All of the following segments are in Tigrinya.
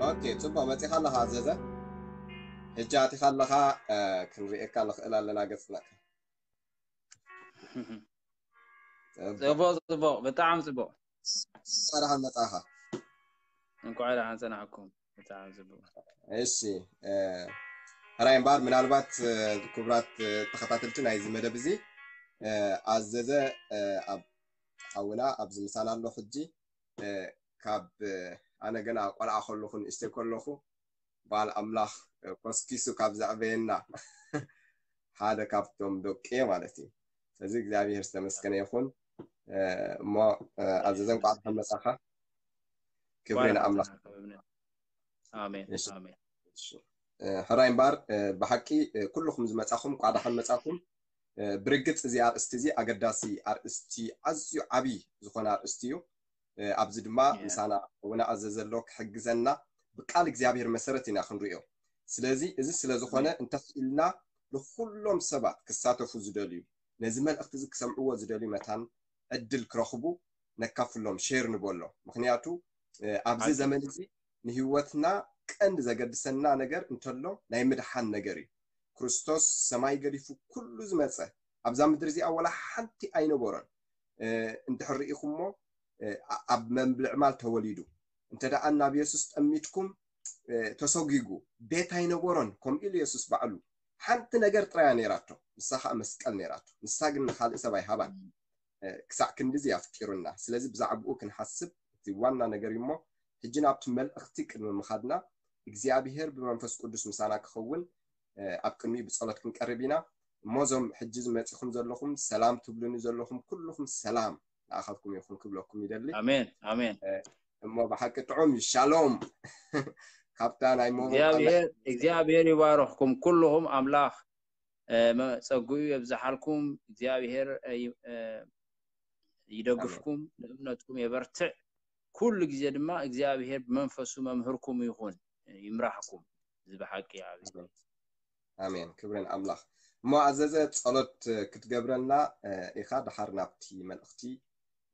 ኦኬ፣ ጽቡቕ መጺኻ ኣለኻ ኣዘዘ። ሕጂ ኣቲኻ ኣለኻ፣ እ፣ ክንርእየካ ንኽእል ኣለና ገጽና። ጽቡቕ። ጽቡቕ፣ ጽቡቕ፣ ብጣዕሚ ጽቡቕ። እንኳዕ ደሓን መጻኻ። እንኳዕ ደሓን ጸናሕኩም። ብጣዕሚ ጽቡቕ። እሺ፣ እ፣ ሕራይ እምበኣር፣ ምናልባት፣ እ፣ ክቡራት፣ እ፣ ተኸታተልቲ ናይዚ መደብ እዚ፣ እ፣ ኣዘዘ፣ እ፣ ኣብ ሓውና ኣብዚ ምሳና ኣሎ ሕጂ፣ እ፣ ካብ፣ እ፣ ኣነ ገና ቆልዓ ከለኹ፣ ንእሽተይ ከለኹ፣ በዓል ኣምላኽ፣ እ፣ ኮስኪሱ ካብ ዘዕበየና ሓደ ካብቶም ደቂ ማለት እዩ። ስለዚ እግዚኣብሔር ዝተመስገነ ይኹን። እ፣ እሞ፣ እ፣ ኣዘዘ እንኳዕ ደሓን መጻኻ። ክብሪ ንኣምላኽ። ኣሜን፣ እሺ። ኣሜን። እሺ። እ፣ ሕራይ እምበኣር፣ እ፣ ብሓቂ፣ እ፣ ኩልኹም ዝመጻኹም እንኳዕ ደሓን መጻኹም። እ፣ ብርግጽ እዚ ኣርእስቲ እዚ ኣገዳሲ ኣርእስቲ፣ ኣዝዩ ዓቢ ዝኾነ ኣርእስቲ እዩ። እ፣ ኣብዚ ድማ ያ። ምሳና እውን ኣዘዘ ኣሎ ክሕግዘና፣ ብቃል እግዚኣብሔር መሰረት ኢና ክንርእዮ። ስለዚ እዚ ስለ ዝኾነ፣ ያ። እንተኽኢልና ንኹሎም ሰባት ክሳተፉ ዝደልዩ፣ ነዚ መልእኽቲ እዚ ክሰምዕዎ ዝደልዩ መታን ዕድል ክረኽቡ ነካፍሎም፣ ሼር ንበሎ። ምኽንያቱ፣ እ፣ ኣብዚ ሓቂ። ዘመን እዚ ንህይወትና ቀንዲ ዘገድሰና ነገር እንተሎ ናይ ምድሓን ነገር እዩ። ክርስቶስ ሰማይ ገዲፉ ኩሉ ዝመጸ ኣብዛ ምድሪ እዚኣ ወላ ሓንቲ ኣይነበሮን። እ፣ እንድሕር ርኢኹሞ፣ እ፣ ኣ-፣ ኣብ መብልዕ ማል ተወሊዱ። እንተ ደኣ ናብ የሱስ ጠሚትኩም፣ እ፣ ተሰጒጉ። ቤት ኣይነበሮን፣ ከምኡ ኢሉ የሱስ ባዕሉ። ሓንቲ ነገር ጥራያ ነይራቶ፣ ንሳ ኸኣ መስቀል ነይራቶ። ንሳ ግን ንኻልእ ሰብ ኣይሃባን። እ፣ ክሳዕ ክንድዚ ኣፍቂሩና። ስለዚ ብዛዕባኡ ክንሓስብ እቲ ዋና ነገር እዩ እሞ፣ ሕጂ ናብቲ መልእኽቲ ቅድሚ ምኻድና፣ እግዚኣብሄር ብመንፈስ ቅዱስ ምሳና ክኸውን፣ እ፣ ኣብ ቅድሚኡ ብጸሎት ክንቀርብ ኢና። እሞ እዞም ሕጂ ዝመጺኹም ዘለኹም፣ ሰላም ትብሉኒ ዘለኹም ኩልኹም ሰላም ንኣኻትኩም ይኹን ክብለኩም ይደሊ። ኣሜን፣ ኣሜን። እ፣ እሞ ብሓቂ ጥዑም እዩ። ሻሎም። ካብታ ናይ ሞባይል እግዚኣብሔር፣ እግዚኣብሔር ይባርኽኩም ኩልኹም። ኣምላኽ፣ እ፣ መ-፣ ጸግኡ የብዝሓልኩም። እግዚኣብሔር፣ እ፣ ይ-፣ እ፣ ይደግፍኩም፣ ንእምነትኩም የበርትዕ። ኩሉ ግዜ ድማ እግዚኣብሔር ብመንፈሱ መምህርኩም ይኹን፣ ይምራሕኩም። እዚ ብሓቂ እዩ ዓብዪ። ኣሜን። ኣሜን። ክብሪ ንኣምላኽ። እሞ ኣዘዘ ጸሎት ክትገብረልና፣ እ፣ ኢኻ፣ ደሓር ናብቲ መልእኽቲ፣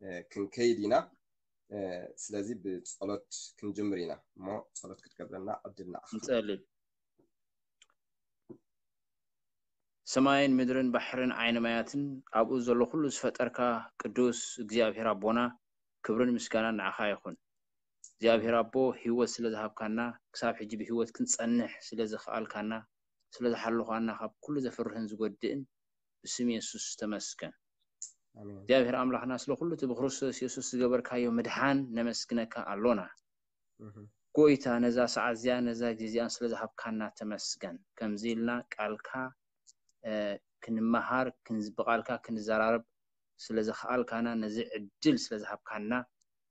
እ፣ ክንከይድ ኢና። እ፣ ስለዚ ብጸሎት ክንጅምር ኢና። እሞ ጸሎት ክትገብረልና ዕድል ንኣኻ። ንጸሊ። ሰማይን ምድርን ባሕርን ዓይኒ ማያትን ኣብኡ ዘሎ ኩሉ ዝፈጠርካ ቅዱስ እግዚኣብሔር ኣቦና፣ ክብርን ምስጋናን ንዓኻ ይኹን። እግዚኣብሔር ኣቦ፣ ህይወት ስለ ዝሃብካና፣ ክሳብ ሕጂ ብህይወት ክንጸንሕ ስለ ዘኽኣልካና፣ ስለ ዝሓለኻና፣ ካብ ኩሉ ዘፍርህን ዝጎድእን ብስም የሱስ ተመስገን። ኣሜን። እግዚኣብሔር ኣምላኽና፣ ስለ ኩሉ እቲ ብክርስቶስ የሱስ ዝገበርካዮ ምድሓን ነመስግነካ ኣሎና። እህ። ጎይታ፣ ነዛ ሰዓት እዚኣ፣ ነዛ ግዜ እዚኣን ስለ ዝሃብካና ተመስገን። ከምዚ ኢልና ቃልካ፣ እ፣ ክንመሃር፣ ክንዝ-፣ ብቃልካ ክንዘራረብ ስለ ዘኽኣልካና፣ ነዚ ዕድል ስለ ዝሃብካና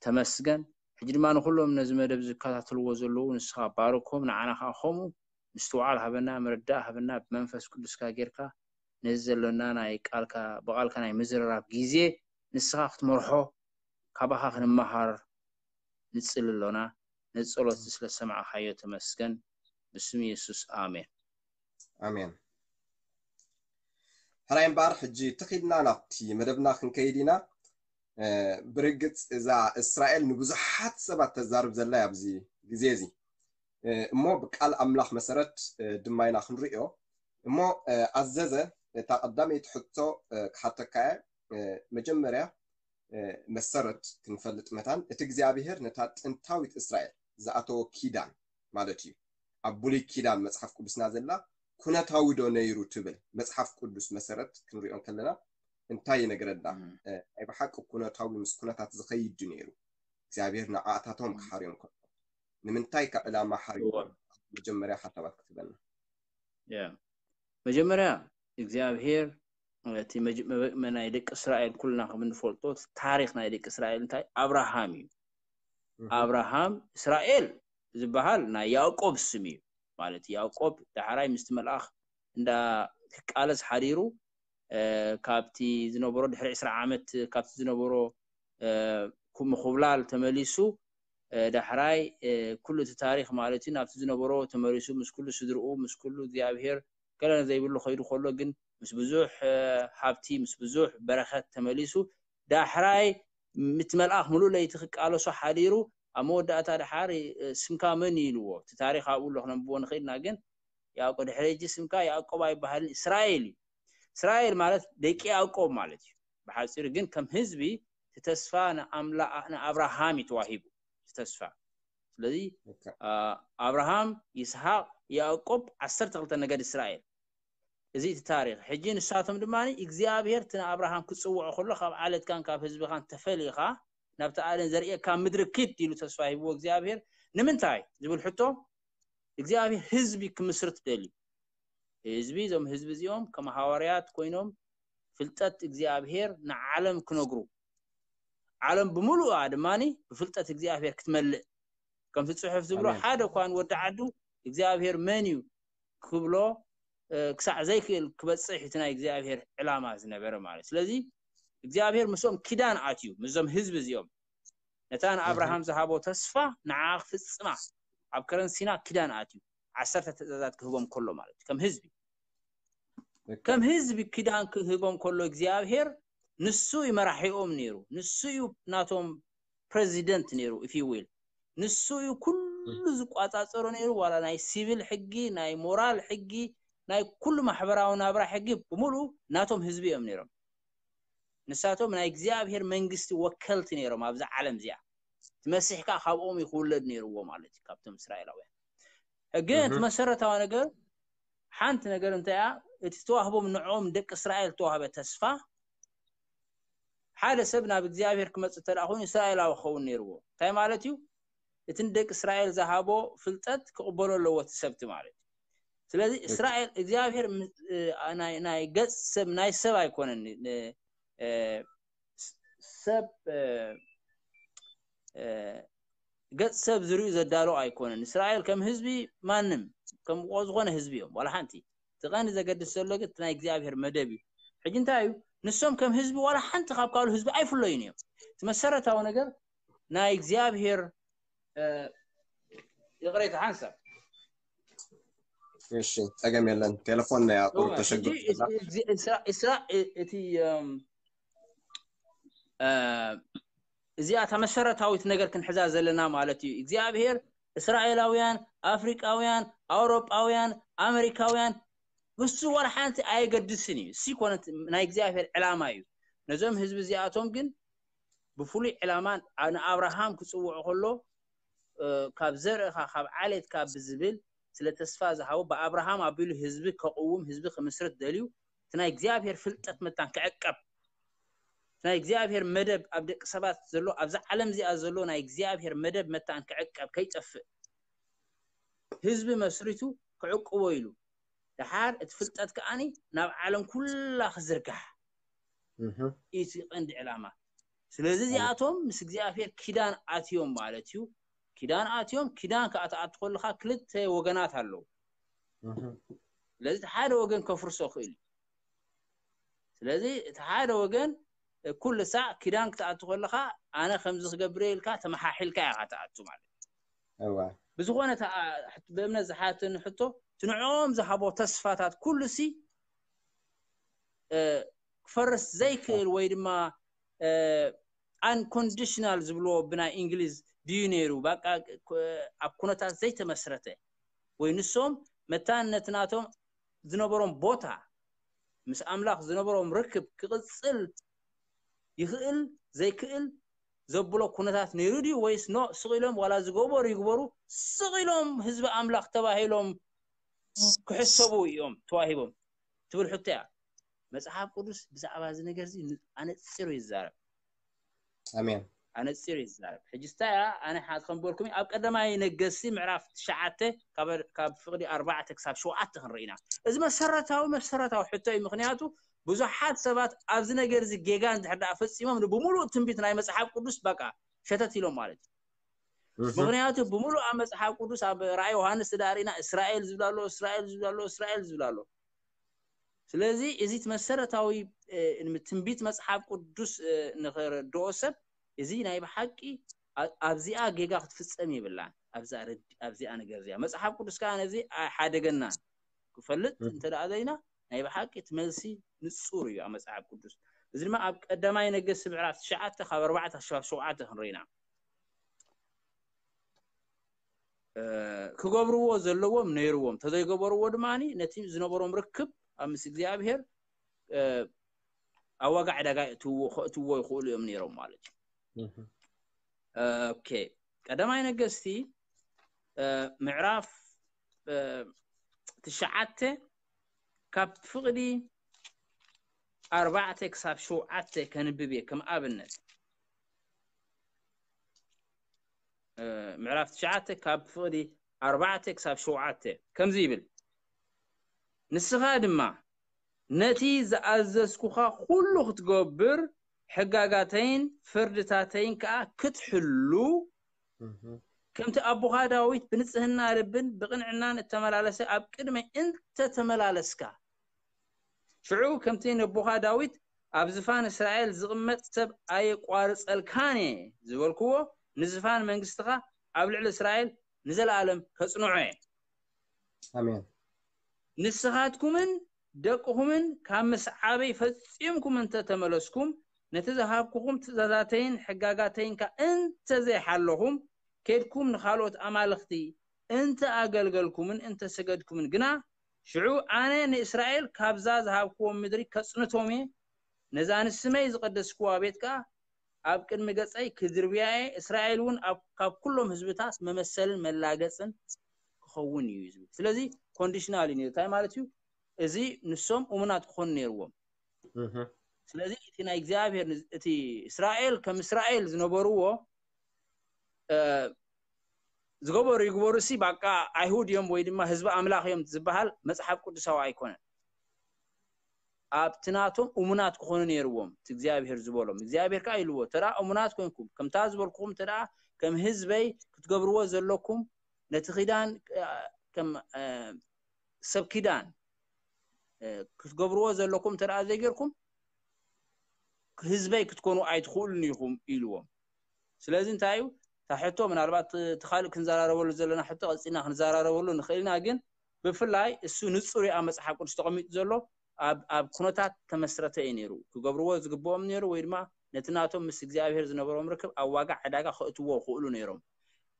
ተመስገን። ሕጂ ድማ ንኹሎም ነዚ መደብ ዝከታተልዎ ዘለዉ ንስኻ ባርኮም፣ ንዓና ከኣ ከምኡ ምስትውዓል ሃበና፣ ምርዳእ ሃበና፣ ብመንፈስ ቅዱስካ ጌርካ ነዚ ዘሎና ናይ ቃልካ፣ ብቃልካ ናይ ምዝርራብ ግዜ ንስኻ ክትመርሖ፣ ካባኻ ክንመሃር ንጽሊ ኣሎና። ነዚ ጸሎት ስለ ዝሰማዕካዮ ተመስገን። ብስም የሱስ፣ ኣሜን። ኣሜን። ሕራይ እምበኣር፣ ሕጂ ትኺልና ናብቲ መደብና ክንከይድ ኢና። እ፣ ብርግጽ እዛ እስራኤል ንብዙሓት ሰባት ተዛርብ ዘላ እያ ኣብዚ ግዜ እዚ። እ፣ እሞ ብቃል ኣምላኽ መሰረት፣ እ፣ ድማ ኢና ክንርእዮ። እሞ፣ እ፣ ኣዘዘ፣ እታ ቀዳመይቲ ሕቶ፣ እ፣ ክሓተካ እየ። እ፣ መጀመርያ፣ እ፣ መሰረት ክንፈልጥ መታን፣ እቲ እግዚኣብሄር ነታ ጥንታዊት እስራኤል ዝኣተዎ ኪዳን ማለት እዩ። ኣብ ብሉይ ኪዳን መጽሓፍ ቅዱስና ዘላ ኩነታዊ ዶ ነይሩ ትብል መጽሓፍ ቅዱስ መሰረት ክንሪኦ እንከለና እንታይ ይነግረና? እም። እ፣ ናይ ብሓቂ ኩነታዊ ምስ ኩነታት ዝኸይድ ድዩ ነይሩ? እግዚኣብሄር ንዓኣታቶም እም። ክሓርዮም ከሎ ንምንታይ ከ ዕላማ ሓሪዎ? እወ። መጀመርያ ሓሳባት ክትበና። ያ። መጀመርያ እግዚኣብሄር፣ እቲ መጅ-፣ መበ-፣ መ-፣ ናይ ደቂ እስራኤል ኩልና ከም እንፈልጦ፣ እቲ ታሪኽ ናይ ደቂ እስራኤል እንታይ? ኣብርሃም እዩ። እህ። ኣብርሃም፣ እስራኤል ዝበሃል ናይ ያዕቆብ ስም እዩ። ማለት ያዕቆብ ዳሕራይ ምስቲ መልኣኽ እንዳ ክቃለስ ሓዲሩ፣ እ፣ ካብቲ ዝነበሮ ድሕሪ ዕስራ ዓመት ካብቲ ዝነበሮ፣ እ፣ ኩ-፣ ምኹብላል ተመሊሱ፣ እ፣ ዳሕራይ፣ እ፣ ኩሉ እቲ ታሪኽ ማለት እዩ ናብቲ ዝነበሮ ተመሊሱ ምስ ኩሉ ስድርኡ፣ ምስ ኩሉ እግዚኣብሄር ገለ ዘይብሉ ከይዱ ከሎ ግን ምስ ብዙሕ፣ እ፣ ሃብቲ፣ ምስ ብዙሕ በረኸት ተመሊሱ ዳሕራይ ምት መልኣኽ ምሉእ ለይቲ ክቃለሶ ሓዲሩ ኣብ መወዳእታ ድሓር ስምካ መን እዩ ኢልዎ። እቲ ታሪኽ ኣብኡ ኣሎ ክነንብቦ ንኽእልና፣ ግን ያዕቆብ ድሕሪ ሕጂ ስምካ ያዕቆብ ኣይበሃልን፣ እስራኤል እዩ። እስራኤል ማለት ደቂ ያዕቆብ ማለት እዩ ብሓፂሩ። ግን ከም ህዝቢ እቲ ተስፋ ንኣምላ- ንኣብርሃም እዩ ተዋሂቡ፣ እቲ ተስፋ። ስለዚ ኣብርሃም፣ ይስሐቅ፣ ያዕቆብ ዓሰርተ ክልተ ነገድ እስራኤል። እዚ እቲ ታሪኽ። ሕጂ ንሳቶም ድማ እግዚኣብሔር እቲ ንኣብርሃም ክጽውዖ ከሎ ካብ ዓለትካን ካብ ህዝብኻን ተፈሊኻ ናብቲ ኣነ ዘርእየካ ምድሪ ኪድ ኢሉ ተስፋ ሂብዎ እግዚኣብሔር። ንምንታይ ዝብል ሕቶ እግዚኣብሔር ህዝቢ ክምስርት ደልዩ። ህዝቢ፣ እዞም ህዝቢ እዚኦም ከም ሃዋርያት ኮይኖም ፍልጠት እግዚኣብሔር ንዓለም ክነግሩ፣ ዓለም ብምሉኣ ድማ ብፍልጠት እግዚኣብሔር ክትመልእ፣ ከምቲ ጽሑፍ ዝብሎ ሓደ እኳ ንወዲ ዓዱ እግዚኣብሔር መን እዩ ክብሎ ክሳዕ ዘይክእል ክበጽሕ እቲ ናይ እግዚኣብሔር ዕላማ ዝነበረ ማለት። ስለዚ እግዚኣብሔር ምስኦም ኪዳን ኣትዩ፣ ምስዞም ህዝቢ እዚኦም ነታ ንኣብርሃም ዝሃቦ ተስፋ ንዓ ክፍጽማ ኣብ ከረን ሲና ኪዳን ኣትዩ፣ ዓሰርተ ትእዛዛት ክህቦም ከሎ ማለት እዩ። ከም ህዝቢ ከም ህዝቢ ኪዳን ክህቦም ከሎ እግዚኣብሔር ንሱ እዩ መራሒኦም ነይሩ። ንሱ እዩ ናቶም ፕሬዚደንት ነይሩ፣ if you will። ንሱ እዩ ኩሉ ዝቋጻጸሮ ነይሩ። ዋላ ናይ ሲቪል ሕጊ፣ ናይ ሞራል ሕጊ፣ ናይ ኩሉ ማሕበራዊ ናብራ ሕጊ ብምሉኡ ናቶም ህዝቢ እዮም ነይሮም። ንሳቶም ናይ እግዚኣብሔር መንግስቲ ወከልቲ ነይሮም ኣብዛ ዓለም እዚኣ። እቲ መሲሕ ከዓ ካብኦም እዩ ክውለድ ነይርዎ ማለት እዩ፣ ካብቶም እስራኤላውያን። ግን እቲ መሰረታዊ ነገር፣ ሓንቲ ነገር እንታይ እያ? እቲ ተዋህቦም ንዕኦም ደቂ እስራኤል ተዋህበ ተስፋ፣ ሓደ ሰብ ናብ እግዚኣብሔር ክመጽእ እንተ ደኣ ኮይኑ እስራኤላዊ ክኸውን ነይርዎ። እንታይ ማለት እዩ? እቲ ንደቂ እስራኤል ዝሃቦ ፍልጠት ክቕበሎ ኣለዎ እቲ ሰብቲ ማለት እዩ። ስለዚ እስራኤል እግዚኣብሔር ም- እ- ናይ ናይ ገጽ ሰብ ናይ ሰብ ኣይኮነን ን- እ- ስ- ሰብ እ- እ- ገጽ ሰብ ዝርእዩ ዘዳሎ ኣይኮነን። እስራኤል ከም ህዝቢ ማንም ከም ዝኾነ ህዝቢ እዮም ዋላ ሓንቲ። እቲ ቀንዲ ዘገድስ ዘሎ ግን እቲ ናይ እግዚኣብሔር መደብ እዩ። ሕጂ እንታይ እዩ? ንሶም ከም ህዝቢ ዋላ ሓንቲ ካብ ካልእ ህዝቢ ኣይፍለዩን እዮም። እቲ መሰረታዊ ነገር ናይ እግዚኣብሔር እ፣ ይቕሬታ ሓንሳብ እሺ፣ ጸገም የለን። ቴሌፎን ናይ ኣቁር እወ፣ ተሸግሩ ሕጂ እስራ- እስራ- እስራ- እቲ እም፣ እ፣ እዚኣ እታ መሰረታዊት ነገር ክንሕዛ ዘለና ማለት እዩ። እግዚኣብሔር እስራኤላውያን፣ ኣፍሪቃውያን፣ ኣውሮጳውያን፣ ኣሜሪካውያን፣ እሱ ዋላ ሓንቲ ኣየገድስን እዩ። እሱ ይኮነት ናይ እግዚኣብሔር ዕላማ እዩ። ነዞም ህዝቢ እዚኣቶም ግን ብፍሉይ ዕላማ ንኣብርሃም ክጽውዖ ከሎ እ፣ ካብ ዘርእኻ ካብ ዓሌትካ ብዝብል ስለ ተስፋ ዝሃቦ ብኣብርሃም ኣቢሉ ህዝቢ ከቕውም ህዝቢ ክምስርት ደልዩ እቲ ናይ እግዚኣብሔር ፍልጠት መታን ክዕቀብ ናይ እግዚኣብሔር መደብ ኣብ ደቂ ሰባት ዘሎ ኣብዛ ዓለም እዚኣ ዘሎ ናይ እግዚኣብሔር መደብ መታን ክዕቀብ ከይጠፍእ ህዝቢ መስሪቱ ክዕቅቦ ኢሉ ደሓር እቲ ፍልጠት ከዓኒ ናብ ዓለም ኩላ ክዝርጋሕ እዩ እቲ ቀንዲ ዕላማ። ስለዚ እዚኣቶም ምስ እግዚኣብሔር ኪዳን ኣትዮም ማለት እዩ። ኪዳን ኣትዮም፣ ኪዳን ከዓ ትኣቱ ከለካ ክልተ ወገናት ኣለዉ። ስለዚ እቲ ሓደ ወገን ከፍርሶ ክእል እዩ። ስለዚ እቲ ሓደ ወገን ኩሉ ሳዕ ኪዳን ክትኣቱ ከለካ ኣነ ከምዚ ክገብር ኢልካ ተመሓሒልካ ኢካ ትኣቱ ማለት እዩ። እዋ ብዝኾነ እታ ብእምነት ዝሓተኒ ሕቶ እቲ ንዕኦም ዝሃቦ ተስፋታት ኩሉ ሲ እ፣ ክፈርስ ዘይክእል ወይ ድማ unconditional ዝብልዎ ብናይ እንግሊዝ ድዩ ነይሩ በቃ ኣብ ኩነታት ዘይተመስረተ ወይ ንሶም መታን ነቲ ናቶም ዝነበሮም ቦታ ምስ ኣምላኽ ዝነበሮም ርክብ ክቕፅል ይኽእል ዘይክእል ዘብሎ ኩነታት ነይሩ ድዩ ወይስ ኖ ስቕ ኢሎም ዋላ ዝገበሩ ይግበሩ ስቕ ኢሎም ህዝቢ ኣምላኽ ተባሂሎም ክሕሰቡ እዮም ተዋሂቦም ትብል ሕቶ እያ። መጽሓፍ ቅዱስ ብዛዕባ እዚ ነገር እዚ ኣነጺሩ ይዛረብ። ኣሜን። ኣነጺሩ ይዛረብ። ሕጂ ስታይ እያ ኣነ ሓት ከም በልኩም ኣብ ቀዳማይ ነገስቲ ምዕራፍ ትሽዓተ ካብ ካብ ፍቕዲ ኣርባዕተ ክሳብ ሸውዓተ ክንርኢና። እዚ መሰረታዊ መሰረታዊ ሕቶ እዩ። ምክንያቱ ብዙሓት ሰባት ኣብዚ ነገር እዚ ጌጋ እንድሕር ደኣ ፈጺሞም ብሙሉእ ትንቢት ናይ መጽሓፍ ቅዱስ በቃ ሸተት ኢሎም ማለት እዩ። ምክንያቱ ብሙሉእ ኣብ መጽሓፍ ቅዱስ ኣብ ራእይ ዮሃንስ ተዳሪና እስራኤል ዝብላ ኣሎ እስራኤል ዝብላ ኣሎ እስራኤል ዝብላ ኣሎ። ስለዚ እዚ እቲ መሰረታዊ ትንቢት መጽሓፍ ቅዱስ ንክረድኦ ሰብ እዚ ናይ ብሓቂ ኣብዚኣ ጌጋ ክትፍጸም የብላን። ኣብዚኣ ነገር እዚኣ መጽሓፍ ቅዱስ ከዓ ነዚ ኣይሓደገናን። ክፈልጥ እንተ ደኣ ደሊና ናይ ብሓቂ እቲ መልሲ ንጹር እዩ ኣብ መጽሓፍ ቅዱስ። እዚ ድማ ኣብ ቀዳማይ ነገስቲ ምዕራፍ ትሽዓተ ካብ ኣርባዕተ ክሳብ ሸውዓተ ክንርኢና። ክገብርዎ ዘለዎም ነይርዎም። ተዘይገበርዎ ድማ ነቲ ዝነበሮም ርክብ ኣብ ምስ እግዚኣብሔር ኣብ ዋጋ ዕዳጋ ከእትዎ ይኽእሉ እዮም ነይሮም ማለት እዩ። ኦኬ፣ ቀዳማይ ነገስቲ ምዕራፍ ትሽዓተ ካብ ፍቕዲ ኣርባዕተ ክሳብ ሸውዓተ ከንብብ እየ። ከም ኣብነት ምዕራፍ ትሽዓተ ካብ ፍቕዲ ኣርባዕተ ክሳብ ሸውዓተ ከምዚ ይብል፣ ንስኻ ድማ ነቲ ዝኣዘዝኩኻ ኩሉ ክትገብር ሕጋጋተይን ፍርድታተይን ከኣ ክትሕሉ ከምቲ ኣቦኻ ዳዊት ብንጽህና ልብን ብቕንዕናን እተመላለሰ ኣብ ቅድመይ እንተተመላለስካ፣ ሽዑ ከምቲ ነቦኻ ዳዊት ኣብ ዝፋን እስራኤል ዝቕመጥ ሰብ ኣየቋርጸልካን እየ ዝበልክዎ፣ ንዝፋን መንግስትኻ ኣብ ልዕሊ እስራኤል ንዘለኣለም ከጽንዖ እየ። ኣሜን። ንስኻትኩምን ደቅኹምን ካብ ምስዓበይ ፈጺምኩም እንተ ተመለስኩም፣ ነቲ ዝሃብኩኹም ትእዛዛተይን ሕጋጋተይን ከኣ እንተ ዘይሓለኹም፣ ኬድኩም ንኻልኦት ኣማልኽቲ እንተ ኣገልገልኩምን እንተ ሰገድኩምን ግና፣ ሽዑ ኣነ ንእስራኤል ካብዛ ዝሃብክዎም ምድሪ ከጽንቶም እየ፣ ነዛ ንስመይ ዝቐደስክዋ ቤት ከኣ ኣብ ቅድሚ ገጸይ ክድርብያ እየ፣ እስራኤል እውን ኣብ- ካብ ኩሎም ህዝብታት መመሰልን መላገጽን ክኸውን እዩ ዝብል። ስለዚ ኮንዲሽናል እዩ ነይሩ። እንታይ ማለት እዩ? እዚ ንሶም እሙናት ክኾኑ ነይርዎም። እህ። ስለዚ እቲ ናይ እግዚኣብሔር ን- እቲ እስራኤል ከም እስራኤል ዝነበርዎ እ፣ ዝገበሩ ይግበሩ ሲ ባቃ ኣይሁድ እዮም ወይ ድማ ህዝቢ ኣምላኽ እዮም ዝበሃል መጽሓፍ ቅዱሳዊ ኣይኮነን። ኣብቲ ናቶም እሙናት ክኾኑ ነይርዎም እቲ እግዚኣብሔር ዝበሎም። እግዚኣብሔር ከዓ ኢልዎ፣ ተደኣ እሙናት ኮንኩም ከምታ ዝበልኩኹም ተደኣ ከም ህዝበይ ክትገብርዎ ዘለኩም ነቲ ኪዳን እ፣ ከም እ፣ ሰብ ኪዳን እ፣ ክትገብርዎ ዘለኩም ተደኣ ዘይገርኩም ህዝበይ ክትኮኑ ኣይትኽእሉን ኢኹም ኢልዎም። ስለዚ እንታይ እዩ እታ ሕቶ? ምናልባት እቲ ካልእ ክንዘራረበሉ ዘለና ሕቶ ቀፂልና ክንዘራረበሉ ንኽእል ኢና፣ ግን ብፍላይ እሱ ንፁር እዩ ኣብ መፅሓፍ ቅዱስ ተቐሚጡ ዘሎ። ኣብ ኣብ ኩነታት ተመስረተ እዩ ነይሩ። ክገብርዎ ዝግብኦም ነይሩ ወይ ድማ ነቲ ናቶም ምስ እግዚኣብሔር ዝነበሮም ርክብ ኣብ ዋጋ ዕዳጋ ከእትዎ ክእሉ ነይሮም።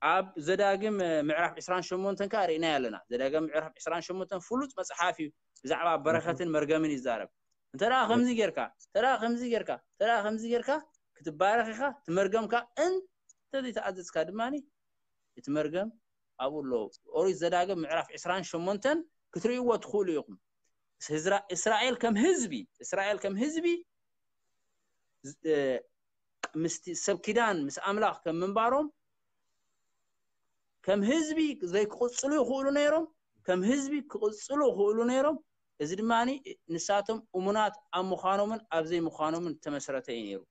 ኣብ ዘዳግም እ፣ ምዕራፍ ዕስራን ሸሞንተን ከዓ ርኢናዮ ኣለና። ዘዳግም ምዕራፍ ዕስራን ሸሞንተን ፍሉጥ መፅሓፍ እዩ፣ ብዛዕባ በረኸትን መርገምን ይዛረብ። እንተ ደኣ ከምዚ ጌርካ፣ እንተ ደኣ ከምዚ ጌርካ፣ እንተ ደኣ ከምዚ ጌርካ ክትባረኽ ኢኻ፣ እቲ መርገም ከዓ እንተ ዘይተኣዘዝካ ድማ እቲ መርገም ኣብኡ ኣሎ። ኦሪት ዘዳግም ምዕራፍ ዕስራን ሸሞንተን ክትርእይዎ ትኽእሉ ኢኹም። ህዝራ- እስራኤል ከም ህዝቢ፣ እስራኤል ከም ህዝቢ ዝ- እ፣ ምስቲ ሰብ ኪዳን ምስ ኣምላኽ ከም ምንባሮም ከም ህዝቢ ዘይክቕጽሉ ይኽእሉ ነይሮም፣ ከም ህዝቢ ክቕጽሉ ይኽእሉ ነይሮም። እዚ ድማ ንሳቶም እሙናት ኣብ ምዃኖምን ኣብ ዘይምዃኖምን ተመስረተ እዩ ነይሩ።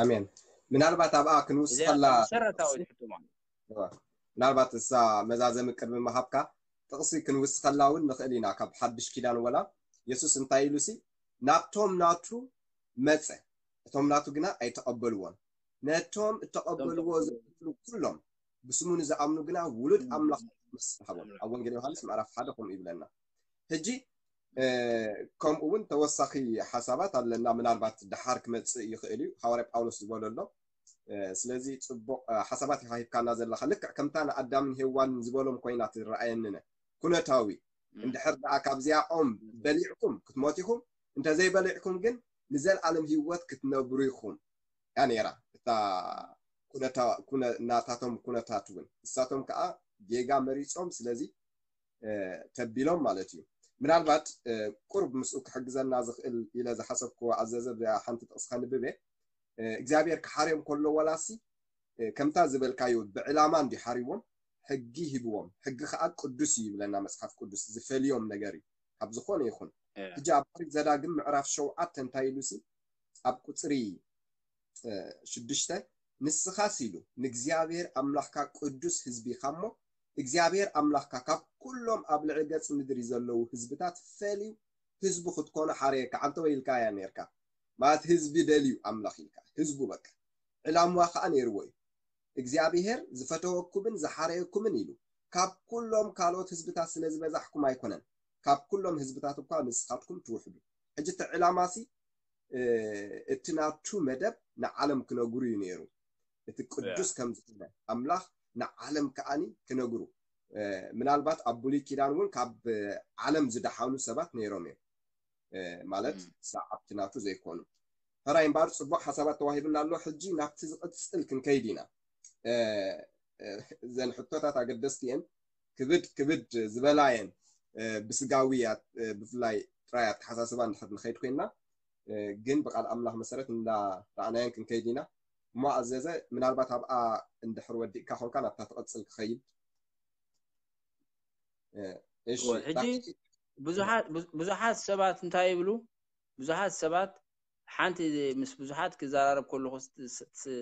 ኣሜን። ምናልባት ኣብኣ ክንውስኸላ መሰረታዊ ሕቶ ማለት ምናልባት እሳ መዛዘሚ ቅድሚ ምሃብካ ጥቕሲ ክንውስኸላ እውን ንኽእል ኢና። ካብ ሓድሽ ኪዳን ወላ የሱስ እንታይ ኢሉ ሲ ናብቶም ናቱ መጸ፣ እቶም ናቱ ግና ኣይተቐበልዎን። ነቶም እተቐበልዎ ዝቐትሉ ኩሎም ብስሙ ንዝኣምኑ ግና ውሉድ ኣምላኽ መስል ሃቦም። ኣብ ወንጌል ዮሃንስ ምዕራፍ ሓደ ከምኡ ይብለና። ሕጂ እ፣ ከምኡ እውን ተወሳኺ ሓሳባት ኣለና። ምናልባት ደሓር ክመጽእ ይኽእል እዩ። ሃዋርያ ጳውሎስ ዝበሎ ኣሎ። እ፣ ስለዚ ጽቡቕ እ፣ ሓሳባት ኢኻ ሂብካና ዘለኻ። ልክዕ ከምታ ንኣዳምን ሄዋንን ዝበሎም ኮይና ትረኣየንነ። ኩነታዊ እንድሕር ደኣ ካብዚኣኦም በሊዕኩም ክትሞት ኢኹም፣ እንተዘይበሊዕኩም ግን ንዘለኣለም ህይወት ክትነብሩ ኢኹም እያ ነይራ። እታ ኩነታ- ኩነ- ናታቶም ኩነታት እውን ንሳቶም ከዓ ጌጋ መሪጾም፣ ስለዚ እ፣ ተቢሎም ማለት እዩ። ምናልባት እ፣ ቁርብ ምስኡ ክሕግዘና ዝኽእል ኢለ ዝሓሰብክዎ ኣዘዘ ብዚኣ ሓንቲ ጥቕሲ ከንብብ እየ። እ፣ እግዚኣብሔር ክሓርዮም ከሎ ዋላሲ እ፣ ከምታ ዝበልካዮ ብዕላማ እንዲ ሓሪዎም ሕጊ ሂብዎም። ሕጊ ከዓ ቅዱስ እዩ ይብለና መጽሓፍ ቅዱስ፣ ዝፈልዮም ነገር እዩ ካብ ዝኾነ ይኹን። ሕጂ ኣብ ኦሪት ዘዳግም ምዕራፍ ሸውዓተ እንታይ ኢሉ ሲ ኣብ ቁፅሪ እ፣ ሽዱሽተ ንስኻስ ኢሉ ንእግዚኣብሔር ኣምላኽካ ቅዱስ ህዝቢ ኢኻ እሞ እግዚኣብሔር ኣምላኽካ ካብ ኩሎም ኣብ ልዕሊ ገጽ ምድሪ ዘለዉ ህዝብታት ፈልዩ ህዝቡ ክትኮኑ ሓረየካ። ኣንተ ወይ ኢልካ እያ ነርካ ማለት ህዝቢ ደልዩ ኣምላኽ ኢልካ ህዝቡ በቃ ዕላምዋ ከዓ ነይርዎ እዩ። እግዚኣብሔር ዝፈተወኩምን ዝሓረየኩምን ኢሉ ካብ ኩሎም ካልኦት ህዝብታት ስለ ዝበዛሕኩም ኣይኮነን፣ ካብ ኩሎም ህዝብታት እኳ ንስኻትኩም ትውሕዱ። ሕጂ እቲ ዕላማሲ እ፣ እቲ ናቱ መደብ ንዓለም ክነግሩ እዩ ነይሩ። እቲ ቅዱስ ከም ዝኾነ ኣምላኽ ንዓለም ከዓኒ ክነግሩ። ምናልባት ኣብ ብሉይ ኪዳን እውን ካብ ዓለም ዝደሓኑ ሰባት ነይሮም እዮም። ማለት ሰዓብቲ ናቱ ዘይኮኑ። ሕራይ እምበኣር ጽቡቕ ሓሳባት ተዋሂብና ኣሎ። ሕጂ ናብቲ ዝቕጽል ክንከይድ ኢና። እዘን ሕቶታት ኣገደስቲ እየን። ክብድ ክብድ ዝበላ እየን። ብስጋዊ ብፍላይ ጥራይ ኣተሓሳስባ እንድሕር ንኸይድ ኮይንና፣ ግን ብቃል ኣምላኽ መሰረት እንዳረኣናየን ክንከይድ ኢና። እሞ ኣዘዘ፣ ምናልባት ኣብኣ እንድሕር ወዲእካ ኮንካ ናብታ ትቐጽል ክኸይድ። እሺ፣ ሕጂ ብዙሓት ሰባት እንታይ ይብሉ? ብዙሓት ሰባት ሓንቲ ምስ ብዙሓት ክዘራረብ ከለኹ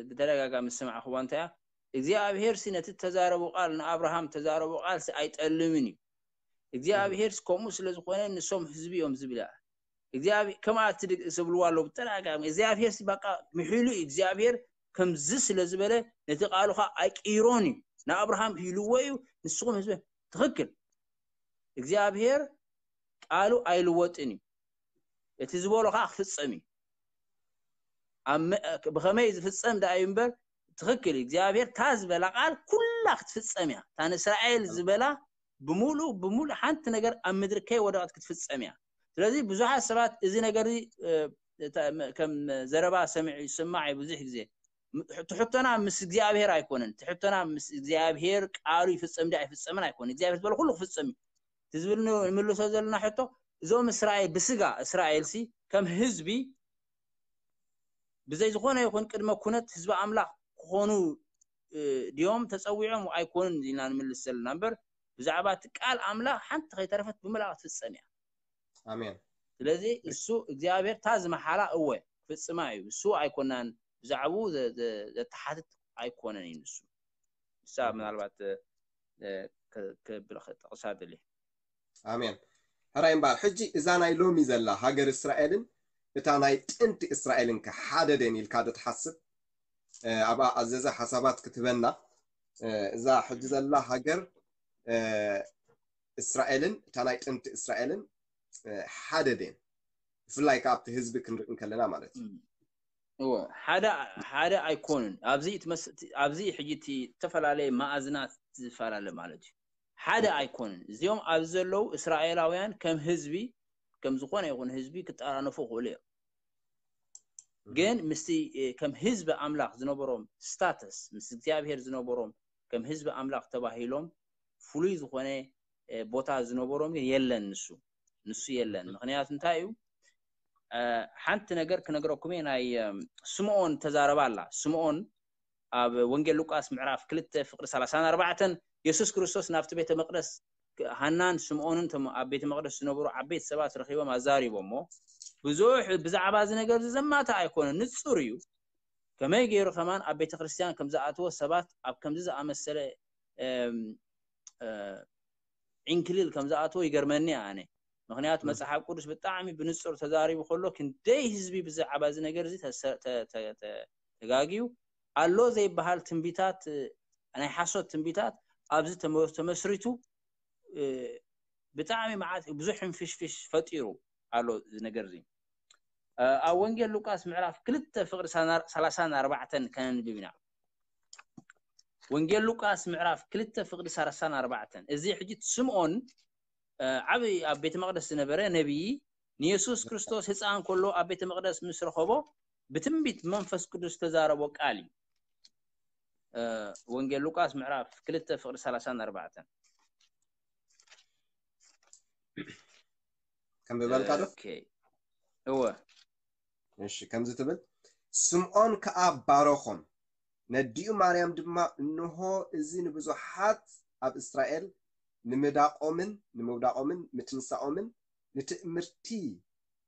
ብተደጋጋሚ ዝሰማዕኽዋ እንታይ እያ? እግዚኣብሄር ሲ ነቲ ተዛረቡ ቃል ንኣብርሃም ተዛረቡ ቃል ሲ ኣይጠልምን እዩ። እግዚኣብሄር ሲ ከምኡ ስለ ዝኾነ ንሶም ህዝቢ እዮም ዝብል እያ። እግዚኣብሄር ከምኣ ትድግ ዝብልዋ ኣለዉ ብተደጋጋሚ። እግዚኣብሄር ሲ በቃ ምሒሉ እዩ። እግዚኣብሄር ከምዚ ስለ ዝበለ ነቲ ቃሉ ኸዓ ኣይቅይሮን እዩ። ንኣብርሃም ኢልዎ እዩ። ንስኹም ህዝቢ ትኽክል። እግዚኣብሄር ቃሉ ኣይልወጥን እዩ። እቲ ዝበሎ ከዓ ክፍጸም እዩ። ብኸመይ ዝፍጸም ደኣ እዩ እምበር ትኽክል እዩ። እግዚኣብሔር እታ ዝበላ ቃል ኩላ ክትፍጸም እያ። እታ ንእስራኤል ዝበላ ብምሉእ ብምሉእ ሓንቲ ነገር ኣብ ምድሪ ከይወደቐት ክትፍጸም እያ። ስለዚ ብዙሓት ሰባት እዚ ነገር ከም ዘረባ ሰሚዑ ይስማዕ እዩ ብዙሕ ግዜ። ትሕቶና ምስ እግዚኣብሔር ኣይኮነን። ትሕቶና ምስ እግዚኣብሔር ቃሉ ይፍጸም ድዩ ኣይፍጸምን ኣይኮነን። እግዚኣብሔር ዝበሎ ኩሉ ክፍጸም እዩ። እቲ ዝብል ንምልሶ ዘለና ሕቶ እዞም እስራኤል ብስጋ እስራኤል ሲ ከም ህዝቢ ብዘይ ዝኾነ ይኹን ቅድመ ኩነት ህዝቢ ኣምላኽ ክኾኑ ድዮም ተጸዊዖም ኣይኮኑን ኢልና ንምልስ ዘለና እምበር ብዛዕባ እቲ ቃል ኣምላኽ ሓንቲ ከይተረፈት ብምልኣ ክትፍጸም እያ። ኣሜን። ስለዚ እሱ እግዚኣብሔር እታ ዝመሓላ እወ ክፍጽማ እዩ። እሱ ኣይኮናን ብዛዕባኡ ዘተሓትት ኣይኮነን እዩ ንሱ። ንሳ ምናልባት ክብል ጠቕሳ ደሊ ኣሜን። ሕራይ እምበኣር ሕጂ እዛ ናይ ሎሚ ዘላ ሃገር እስራኤልን እታ ናይ ጥንቲ እስራኤልን ከ ሓደ ደን ኢልካ ዶ ትሓስብ? ኣብኣ ኣዘዘ ሓሳባት ክትበና እዛ ሕጂ ዘላ ሃገር እስራኤልን እታ ናይ ጥንቲ እስራኤልን ሓደ ደን ብፍላይ ከ ኣብቲ ህዝቢ ክንርኢ እንከለና ማለት እዩ። እወ ሓደ ሓደ ኣይኮኑን። ኣብዚ ኣብዚ ሕጂ እቲ ዝተፈላለየ ማእዝናት ዝፈላለ ማለት እዩ። ሓደ ኣይኮኑን። እዚኦም ኣብዚ ዘለዉ እስራኤላውያን ከም ህዝቢ ከም ዝኾነ ይኹን ህዝቢ ክጠራነፉ ይኽእሉ እዮም። ግን ምስቲ ከም ህዝቢ ኣምላኽ ዝነበሮም ስታተስ ምስ እግዚኣብሔር ዝነበሮም ከም ህዝቢ ኣምላኽ ተባሂሎም ፍሉይ ዝኾነ ቦታ ዝነበሮም ግን የለን። ንሱ ንሱ የለን። ምክንያቱ እንታይ እዩ? ሓንቲ ነገር ክነግረኩም እየ። ናይ ስምኦን ተዛረባ ኣላ። ስምኦን ኣብ ወንጌል ሉቃስ ምዕራፍ ክልተ ፍቅሪ ሰላሳን ኣርባዕተን የሱስ ክርስቶስ ናብቲ ቤተ መቅደስ ሃናን ስምኦንን እቶም ኣብ ቤተ መቅደስ ዝነበሩ ዓበይቲ ሰባት ረኺቦም ኣዛሪቦሞ ብዙሕ ብዛዕባ እዚ ነገር እዚ ዘማታ ኣይኮነን፣ ንጹር እዩ። ከመይ ገይሩ ከማን ኣብ ቤተ ክርስቲያን ከም ዝኣተወ ሰባት ኣብ ከምዚ ዝኣመሰለ ዕንክሊል ከም ዝኣተወ ይገርመኒ ኣነ። ምክንያቱ መጽሓፍ ቅዱስ ብጣዕሚ ብንጹር ተዛሪቡ ከሎ ክንደይ ህዝቢ ብዛዕባ እዚ ነገር እዚ ተጋግዩ ኣሎ ዘይበሃል ትንቢታት፣ ናይ ሓሶት ትንቢታት ኣብዚ ተመስሪቱ ብጣዕሚ መዓት ብዙሕ ሕንፍሽፍሽ ፈጢሩ ኣሎ እዚ ነገር እዚ። ኣብ ወንጌል ሉቃስ ምዕራፍ ክልተ ፍቅሪ ሰላሳን ኣርባዕተን ከነንብብ ኢና። ወንጌል ሉቃስ ምዕራፍ ክልተ ፍቅሪ ሰላሳን ኣርባዕተን እዚ ሕጂ ስምኦን ዓብዪ ኣብ ቤተ መቅደስ ዝነበረ ነቢዪ ንየሱስ ክርስቶስ ህፃን ከሎ ኣብ ቤተ መቅደስ ምስ ረኸቦ ብትንቢት መንፈስ ቅዱስ ዝተዛረቦ ቃል እዩ። ወንጌል ሉቃስ ምዕራፍ ክልተ ፍቅሪ ሰላሳን ኣርባዕተን ከንብበልካ ዶ? እወ። እሺ ከምዚ ትብል፣ ስምዖን ከኣ ባረኾም፣ ነዲኡ ማርያም ድማ፣ እንሆ እዚ ንብዙሓት ኣብ እስራኤል ንምዳቖምን ንምውዳቖምን ምትንሳኦምን ንትእምርቲ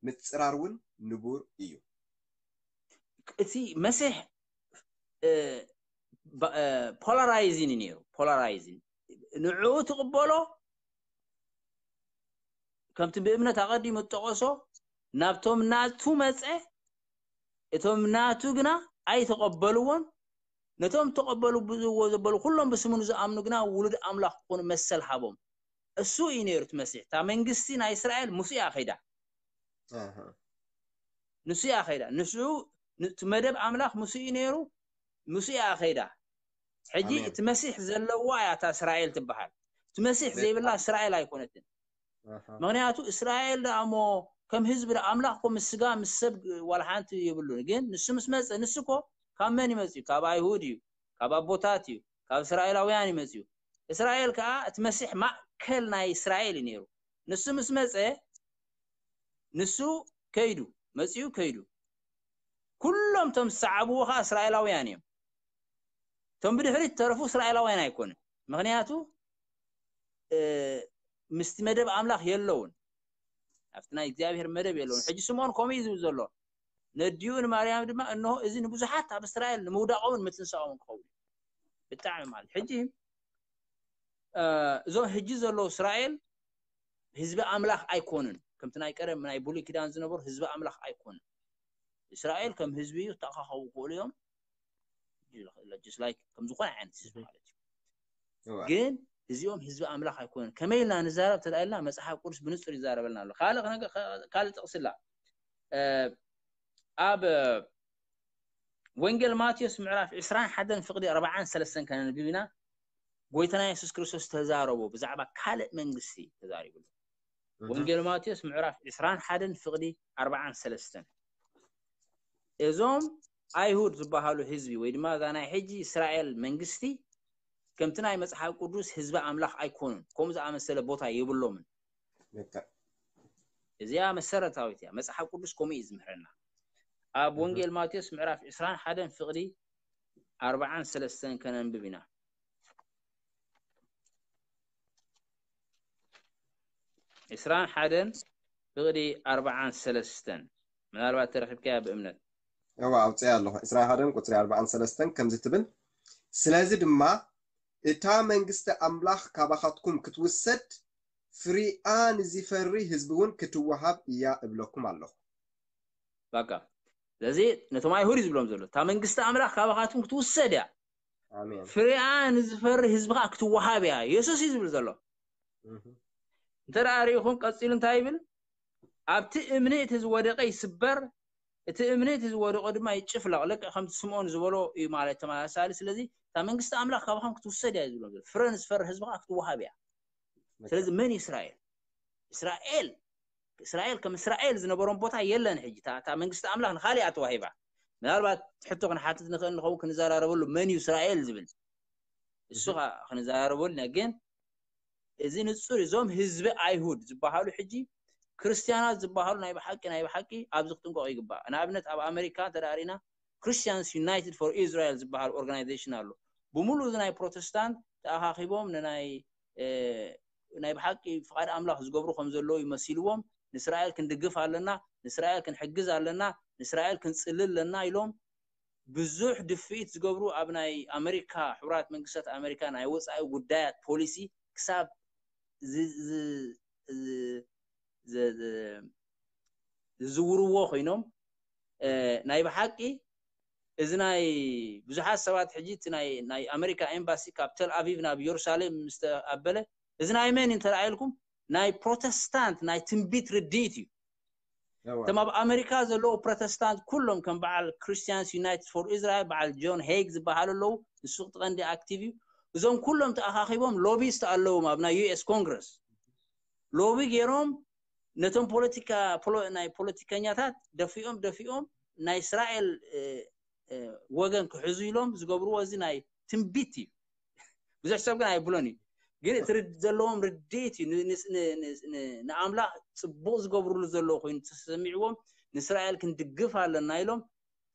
ምጽራር እውን ንቡር እዩ። እቲ መሲሕ ፖላራይዚን እዩ ነይሩ። ፖላራይዚን ንዕኡ ትቕበሎ ከምቲ ብእምነት ኣቐዲሙ ዝጠቐሶ ናብቶም ናቱ መፀ፣ እቶም ናቱ ግና ኣይተቐበልዎን። ነቶም ተቐበሉ ብዝዎ ዘበሉ ኩሎም ብስሙ ንዝኣምኑ ግና ውሉድ ኣምላኽ ክኾኑ መሰል ሃቦም። እሱ እዩ ነይሩ እቲ መሲሕ። እታ መንግስቲ ናይ እስራኤል ምስ እያ ከይዳ። ንሱ እያ ከይዳ። ንሱ እቲ መደብ ኣምላኽ ምስ እዩ ነይሩ፣ ምስ እያ ከይዳ። ሕጂ ኣሜን። እቲ መሲሕ ዘለዋ እያ እታ እስራኤል ትበሃል። እቲ መሲሕ ዘይብላ እስራኤል ኣይኮነትን። ኣሃ። ምክንያቱ እስራኤል ደኣ እሞ ከም ህዝቢ ደኣ ኣምላኽ ኮ ምስ ስጋ ምስ ሰብ ዋላ ሓንቲ የብሉን። ግን ንሱ ምስ መጸ ንሱ ኮ ካብ መን ይመጽእ እዩ? ካብ ኣይሁድ እዩ፣ ካብ ኣቦታት እዩ፣ ካብ እስራኤላውያን ይመጽእ እዩ። እስራኤል ከኣ እቲ መሲሕ ማእከል ናይ እስራኤል እዩ ነይሩ። ንሱ ምስ መጸ ንሱ ከይዱ መጺኡ ከይዱ። ኩሎም እቶም ዝሰዓብዎ ከኣ እስራኤላውያን እዮም። እቶም ብድሕሪት ተረፉ እስራኤላውያን ኣይኮኑን። ምክንያቱ ምስቲ መደብ ኣምላኽ የለውን፣ ኣብቲ ናይ እግዚኣብሔር መደብ የለውን። ሕጂ ስምኦን ከምኡ እዩ ዝብል ዘሎ። ነዲኡ ንማርያም ድማ እንሆ እዚ ንብዙሓት ኣብ እስራኤል ንምውዳቖምን ምትንሳኦምን ክኸውን እዩ። ብጣዕሚ ማለት ሕጂ እዞም ሕጂ ዘለዉ እስራኤል ህዝቢ ኣምላኽ ኣይኮኑን። ከምቲ ናይ ቀደም ናይ ብሉይ ኪዳን ዝነበሩ ህዝቢ ኣምላኽ ኣይኮኑን። እስራኤል ከም ህዝቢ ይተኣኻኸቡ ክኽእሉ እዮም። Just like ከም ዝኾነ ዓይነት ህዝቢ ማለት እዩ። እዋ። ግን እዚኦም ህዝቢ ኣምላኽ ኣይኮኑን። ከመይ ኢልና ንዛረብ ተላኢልና መጽሓፍ ቅዱስ ብንጹር ይዛረበልና ኣሎ። ካልእ ክነገ- ካልእ ጥቕስላ ኣብ ወንጌል ማቴዎስ ምዕራፍ ዕስራን ሓደን ፍቕዲ ኣርባዓን ሰለስተን ከነንብብ ኢና። ጎይታና የሱስ ክርስቶስ ተዛረቦ ብዛዕባ ካልእ መንግስቲ ተዛሪቡ። ወንጌል ማቴዎስ ምዕራፍ ዕስራን ሓደን ፍቕዲ ኣርባዓን ሰለስተን እዞም ኣይሁድ ዝበሃሉ ህዝቢ ወይ ድማ እዛ ናይ ሕጂ እስራኤል መንግስቲ ከምቲ ናይ መጽሓፍ ቅዱስ ህዝቢ ኣምላኽ ኣይኮኑን። ከምኡ ዝኣመሰለ ቦታ የብሎምን። ልክዕ። እዚኣ መሰረታዊት እያ። መጽሓፍ ቅዱስ ከምኡ እዩ ዝምህረና። ኣብ ወንጌል ማቴዎስ ምዕራፍ ዕስራን ሓደን ፍቕዲ ኣርባዓን ሰለስተን ከነንብብ ኢና። ዕስራን ሓደን ፍቕዲ ኣርባዓን ሰለስተን ምናልባት ተረኺብካያ ብእምነት። እዋ ኣውፅያ ኣለኹ። ዕስራን ሓደን ቁፅሪ ኣርባዓን ሰለስተን ከምዚ ትብል፣ ስለዚ ድማ እታ መንግስቲ ኣምላኽ ካባኻትኩም ክትውሰድ ፍሪኣ ንዝፈሪ ህዝቢ እውን ክትወሃብ እያ እብለኩም ኣለኹ። በቃ ስለዚ ነቶም ኣይሁድ እዩ ዝብሎም ዘሎ እታ መንግስቲ ኣምላኽ ካባኻትኩም ክትውሰድ እያ፣ ኣሜን። ፍሪኣ ንዝፈሪ ህዝቢ ከዓ ክትወሃብ እያ። የሱስ እዩ ዝብል ዘሎ። እህ። እንተ ደኣ ርኢኹም ቀፂሉ እንታይ ይብል? ኣብቲ እምኒ እቲ ዝወደቀ ይስበር፣ እቲ እምኒ እቲ ዝወደቆ ድማ ይጭፍለቕ። ልክዕ ከምቲ ስምዖን ዝበሎ እዩ ማለት ተመሳሳሊ። ስለዚ እታ መንግስቲ ኣምላኽ ካባኹም ክትውሰድ እያ እዩ ዝብሎም ዘሎ። ፍረ ንዝፈሪ ህዝቢ ከዓ ክትወሃብ እያ። ስለዚ መን እዩ እስራኤል? እስራኤል እስራኤል ከም እስራኤል ዝነበሮም ቦታ የለን። ሕጂ እታ እታ መንግስቲ ኣምላኽ ንኻሊኣ ተዋሂባ። ምናልባት ሕቶ ክንሓትት ንኽእል ንኸውን ክንዘራረበሉ መን እዩ እስራኤል ዝብል እሱ ኸ ክንዘራረበሉ ኢና። ግን እዚ ንጹር እዩ። እዞም ህዝቢ ኣይሁድ ዝበሃሉ ሕጂ ክርስትያናት ዝበሃሉ ናይ ብሓቂ ናይ ብሓቂ ኣብዚ ክጥንቀቑ ይግባእ። ንኣብነት ኣብ ኣሜሪካ እንተ ደኣ ርኢና Christians United for Israel ዝበሃል ኦርጋናይዜሽን ኣሎ። ብምሉእ እዚ ናይ ፕሮቴስታንት ተኣኻኺቦም ንናይ እ፣ ናይ ብሓቂ ፍቓድ ኣምላኽ ዝገብሩ ከም ዘለዉ ይመሲልዎም። ንእስራኤል ክንድግፍ ኣለና፣ ንእስራኤል ክንሕግዝ ኣለና፣ ንእስራኤል ክንጽሊ ኣለና ኢሎም ብዙሕ ድፍኢት ዝገብሩ ኣብ ናይ ኣሜሪካ ሕቡራት መንግስታት ኣሜሪካ ናይ ወፃኢ ጉዳያት ፖሊሲ ክሳብ ዝ- ዝ- ዝ- ዝ- ዝ- ዝዝውርዎ ኮይኖም እ፣ ናይ ብሓቂ እዚ ናይ ብዙሓት ሰባት ሕጂ እቲ ናይ ናይ ኣሜሪካ ኤምባሲ ካብ ተል ኣቪቭ ናብ ኢየሩሳሌም ምስ ተኣበለ እዚ ናይ መን እዩ እንተ ኢልኩም ናይ ፕሮቴስታንት ናይ ትንቢት ርድኢት እዩ። እዋ። እቶም ኣብ ኣሜሪካ ዘለዉ ፕሮቴስታንት ኩሎም ከም በዓል Christians United for Israel በዓል ጆን ሄግ ዝበሃሉ ኣለዉ። ንሱ እቲ ቀንዲ ኣክቲቭ እዩ። እዞም ኩሎም ተኣኻኺቦም ሎቢስት ኣለዎም ኣብ ናይ ዩ ኤስ ኮንግረስ ሎቢ ገይሮም ነቶም ፖለቲካ ፖሎ- ናይ ፖለቲከኛታት ደፊኦም ደፊኦም ናይ እስራኤል እ፣ እ፣ ወገን ክሕዙ ኢሎም ዝገብርዎ እዚ ናይ ትንቢት እዩ። ብዙሕ ሰብ ግን ኣይብሎን እዩ። ግን እቲ ርድ- ዘለዎም ርድኢት እዩ። ን- ን- ን- ን- ን- ንኣምላኽ ጽቡቕ ዝገብርሉ ዘለዉ ኮይኑ ተሰሚዕዎም ንእስራኤል ክንድግፍ ኣለና ኢሎም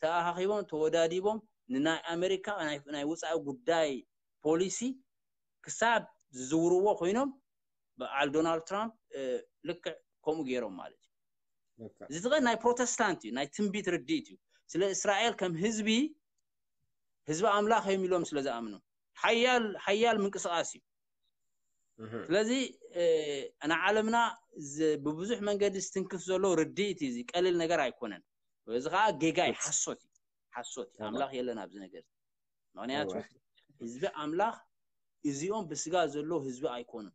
ተኣኻኺቦም ተወዳዲቦም ንናይ ኣሜሪካ ናይ ናይ ወፃኢ ጉዳይ ፖሊሲ ክሳብ ዝዝውርዎ ኮይኖም በዓል ዶናልድ ትራምፕ እ፣ ልክዕ ከምኡ ገይሮም ማለት እዩ። ልክዕ። እዚ ትቐን ናይ ፕሮቴስታንት እዩ፣ ናይ ትንቢት ርድኢት እዩ። ስለ እስራኤል ከም ህዝቢ ህዝቢ ኣምላኽ እዮም ኢሎም ስለ ዝኣምኑ ሓያል ሓያል ምንቅስቃስ እዩ። እህ። ስለዚ እ፣ ንዓለምና ዝ- ብብዙሕ መንገዲ ዝትንክፍ ዘሎ ርድኢት እዩ። እዚ ቀሊል ነገር ኣይኮነን። እዚ ከዓ ጌጋ እዩ፣ ሓሶት እዩ፣ ሓሶት እዩ። እዋ። ኣምላኽ የለን ኣብዚ ነገር። ምክንያቱ እዋ። ህዝቢ ኣምላኽ እዚኦም ብስጋ ዘሎ ህዝቢ ኣይኮኑን።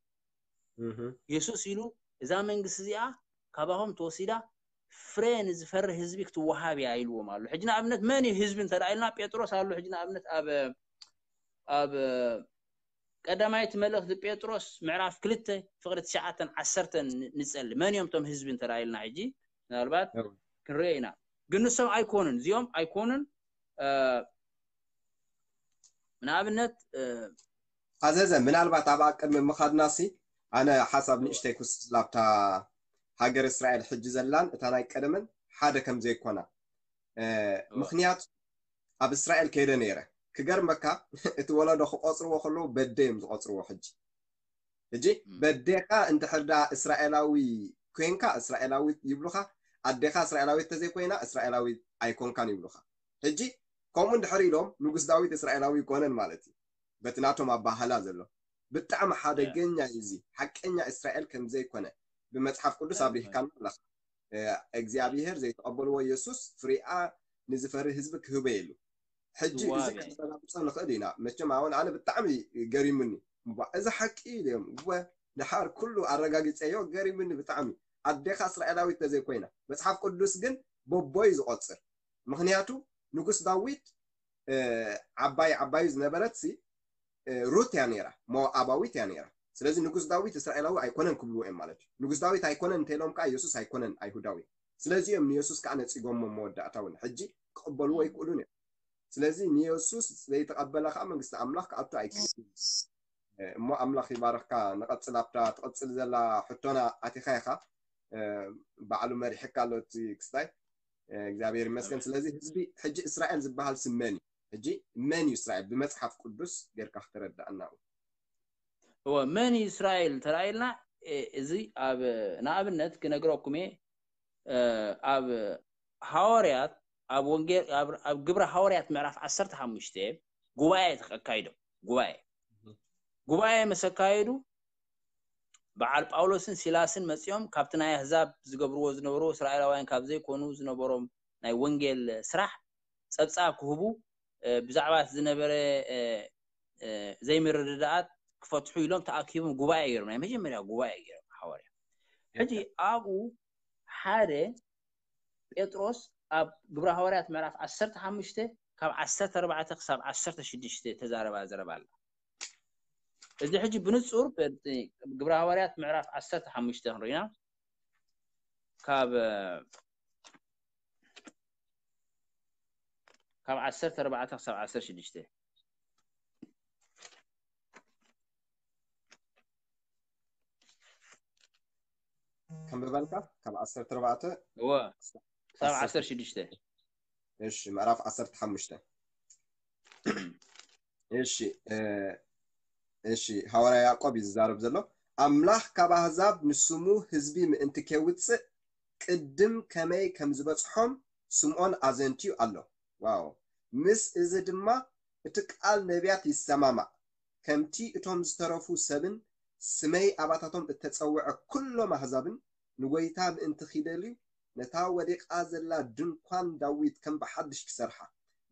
እህ። የሱስ ኢሉ እዛ መንግስቲ እዚኣ ካባኹም ተወሲዳ ፍረ ንዝፈሪ ህዝቢ ክትወሃብ እያ ኢልዎም ኣሎ። ሕጂ ንኣብነት መን እዩ ህዝቢ እንተ ደኣ ኢልና ጴጥሮስ ኣሎ። ሕጂ ንኣብነት ኣብ ኣብ ቀዳማይቲ መልእኽቲ ጴጥሮስ ምዕራፍ ክልተ ፍቕሪ ትሽዓተን ዓሰርተን ንጸሊ። መን እዮም እቶም ህዝቢ እንተራኢልና ሕጂ ምናልባት ክንሪኦ ኢና። ግን ንሶም ኣይኮኑን፣ እዚኦም ኣይኮኑን። ንኣብነት ኣዘዘ ምናልባት ኣብ ቅድሚ ምኻድናሲ ኣነ ሓሳብ ንእሽተይ ክውስድ ላብታ ሃገር እስራኤል ሕጂ ዘላን እታ ናይ ቀደመን ሓደ ከም ዘይኮና ምክንያቱ ኣብ እስራኤል ከይደ ነይረ። ክገርመካ እቲ ወለዶ ክቆፅርዎ ከለዉ በደ እዮም ዝቆፅርዎ። ሕጂ ሕጂ በዴኻ እንድሕር ዳ እስራኤላዊ ኮንካ እስራኤላዊ ይብሉኻ፣ ኣዴኻ እስራኤላዊት ተዘይኮይና እስራኤላዊ ኣይኮንካን ይብሉኻ። ሕጂ ከምኡ እንድሕር ኢሎም ንጉስ ዳዊት እስራኤላዊ ይኮነን ማለት እዩ። በቲ ናቶም ኣባህላ ዘሎ ብጣዕሚ ሓደገኛ እዩ። እዚ ሓቀኛ እስራኤል ከም ዘይኮነ ብመጽሓፍ ቅዱስ ኣብሪህካና ኣለኻ። እግዚኣብሔር ዘይተቐበልዎ የሱስ ፍሪኣ ንዝፈሪ ህዝቢ ክህበ የሉ። ሕጂ እዚ ከረጋግጾ ንኽእል ኢና። መቸም ኣሁን ኣነ ብጣዕሚ ገሪሙኒ። እዛ ሓቂ ኢዮም ወ ድሓር ኩሉ ኣረጋጊጸዮ ገሪሙኒ ብጣዕሚ። ኣዴኻ እስራኤላዊት ተዘይኮይና መጽሓፍ ቅዱስ ግን በቦይ ዝቆጽር። ምክንያቱ ንጉስ ዳዊት ዓባይ ዓባዩ ዝነበረት ሲ ሩት እያ ነይራ፣ ሞኣባዊት እያ ነይራ። ስለዚ ንጉስ ዳዊት እስራኤላዊ ኣይኮነን ክብልዎ እዮም ማለት እዩ። ንጉስ ዳዊት ኣይኮነን እንተኢሎም ከዓ የሱስ ኣይኮነን ኣይሁዳዊ። ስለዚ እዮም ንየሱስ ከዓ ነፂጎሞ መወዳእታ እውን ሕጂ ክቕበልዎ ኣይክእሉን እዮም። ስለዚ ንየሱስ ዘይተቐበለ ከዓ መንግስቲ ኣምላኽ ክኣቱ ኣይክእልን። እሞ ኣምላኽ ይባረኽካ። ንቐፅል ኣብታ ትቐፅል ዘላ ሕቶና ኣቲኻ ኢኻ። ባዕሉ መሪሕካ ኣሎ እቲ ክስታይ። እግዚኣብሔር ይመስገን። ስለዚ ህዝቢ ሕጂ እስራኤል ዝበሃል ስም መን እዩ? ሕጂ መን እዩ እስራኤል ብመጽሓፍ ቅዱስ ጌርካ ክትረዳእና? እወ መን እዩ እስራኤል ተራኢልና እዚ ኣብ ንኣብነት ክነግረኩም እየ። ኣብ ሃዋርያት ኣብ ወንጌል ኣብ ግብረ ሃዋርያት ምዕራፍ ዓሰርተ ሓሙሽተ ጉባኤ ኣካይዶም። ጉባኤ ጉባኤ ምስ ኣካየዱ በዓል ጳውሎስን ሲላስን መጺኦም ካብቲ ናይ ኣህዛብ ዝገብርዎ ዝነበሩ እስራኤላውያን ካብ ዘይኮኑ ዝነበሮም ናይ ወንጌል ስራሕ ጸብጻብ ክህቡ ብዛዕባ ዝነበረ ዘይምርድዳኣት ክፈትሑ ኢሎም ተኣኪቦም ጉባኤ ገይሮም። ናይ መጀመርያ ጉባኤ ገይሮም ሃዋርያ። ሕጂ ኣብኡ ሓደ ጴጥሮስ ኣብ ግብረ ሃዋርያት ምዕራፍ ዓሰርተ ሓሙሽተ ካብ ዓሰርተ ኣርባዕተ ክሳብ ዓሰርተ ሽዱሽተ ተዛረባ ዘረባ ኣላ። እዚ ሕጂ ብንጹር ግብረ ሃዋርያት ምዕራፍ ዓሰርተ ሓሙሽተ ክንሪና ካብ ካብ ዓሰርተ ኣርባዕተ ክሳብ ዓሰርተ ሽዱሽተ ከንብበልካ ካብ ዓሰርተ ኣርባዕተ እወ ክሳብ ዓሰርተ ሽዱሽተ እሺ ምዕራፍ ዓሰርተ ሓሙሽተ እሺ እሺ ሃዋርያ ያዕቆብ እዩ ዝዛረብ ዘሎ። ኣምላኽ ካብ ኣህዛብ ንስሙ ህዝቢ ምእንቲ ኬውፅእ ቅድም ከመይ ከም ዝበፅሖም ስምዖን ኣዘንትዩ ኣሎ። ዋው ምስ እዚ ድማ እቲ ቃል ነቢያት ይሰማማዕ። ከምቲ እቶም ዝተረፉ ሰብን ስመይ ኣባታቶም እተጸውዐ ኩሎም ኣህዛብን ንጎይታ ምእንቲ ኺደልዩ ነታ ወዲቓ ዘላ ድንኳን ዳዊት ከም ብሓድሽ ክሰርሓ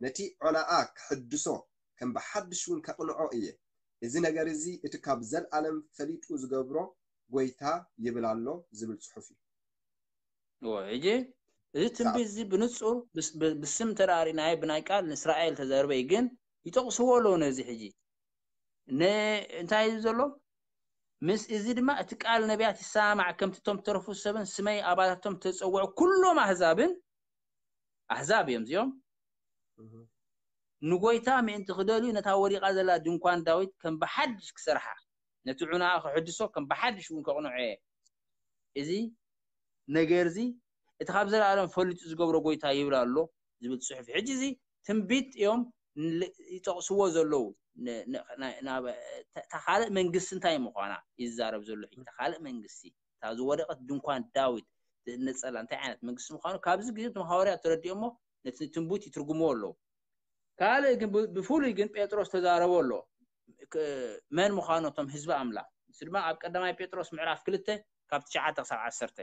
ነቲ ዖናኣ ክሕድሶ ከም ብሓድሽ እውን ከቕንዖ እየ። እዚ ነገር እዚ እቲ ካብ ዘለኣለም ፈሊጡ ዝገብሮ ጎይታ ይብል ኣሎ ዝብል ጽሑፍ እዩ። ሕጂ እዚ ትንቢት እዚ ብንጹር ብስም ተራሪናዮ ብናይ ቃል ንእስራኤል ተዘርበይ ግን ይጠቕስዎ ኣለዉ ነዚ ሕጂ እንታይ እዩ ዘሎ? ምስ እዚ ድማ እቲ ቃል ነቢያት ይሰማማዕ ከምቲ እቶም ተረፉ ሰብን ስመይ ኣባታቶም ተጸውዑ ኩሎም ኣህዛብን ኣህዛብ እዮም እዚኦም ንጎይታ ምእንቲ ክደልዩ ነታ ወዲቓ ዘላ ድንኳን ዳዊት ከም ብሓድሽ ክሰርሓ ነቲ ዑናኣ ክሕድሶ ከም ብሓድሽ እውን ከቕንዖ እየ። እዚ ነገር እዚ እቲ ካብ ዘለኣለም ፈሊጡ ዝገብሮ ጎይታ ይብል ኣሎ ዝብል ፅሑፍ ሕጂ እዚ ትንቢት እዮም ይጠቕስዎ ዘለዉ። እታ ካልእ መንግስቲ እንታይ ምዃና ይዛረብ ዘሎ። እታ ካልእ መንግስቲ እታ ዝወደቐት ድንኳን ዳዊት ዝእነፀላ እንታይ ዓይነት መንግስቲ ምዃኑ ካብዚ ግዜ እቶም ሃዋርያት ተረዲኦሞ ነቲ ትንቢት ይትርጉምዎ ኣለዉ። ካልእ ግን ብፍሉይ ግን ጴጥሮስ ተዛረቦ ኣሎ መን ምዃኑ እቶም ህዝቢ ኣምላኽ። ንሱ ድማ ኣብ ቀዳማይ ጴጥሮስ ምዕራፍ ክልተ ካብ ትሽዓተ ክሳብ ዓሰርተ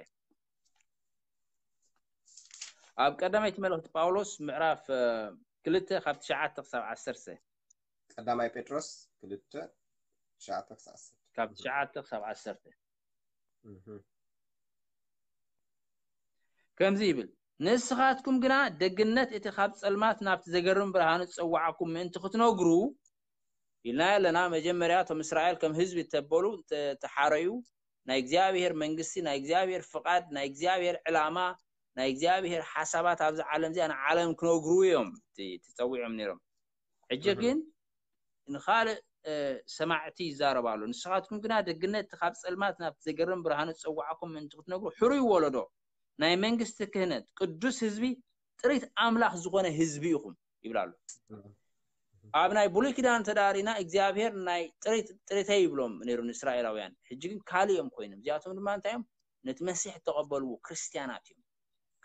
ኣብ ቀዳመይቲ መልእኽቲ ጳውሎስ ምዕራፍ ክልተ ካብ ትሽዓተ ክሳብ ዓሰርተ ቀዳማይ ጴጥሮስ ክልተ ትሽዓተ ክሳብ ዓሰርተ ካብ ትሽዓተ ክሳብ ዓሰርተ ከምዚ ይብል ንስኻትኩም ግና ደግነት እቲ ካብ ጸልማት ናብቲ ዘገርም ብርሃኑ ዝጸዋዓኩም ምእንቲ ክትነግሩ ኢልና ኣለና። መጀመርያ እቶም እስራኤል ከም ህዝቢ እተበሉ፣ እተ-፣ እተሓረዩ፣ ናይ እግዚኣብሔር መንግስቲ፣ ናይ እግዚኣብሔር ፍቓድ፣ ናይ እግዚኣብሔር ዕላማ፣ ናይ እግዚኣብሔር ሓሳባት ኣብዚ ዓለም እዚኣ ንዓለም ክነግሩ እዮም እቲ-፣ ተጸዊዖም ነይሮም። ሕጂ ግን ንኻልእ፣ እ፣ ሰማዕቲ ይዛረብ ኣሎ። ንስኻትኩም ግና ደግነት ካብ ጸልማት ናብ ዘገርም ብርሃኑ ዝጸዋዕኩም ምእንቲ ክትነግሩ፣ ሕሩይ ወለዶ፣ ናይ መንግስቲ ክህነት፣ ቅዱስ ህዝቢ፣ ጥሪት ኣምላኽ ዝኾነ ህዝቢ ኢኹም ይብል ኣሎ። ኣብ ናይ ብሉይ ኪዳን ተዳሪና እግዚኣብሔር ናይ ጥሪት፣ ጥሪተይ ይብሎም ነይሩ ንእስራኤላውያን። ሕጂ ግን ካልእ እዮም ኮይኖም። እዚኣቶም ድማ እንታይ እዮም? ነቲ መሲሕ እተቐበልዎ ክርስትያናት እዮም።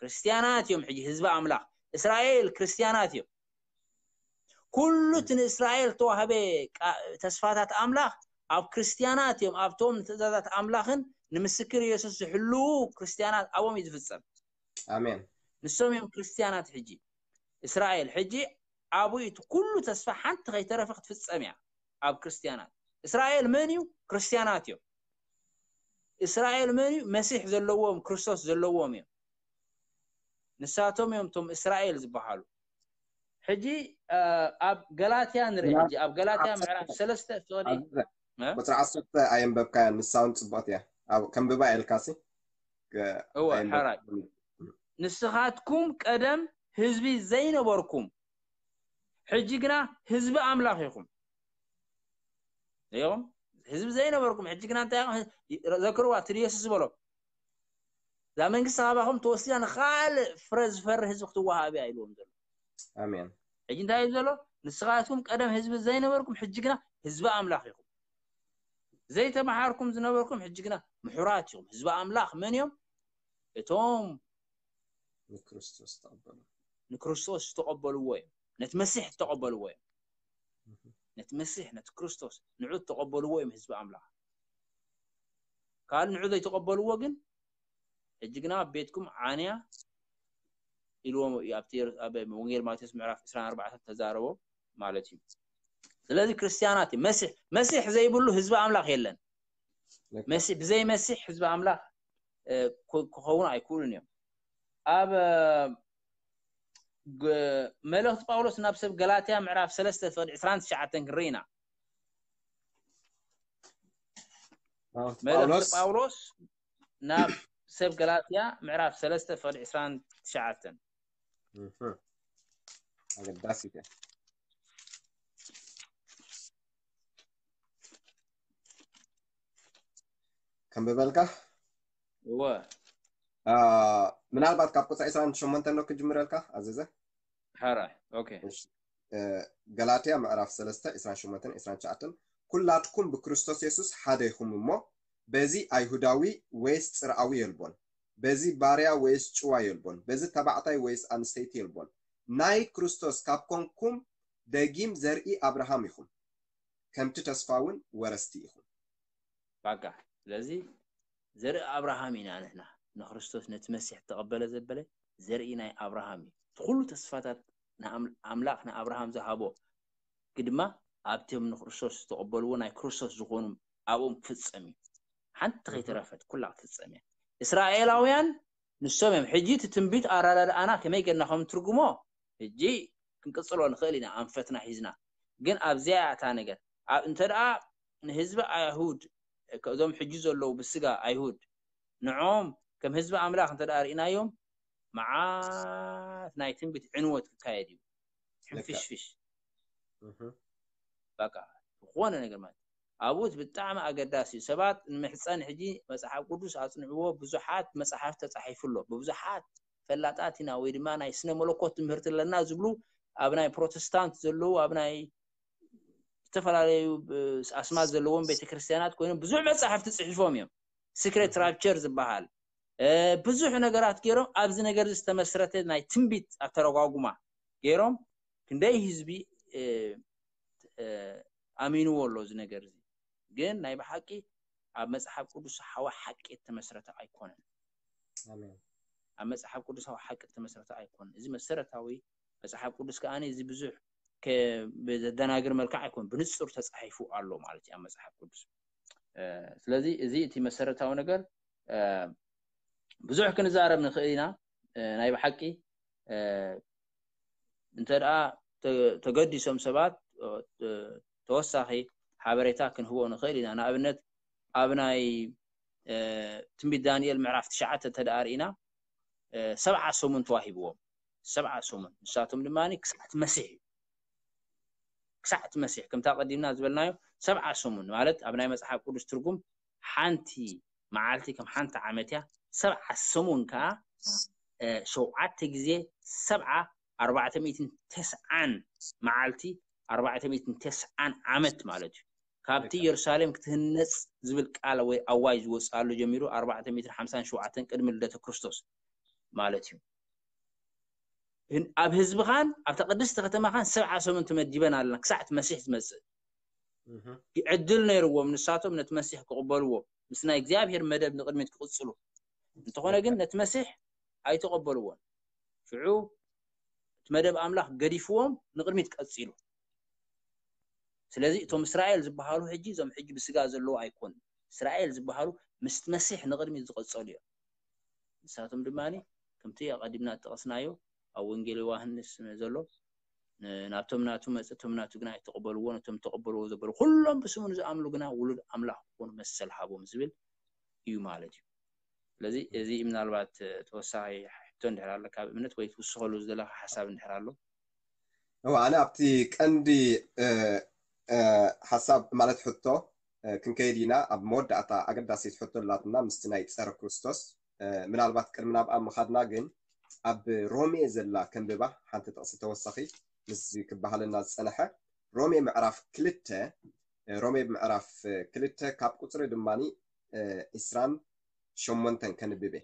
ክርስትያናት እዮም ሕጂ ህዝቢ ኣምላኽ። እስራኤል ክርስትያናት እዮም። ኩሉ እቲ ንእስራኤል ተዋህበ ቃ-፣ ተስፋታት ኣምላኽ ኣብ ክርስትያናት እዮም። ኣብቶም ንትእዛዛት ኣምላኽን ንምስክር የሱስ ዝሕልዉ ክርስትያናት ኣብኦም እዩ ዝፍጸም። ኣሜን። ንሶም እዮም ክርስትያናት ሕጂ። እስራኤል ሕጂ ኣብኡ እቲ ኩሉ ተስፋ ሓንቲ ከይተረፈ ክትፍጸም እያ ኣብ ክርስትያናት። እስራኤል መን እዩ? ክርስትያናት እዮም። እስራኤል መን እዩ? መሲሕ ዘለዎም፣ ክርስቶስ ዘለዎም እዮም። ንሳቶም እዮም እቶም እስራኤል ዝበሃሉ። ሕጂ፣ እ፣ ኣብ ገላትያ ንርኢ። ሕጂ ኣብ ገላትያ ምዕራፍ ሰለስተ ፍቕዲ፣ ኣዝዘ፣ እ? ቁጽሪ ዓሰርተ ኣየንበብካያን፣ ንሳ እውን ጽቡቕቲ እያ። ኣብ ከንብባ ኢልካሲ፣ እ፣ እወ፣ ኣየንበብ-፣ ሓራይ። ንስኻትኩም ቀደም ህዝቢ ዘይነበርኩም፣ ሕጂ ግና ህዝቢ ኣምላኽ ኢኹም። ኢኹም ህዝቢ ዘይነበርኩም፣ ሕጂ ግና እንታይ ኢኹም? ዘክርዋ፣ እቲ ኢየሱስ ዝበሎ፣ "እዛ መንግስቲ ካባኹም ተወሲዳ ንኻልእ ፍረ ዝፈሪ ህዝቢ ክትወሃብ እያ" ኢልዎም ዘሎ። ኣሜን። ሕጂ እንታይ እዩ ዘሎ? "ንስኻትኩም ቀደም ህዝቢ ዘይነበርኩም፣ ሕጂ ግና ህዝቢ ኣምላኽ ኢኹም። ዘይተመሃርኩም ዝነበርኩም፣ ሕጂ ግና ምሑራት ኢኹም።" ህዝቢ ኣምላኽ መን እዮም? እቶም ንክርስቶስ ተቐበሉ። ንክርስቶስ ዝተቐበልዎ እዮም። ነቲ መሲሕ ዝተቐበልዎ እዮም። እህ። ነቲ መሲሕ፣ ነቲ ክርስቶስ፣ ንዑ ዝተቐበልዎ እዮም ህዝቢ ኣምላኽ። ካልእ ንዑ ዘይተቐበልዎ ግን፣ ሕጂ ግና ኣብ ቤትኩም ዓንያ ኢልዎም እዩ። ኣብቲ የሩ-፣ ኣብ ወንጌል ማቴዎስ ምዕራፍ ዕስራን ኣርባዕተን ተዛረቦ ማለት እዩ። ስለዚ ክርስትያናት እዩ። መሲሕ፣ መሲሕ ዘይብሉ ህዝቢ ኣምላኽ የለን። ልክዕ። መሲሕ፣ ብዘይ መሲሕ ህዝቢ ኣምላኽ፣ እ፣ ክ-፣ ክኸውን ኣይክእሉን እዮም። ኣብ፣ እ፣ ግ-፣ መልእኽቲ ጳውሎስ ናብ ሰብ ገላትያ ምዕራፍ ሰለስተ ፍቕዲ ዕስራን ትሽዓተን ክንርኢ ኢና። መልእኽቲ መልእኽቲ ጳውሎስ ጳውሎስ ናብ ሰብ ገላትያ ምዕራፍ ሰለስተ ፍቕዲ ዕስራን ትሽዓተን። እህ። ኣገዳሲት እያ። ከንብበልካ? እወ። አ፣ ምናልባት ካብ ቁጽሪ ዕስራን ሸሞንተን ዶ ክጅምረልካ፣ ኣዘዘ? ሓራይ፣ ኦኬ። እሺ። እ፣ ገላትያ ምዕራፍ ሰለስተ፣ ዕስራን ሸሞንተን፣ ዕስራን ትሽዓተን፣ "ኩላትኩም ብክርስቶስ የሱስ ሓደ ኢኹም እሞ፣ በዚ ኣይሁዳዊ ወይስ ጽርኣዊ የልቦን፣ በዚ ባርያ ወይስ ጭዋ የልቦን፣ በዚ ተባዕታይ ወይስ ኣንስተይቲ የልቦን፣ ናይ ክርስቶስ ካብ ኮንኩም፣ ደጊም ዘርኢ ኣብርሃም ኢኹም፣ ከምቲ ተስፋ እውን ወረስቲ ኢኹም።" ባቃ። ስለዚ ዘርኢ ኣብርሃም ኢና ንሕና። ንክርስቶስ ነቲ መሲሕ ተቐበለ ዘበለ ዘርኢ ናይ ኣብርሃም እዩ። እቲ ኩሉ ተስፋታት ንኣም-፣ ኣምላኽ ንኣብርሃም ዝሃቦ ግድማ ኣብቶም ንክርስቶስ ዝተቐበልዎ ናይ ክርስቶስ ዝኾኑ ኣብኦም ክፍጸም እዩ። ሓንቲ ከይተረፈት ኩላ ክትፍጸም እያ። እስራኤላውያን ንሶም እዮም። ሕጂ እቲ ትንቢት ኣረዳድኣና ከመይ ጌርና ከም ትርጉሞ ሕጂ ክንቅጽሎ ንኽእል ኢና ኣንፈትና ሒዝና። ግን ኣብዚኣ እያ እታ ነገር። ኣብ፣ እንተ ደኣ ንህዝቢ ኣይሁድ፣ እዞም ሕጂ ዘለዉ ብስጋ ኣይሁድ፣ ንዕኦም ከም ህዝቢ ኣምላኽ እንተ ደኣ ርኢናዮም፣ መዓት ናይ ትንቢት ዕንወት ክካየድ እዩ። ልክዕ። ሕንፍሽፍሽ። እህ። በቃ፣ ዝኾነ ነገር ማለት። ኣብኡ እቲ ብጣዕሚ ኣገዳሲ እዩ። ሰባት ንምሕጸን ሕጂ መጽሓፍ ቅዱስ ኣጽንዕዎ፣ ብዙሓት መጽሓፍቲ ተጻሒፉ ኣሎ። ብብዙሓት ፈላጣት ኢና ወይ ድማ ናይ ስነ መለኮት ትምህርቲ ኣለና ዝብሉ ኣብ ናይ ፕሮቴስታንት ዘለዉ፣ ኣብ ናይ ዝተፈላለዩ፣ እ፣ ኣስማት ዘለዎም ቤተክርስትያናት ኮይኖም ብዙሕ መጻሕፍቲ ጽሒፎም እዮም። ሲክሬት እህ። ራፕቸር ዝበሃል፣ እ፣ ብዙሕ ነገራት ገይሮም ኣብዚ ነገር እዚ ዝተመስረተ ናይ ትንቢት ኣተረጓጉማ ገይሮም ክንደይ ህዝቢ፣ እ፣ እ፣ ኣሚንዎ ኣሎ እዚ ነገር እዚ። ግን ናይ ብሓቂ ኣብ መጽሓፍ ቅዱሳዊ ሓቂ እተመስረተ ኣይኮነን። ኣሜን። ኣብ መጽሓፍ ቅዱሳዊ ሓቂ እተመስረተ ኣይኮነን። እዚ መሰረታዊ መጽሓፍ ቅዱስ ከኣ እዚ ብዙሕ ከ-፣ ብዘደናግር መልክዕ ኣይኮነን፣ ብንጹር ተጻሒፉ ኣሎ ማለት እዩ ኣብ መጽሓፍ ቅዱስ። እ፣ ስለዚ እዚ እቲ መሰረታዊ ነገር፣ እ፣ ብዙሕ ክንዛረብ ንኽእል ኢና። እ፣ ናይ ብሓቂ፣ እ፣ እንተ ደኣ ተ-፣ ተገዲሶም ሰባት፣ እ፣ እ፣ ተወሳኺ ሓበሬታ ክንህቦ ንኽእል ኢና። ንኣብነት ኣብ ናይ ትንቢት ዳንኤል ምዕራፍ ትሽዓተ እንተ ደኣ ርኢና ሰብዓ ሰሙን ተዋሂብዎም። ሰብዓ ሰሙን ንሳቶም ድማ ክሳዕ እቲ መሲሕ እዩ። ክሳዕ እቲ መሲሕ ከምታ ቀዲምና ዝበልናዮ ሰብዓ ሰሙን ማለት ኣብ ናይ መጽሓፍ ቅዱስ ትርጉም ሓንቲ መዓልቲ ከም ሓንቲ ዓመት እያ። ሰብዓ ሰሙን ከዓ ሸውዓተ ግዜ ሰብዓ ኣርባዕተ ሚእትን ተስዓን መዓልቲ ኣርባዕተ ሚእትን ተስዓን ዓመት ማለት እዩ። ካብቲ ኢየሩሳሌም ክትህነጽ ዝብል ቃል ወይ ኣዋጅ ዝወፅኣሉ ጀሚሩ ኣርባዕተ ሚእትን ሓምሳን ሸውዓተን ቅድሚ ልደተ ክርስቶስ ማለት እዩ። ኣብ ህዝብኻን ኣብታ ቅድስቲ ከተማኻን ሰብዓ ሰሙን ተመዲበን ኣለና ክሳዕ እቲ መሲሕ ዝመፅእ። ዕድል ነይርዎም ንሳቶም ነቲ መሲሕ ክቕበልዎ ምስ ናይ እግዚኣብሔር መደብ ንቕድሚት ክቕፅሉ። እንተኾነ ግን ነቲ መሲሕ ኣይተቐበልዎን። ሽዑ እቲ መደብ ኣምላኽ ገዲፍዎም ንቕድሚት ቀፂሉ። ስለዚ እቶም እስራኤል ዝበሃሉ ሕጂ እዞም ሕጂ ብስጋ ዘለዉ ኣይኮኑን። እስራኤል ዝበሃሉ ምስቲ መሲሕ ንቕድሚት ዝቐጸሉ እዮም። ንሳቶም ድማ ከምቲ ኣቐዲምና ዝጠቐስናዮ ኣብ ወንጌል ዮሃንስ ዘሎ ናብቶም ናቱ መጽእ እቶም ናቱ ግና ኣይተቐበልዎ፣ ነቶም ተቐበልዎ ዘበሉ ኩሎም ብስሙ ንዝኣምሉ ግና ውሉድ ኣምላኽ ክኾኑ መሰል ሃቦም ዝብል እዩ ማለት እዩ። ስለዚ እዚ ምናልባት ተወሳኺ ሕቶ እንድሕር ኣሎ ካብ እምነት ወይ ትውስኸሉ ዝደለኻ ሓሳብ እንድሕር ኣሎ። እወ ኣነ ኣብቲ ቀንዲ ሓሳብ ማለት ሕቶ ክንከይድ ኢና። ኣብ መወዳእታ ኣገዳሲት ሕቶ ኣላትና ምስቲ ናይ ፀረ ክርስቶስ ምናልባት ቅድሚ ናብኣ ምኻድና ግን ኣብ ሮሜ ዘላ ከንብባ ሓንቲ ጥቕሲ ተወሳኺ ምስ ክበሃለና ዝፀነሐ ሮሜ ምዕራፍ ክልተ ሮሜ ምዕራፍ ክልተ ካብ ቁፅሪ ድማ ዒስራን ሸሞንተን ከንብብ እየ።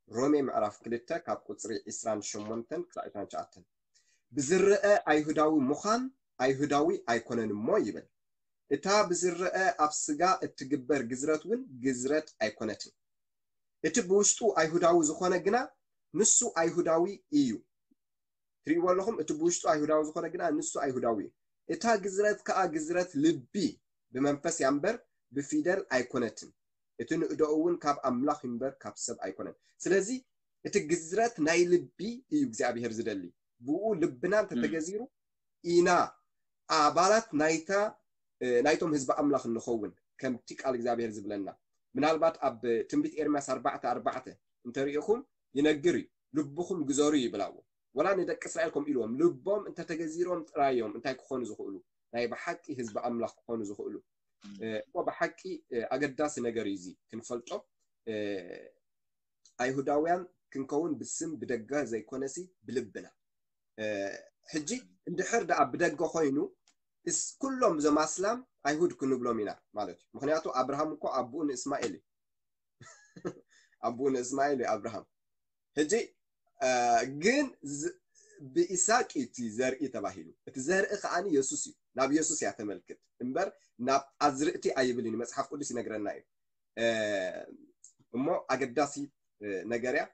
ሮሜ ምዕራፍ ክልተ ካብ ቁፅሪ ዒስራን ሸሞንተን ክሳዕ ዒስራን ትሽዓተን ብዝረአ ኣይሁዳዊ ምዃን ኣይሁዳዊ ኣይኮነን እሞ ይብል። እታ ብዝረአ ኣብ ስጋ እትግበር ግዝረት እውን ግዝረት ኣይኮነትን። እቲ ብውሽጡ ኣይሁዳዊ ዝኾነ ግና ንሱ ኣይሁዳዊ እዩ። ትሪእዎ ኣለኹም፣ እቲ ብውሽጡ ኣይሁዳዊ ዝኾነ ግና ንሱ ኣይሁዳዊ እዩ። እታ ግዝረት ከኣ ግዝረት ልቢ ብመንፈስ እያ እምበር ብፊደል ኣይኮነትን። እቲ ንእደኡ እውን ካብ ኣምላኽ እምበር ካብ ሰብ ኣይኮነን። ስለዚ እቲ ግዝረት ናይ ልቢ እዩ እግዚኣብሔር ዝደሊ። ብኡ ልብና እንተተገዚሩ ኢና ኣባላት ናይታ ናይቶም ህዝቢ ኣምላኽ እንኸውን ከምቲ ቃል እግዚኣብሔር ዝብለና። ምናልባት ኣብ ትንቢት ኤርምያስ ኣርባዕተ ኣርባዕተ እንተሪኢኹም ይነግር እዩ። ልብኹም ግዘሩ ይብል ኣብኡ። ወላ ንደቂ እስራኤል ከምኡ ኢልዎም፣ ልቦም እንተተገዚሮም ጥራይ እዮም እንታይ ክኾኑ ዝኽእሉ? ናይ ብሓቂ ህዝቢ ኣምላኽ ክኾኑ ዝኽእሉ። እሞ ብሓቂ ኣገዳሲ ነገር እዩ እዚ ክንፈልጦ። ኣይሁዳውያን ክንከውን ብስም ብደገ ዘይኮነሲ ብልብና። ሕጂ እንድሕር ደኣ ብደገ ኮይኑ ኩሎም እዞም ኣስላም ኣይሁድ ክንብሎም ኢና ማለት እዩ። ምክንያቱ ኣብርሃም እኮ ኣቦኡ ንእስማኤል እዩ። ኣቦኡ ንእስማኤል እዩ ኣብርሃም። ሕጂ ግን ብኢሳቅ እዩ እቲ ዘርኢ ተባሂሉ። እቲ ዘርኢ ከዓኒ የሱስ እዩ። ናብ የሱስ እያ ተመልክት እምበር ናብ ኣዝርእቲ ኣይብልን እዩ። መፅሓፍ ቅዱስ ይነግረና እዩ። እሞ ኣገዳሲ ነገር እያ።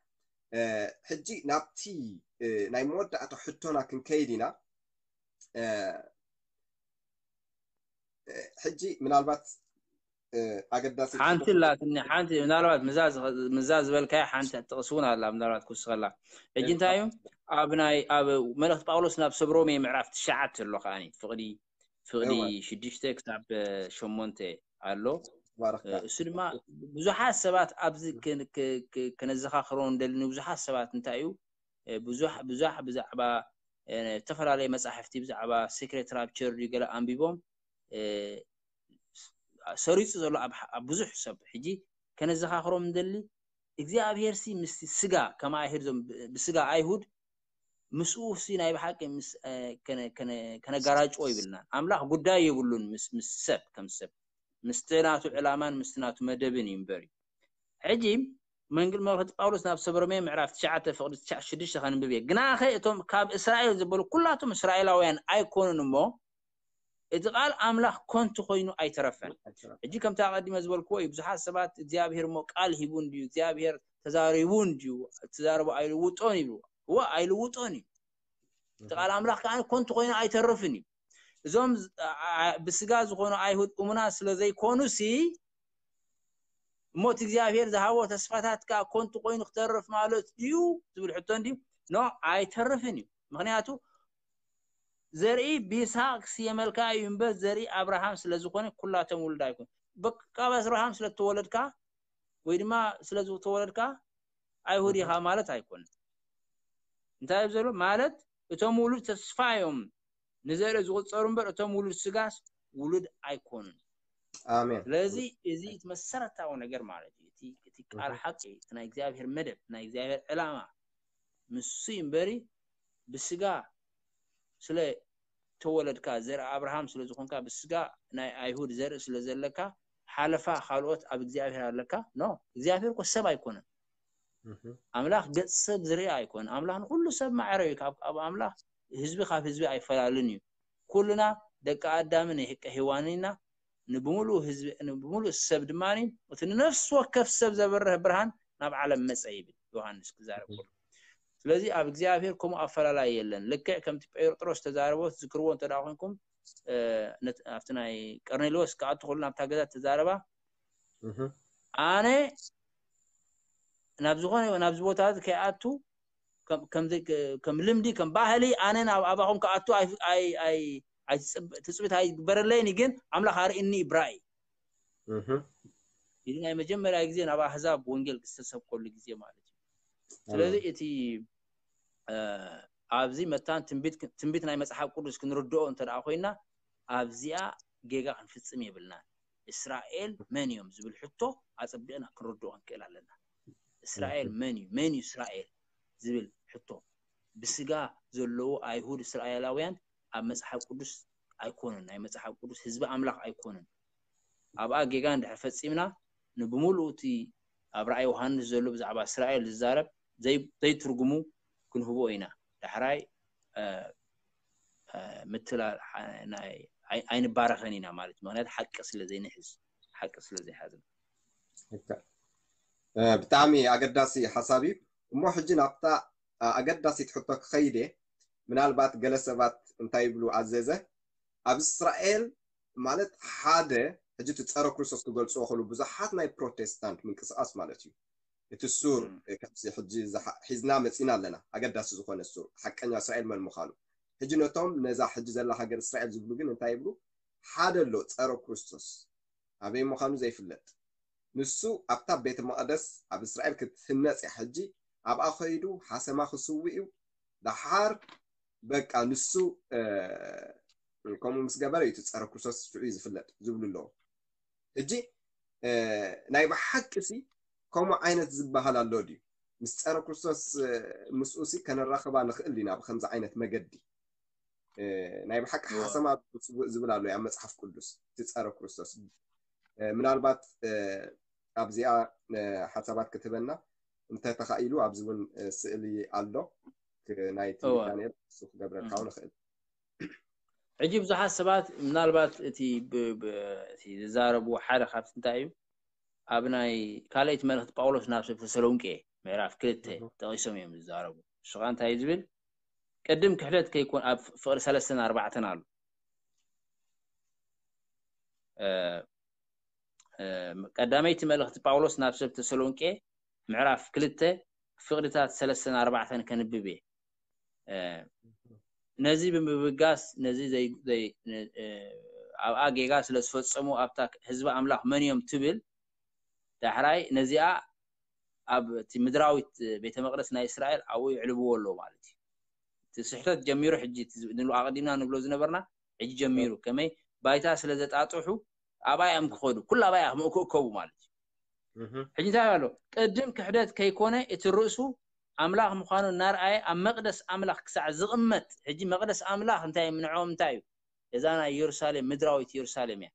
ሕጂ ናብቲ ናይ መወዳእታ ሕቶና ክንከይድ ኢና። ሕጂ ምናልባት ኣገዳሲ ሓንቲ ላትኒ ሓንቲ ምናልባት ምዛ ዝበልካያ ሓንቲ ጥቕሲ እውን ኣላ ምናልባት ክውስኸላ። ሕጂ እንታይ እዩ ኣብ ናይ ኣብ መልእክቲ ጳውሎስ ናብ ሰብ ሮሜ ምዕራፍ ትሽዓተ ኣሎ ከዓኒ ፍቕዲ ፍቕዲ ሽዱሽተ ክሳብ ሸሞንተ ኣሎ። እሱ ድማ ብዙሓት ሰባት ኣብዚ ከነዘኻኽሮ እንደልኒ ብዙሓት ሰባት እንታይ እዩ ብዙሕ ብዙሕ ብዛዕባ ዝተፈላለየ መጻሕፍቲ ብዛዕባ secret rapture ድዩ ገለ ኣንቢቦም ሰሪጹ ዘሎ ኣብ ብዙሕ ሰብ ሕጂ ከነዘኻኽሮም እንደሊ እግዚኣብሔር ሲ ምስ ስጋ ከማ ኣይሁድ ዞም ብስጋ ኣይሁድ ምስኡ ሲ ናይ ብሓቂ ከነጋራጭዎ ይብልና ኣምላኽ ጉዳይ የብሉን ምስ ሰብ ከም ሰብ ምስቲ ናቱ ዕላማን ምስቲ ናቱ መደብን እዩ እምበር እዩ። ሕጂ መንግል መልእኽቲ ጳውሎስ ናብ ሰብ ሮሜ ምዕራፍ ትሽዓተ ፍቕዲ ትሽዓ ሽዱሽተ ከንብብ እየ። ግናኸ እቶም ካብ እስራኤል ዝበሉ ኩላቶም እስራኤላውያን ኣይኮኑን እሞ እቲ ቃል ኣምላኽ ኮንቱ ኮይኑ ኣይተረፈን። ሕጂ ከምቲ ኣቐዲመ ዝበልክዎ እዩ። ብዙሓት ሰባት እግዚኣብሔር እሞ ቃል ሂቡ እንድዩ እግዚኣብሔር ተዛሪቡ እንድዩ ትዛረቡ ኣይልውጦን ይብሉ። እወ ኣይልውጦን እዩ። እቲ ቃል ኣምላኽ ከዓ ኮንቱ ኮይኑ ኣይተርፍን እዩ። እዞም ብስጋ ዝኾኑ ኣይሁድ እሙናት ስለ ዘይኮኑ ሲ እሞ እቲ እግዚኣብሔር ዝሃቦ ተስፋታት ከዓ ኮንቱ ኮይኑ ክተርፍ ማለት ድዩ ዝብል ሕቶ እንድዩ? ኖ ኣይተርፍን እዩ። ምክንያቱ ዘርኢ ብይስሐቅ ክስየመልካ እዩ እምበር ዘርኢ ኣብርሃም ስለ ዝኾነ ኩላቶም ውሉድ ኣይኮን። በቃ ካብ ኣብርሃም ስለ እተወለድካ ወይ ድማ ስለ ዝተወለድካ ኣይሁድ ኢኻ ማለት ኣይኮነን። እንታይ እዩ ዘሎ ማለት እቶም ውሉድ ተስፋ እዮም ንዘርኢ ዝቁጸሩ እምበር እቶም ውሉድ ስጋስ ውሉድ ኣይኮኑን። ኣሜን። ስለዚ እዚ እቲ መሰረታዊ ነገር ማለት እዩ። እቲ እቲ ቃል ሓቂ እቲ ናይ እግዚኣብሔር መደብ ናይ እግዚኣብሔር ዕላማ ምስ እምበሪ ብስጋ ስለ ተወለድካ ዘርኢ ኣብርሃም ስለ ዝኾንካ ብስጋ ናይ ኣይሁድ ዘርኢ ስለ ዘለካ ሓለፋ ካልኦት ኣብ እግዚኣብሔር ኣለካ። ኖ እግዚኣብሔር እኮ ሰብ ኣይኮነን። ኣምላኽ ገጽ ሰብ ዝርኢ ኣይኮነን። ኣምላኽ ንኹሉ ሰብ ማዕረ እዩ። ካብ ኣብ ኣምላኽ ህዝቢ ካብ ህዝቢ ኣይፈላለን እዩ። ኩልና ደቂ ኣዳምን ደቂ ሄዋንን ኢና። ንብምሉእ ህዝቢ ንብምሉእ ሰብ ድማ እቲ ንነፍሲ ወከፍ ሰብ ዘብርህ ብርሃን ናብ ዓለም መጸ ይብል ዮሃንስ ክዛረብ ከሎ። ስለዚ ኣብ እግዚኣብሔር ከምኡ ኣፈላላይ የለን። ልክዕ ከምቲ ጴጥሮስ ተዛረቦ ትዝክርዎ እንተ ደኣ ኮንኩም ኣብቲ ናይ ቀርኔሌዎስ ክኣቱ ከሎ ናብታ ገዛ ተዛረባ ኣነ ናብ ዝኾነ ናብዚ ቦታ እዚ ከይኣቱ ከም ልምዲ ከም ባህሊ ኣነ ናብ ኣባኹም ክኣቱ ትፅቢት ኣይግበረለይን ግን ኣምላኽ ኣርእኒ ብራእይ እዚ ናይ መጀመርያ ግዜ ናብ ኣህዛብ ወንጌል ዝተሰብከሉ ግዜ ማለት እዩ። ስለዚ እቲ ኣብዚ መታን ትንቢት ናይ መፅሓፍ ቅዱስ ክንርድኦ እንተ ኮይና ኣብዚኣ ጌጋ ክንፍፅም የብልናን። እስራኤል መን እዮም ዝብል ሕቶ ኣፀቢቕና ክንርድኦ ክንክእል ኣለና። እስራኤል መን እዩ? መን እዩ እስራኤል ዝብል ሕቶ ብስጋ ዘለዉ ኣይሁድ እስራኤላውያን ኣብ መፅሓፍ ቅዱስ ኣይኮኑን። ናይ መፅሓፍ ቅዱስ ህዝቢ ኣምላኽ ኣይኮኑን። ኣብኣ ጌጋ እንድሕር ፈፂምና ንብምሉእ እቲ ኣብ ራእይ ዮሃንስ ዘሎ ብዛዕባ እስራኤል ዝዛረብ ዘይትርጉሙ ክንህቦ ኢና። ዳሕራይ ምትላል ኣይንባረኸን ኢና ማለት እዩ። ምክንያቱ ሓቂ ስለ ዘይንሕዝ ሓቂ ስለ ዘይሓዝና። ብጣዕሚ ኣገዳሲ ሓሳብ እዩ። እሞ ሕጂ ናብታ ኣገዳሲት ሕቶ ክኸይድ እየ። ምናልባት ገለ ሰባት እንታይ ይብሉ ኣዘዘ ኣብ እስራኤል ማለት ሓደ ሕጂ እቲ ጸረ ክርስቶስ ክገልጽዎ ከሉ ብዙሓት ናይ ፕሮቴስታንት ምንቅስቃስ ማለት እዩ። እቲ ሱር ከምዚ ሕጂ ሒዝና መጺና ኣለና። ኣገዳሲ ዝኾነ ሱር ሓቀኛ እስራኤል መን ምዃኑ። ሕጂ ነቶም ነዛ ሕጂ ዘላ ሃገር እስራኤል ዝብሉ ግን እንታይ ይብሉ? ሓደ ኣሎ ጸረ ክርስቶስ ኣበይ ምዃኑ ዘይፍለጥ። ንሱ ኣብታ ቤተ መቕደስ ኣብ እስራኤል ክትህነጽ እያ። ሕጂ ኣብኣ ኸይዱ ሓሰማ ክስውእ እዩ። ደሓር በቃ ንሱ ከምኡ ምስ ገበረ እዩ እቲ ጸረ ክርስቶስ ሽዑ እዩ ዝፍለጥ ዝብሉ ኣለዉ። ሕጂ ናይ ብሓቂ ሲ ከምኡ ዓይነት ዝበሃል ኣሎ ድዩ? ምስ ጸረ ክርስቶስ ምስኡ ሲ ከነራኽባ ንኽእል ዲና ብከምዚ ዓይነት መገዲ? ናይ ብሓቂ ሓሰማ ዝብል ኣሎ ኣብ መጽሓፍ ቅዱስ እቲ ጸረ ክርስቶስ። ምናልባት ኣብዚኣ ሓሳባት ክትህበና እንተተኻኢሉ ኣብዚ እውን ስእሊ ኣሎ ናይቲ ዳንኤል እሱ ክገብረልካ እውን ይኽእል። ሕጂ ብዙሓት ሰባት ምናልባት እቲ ዝዛረብዎ ሓደ ካብቲ እንታይ እዩ ኣብ ናይ ካልኣይቲ መልእኽቲ ጳውሎስ ናብ ሰብ ተሰሎንቄ ምዕራፍ ክልተ ጠቒሶም እዮም ዝዛረቡ። እሱ ከዓ እንታይ እዩ ዝብል ቅድም ክሕደት ከይኮን ኣብ ፍቕሪ ሰለስተን ኣርባዕተን ኣሎ። ቀዳመይቲ መልእኽቲ ጳውሎስ ናብ ሰብ ተሰሎንቄ ምዕራፍ ክልተ ፍቕድታት ሰለስተን ኣርባዕተን ከንብብ እየ። ነዚ ብምብጋስ ነዚ ኣብኣ ጌጋ ስለ ዝፈጸሙ ኣብታ ህዝቢ ኣምላኽ መን እዮም ትብል ዳሕራይ ነዚኣ ኣብ እቲ ምድራዊት ቤተ መቅደስ ናይ እስራኤል ኣብኡ ይዕልብዎ ኣለዉ ማለት እዩ። እቲ ስሕተት ጀሚሩ ሕጂ ንብሎ ኣቐዲምና ንብሎ ዝነበርና ሕጂ ጀሚሩ ከመይ ባይታ ስለ ዘጣጥሑ ኣብኣ እዮም ክኸዱ ኩሉ ኣብኣ እዮም ክእከቡ ማለት እዩ። ሕጂ እንታይ ኣሎ ቅድም ክሕደት ከይኮነ እቲ ርእሱ ኣምላኽ ምዃኑ እናርኣየ ኣብ መቅደስ ኣምላኽ ክሳዕ ዝቕመጥ ሕጂ መቅደስ ኣምላኽ እንታይ ምንዖም እንታይ እዩ እዛ ናይ ኢየሩሳሌም ምድራዊት ኢየሩሳሌም እያ።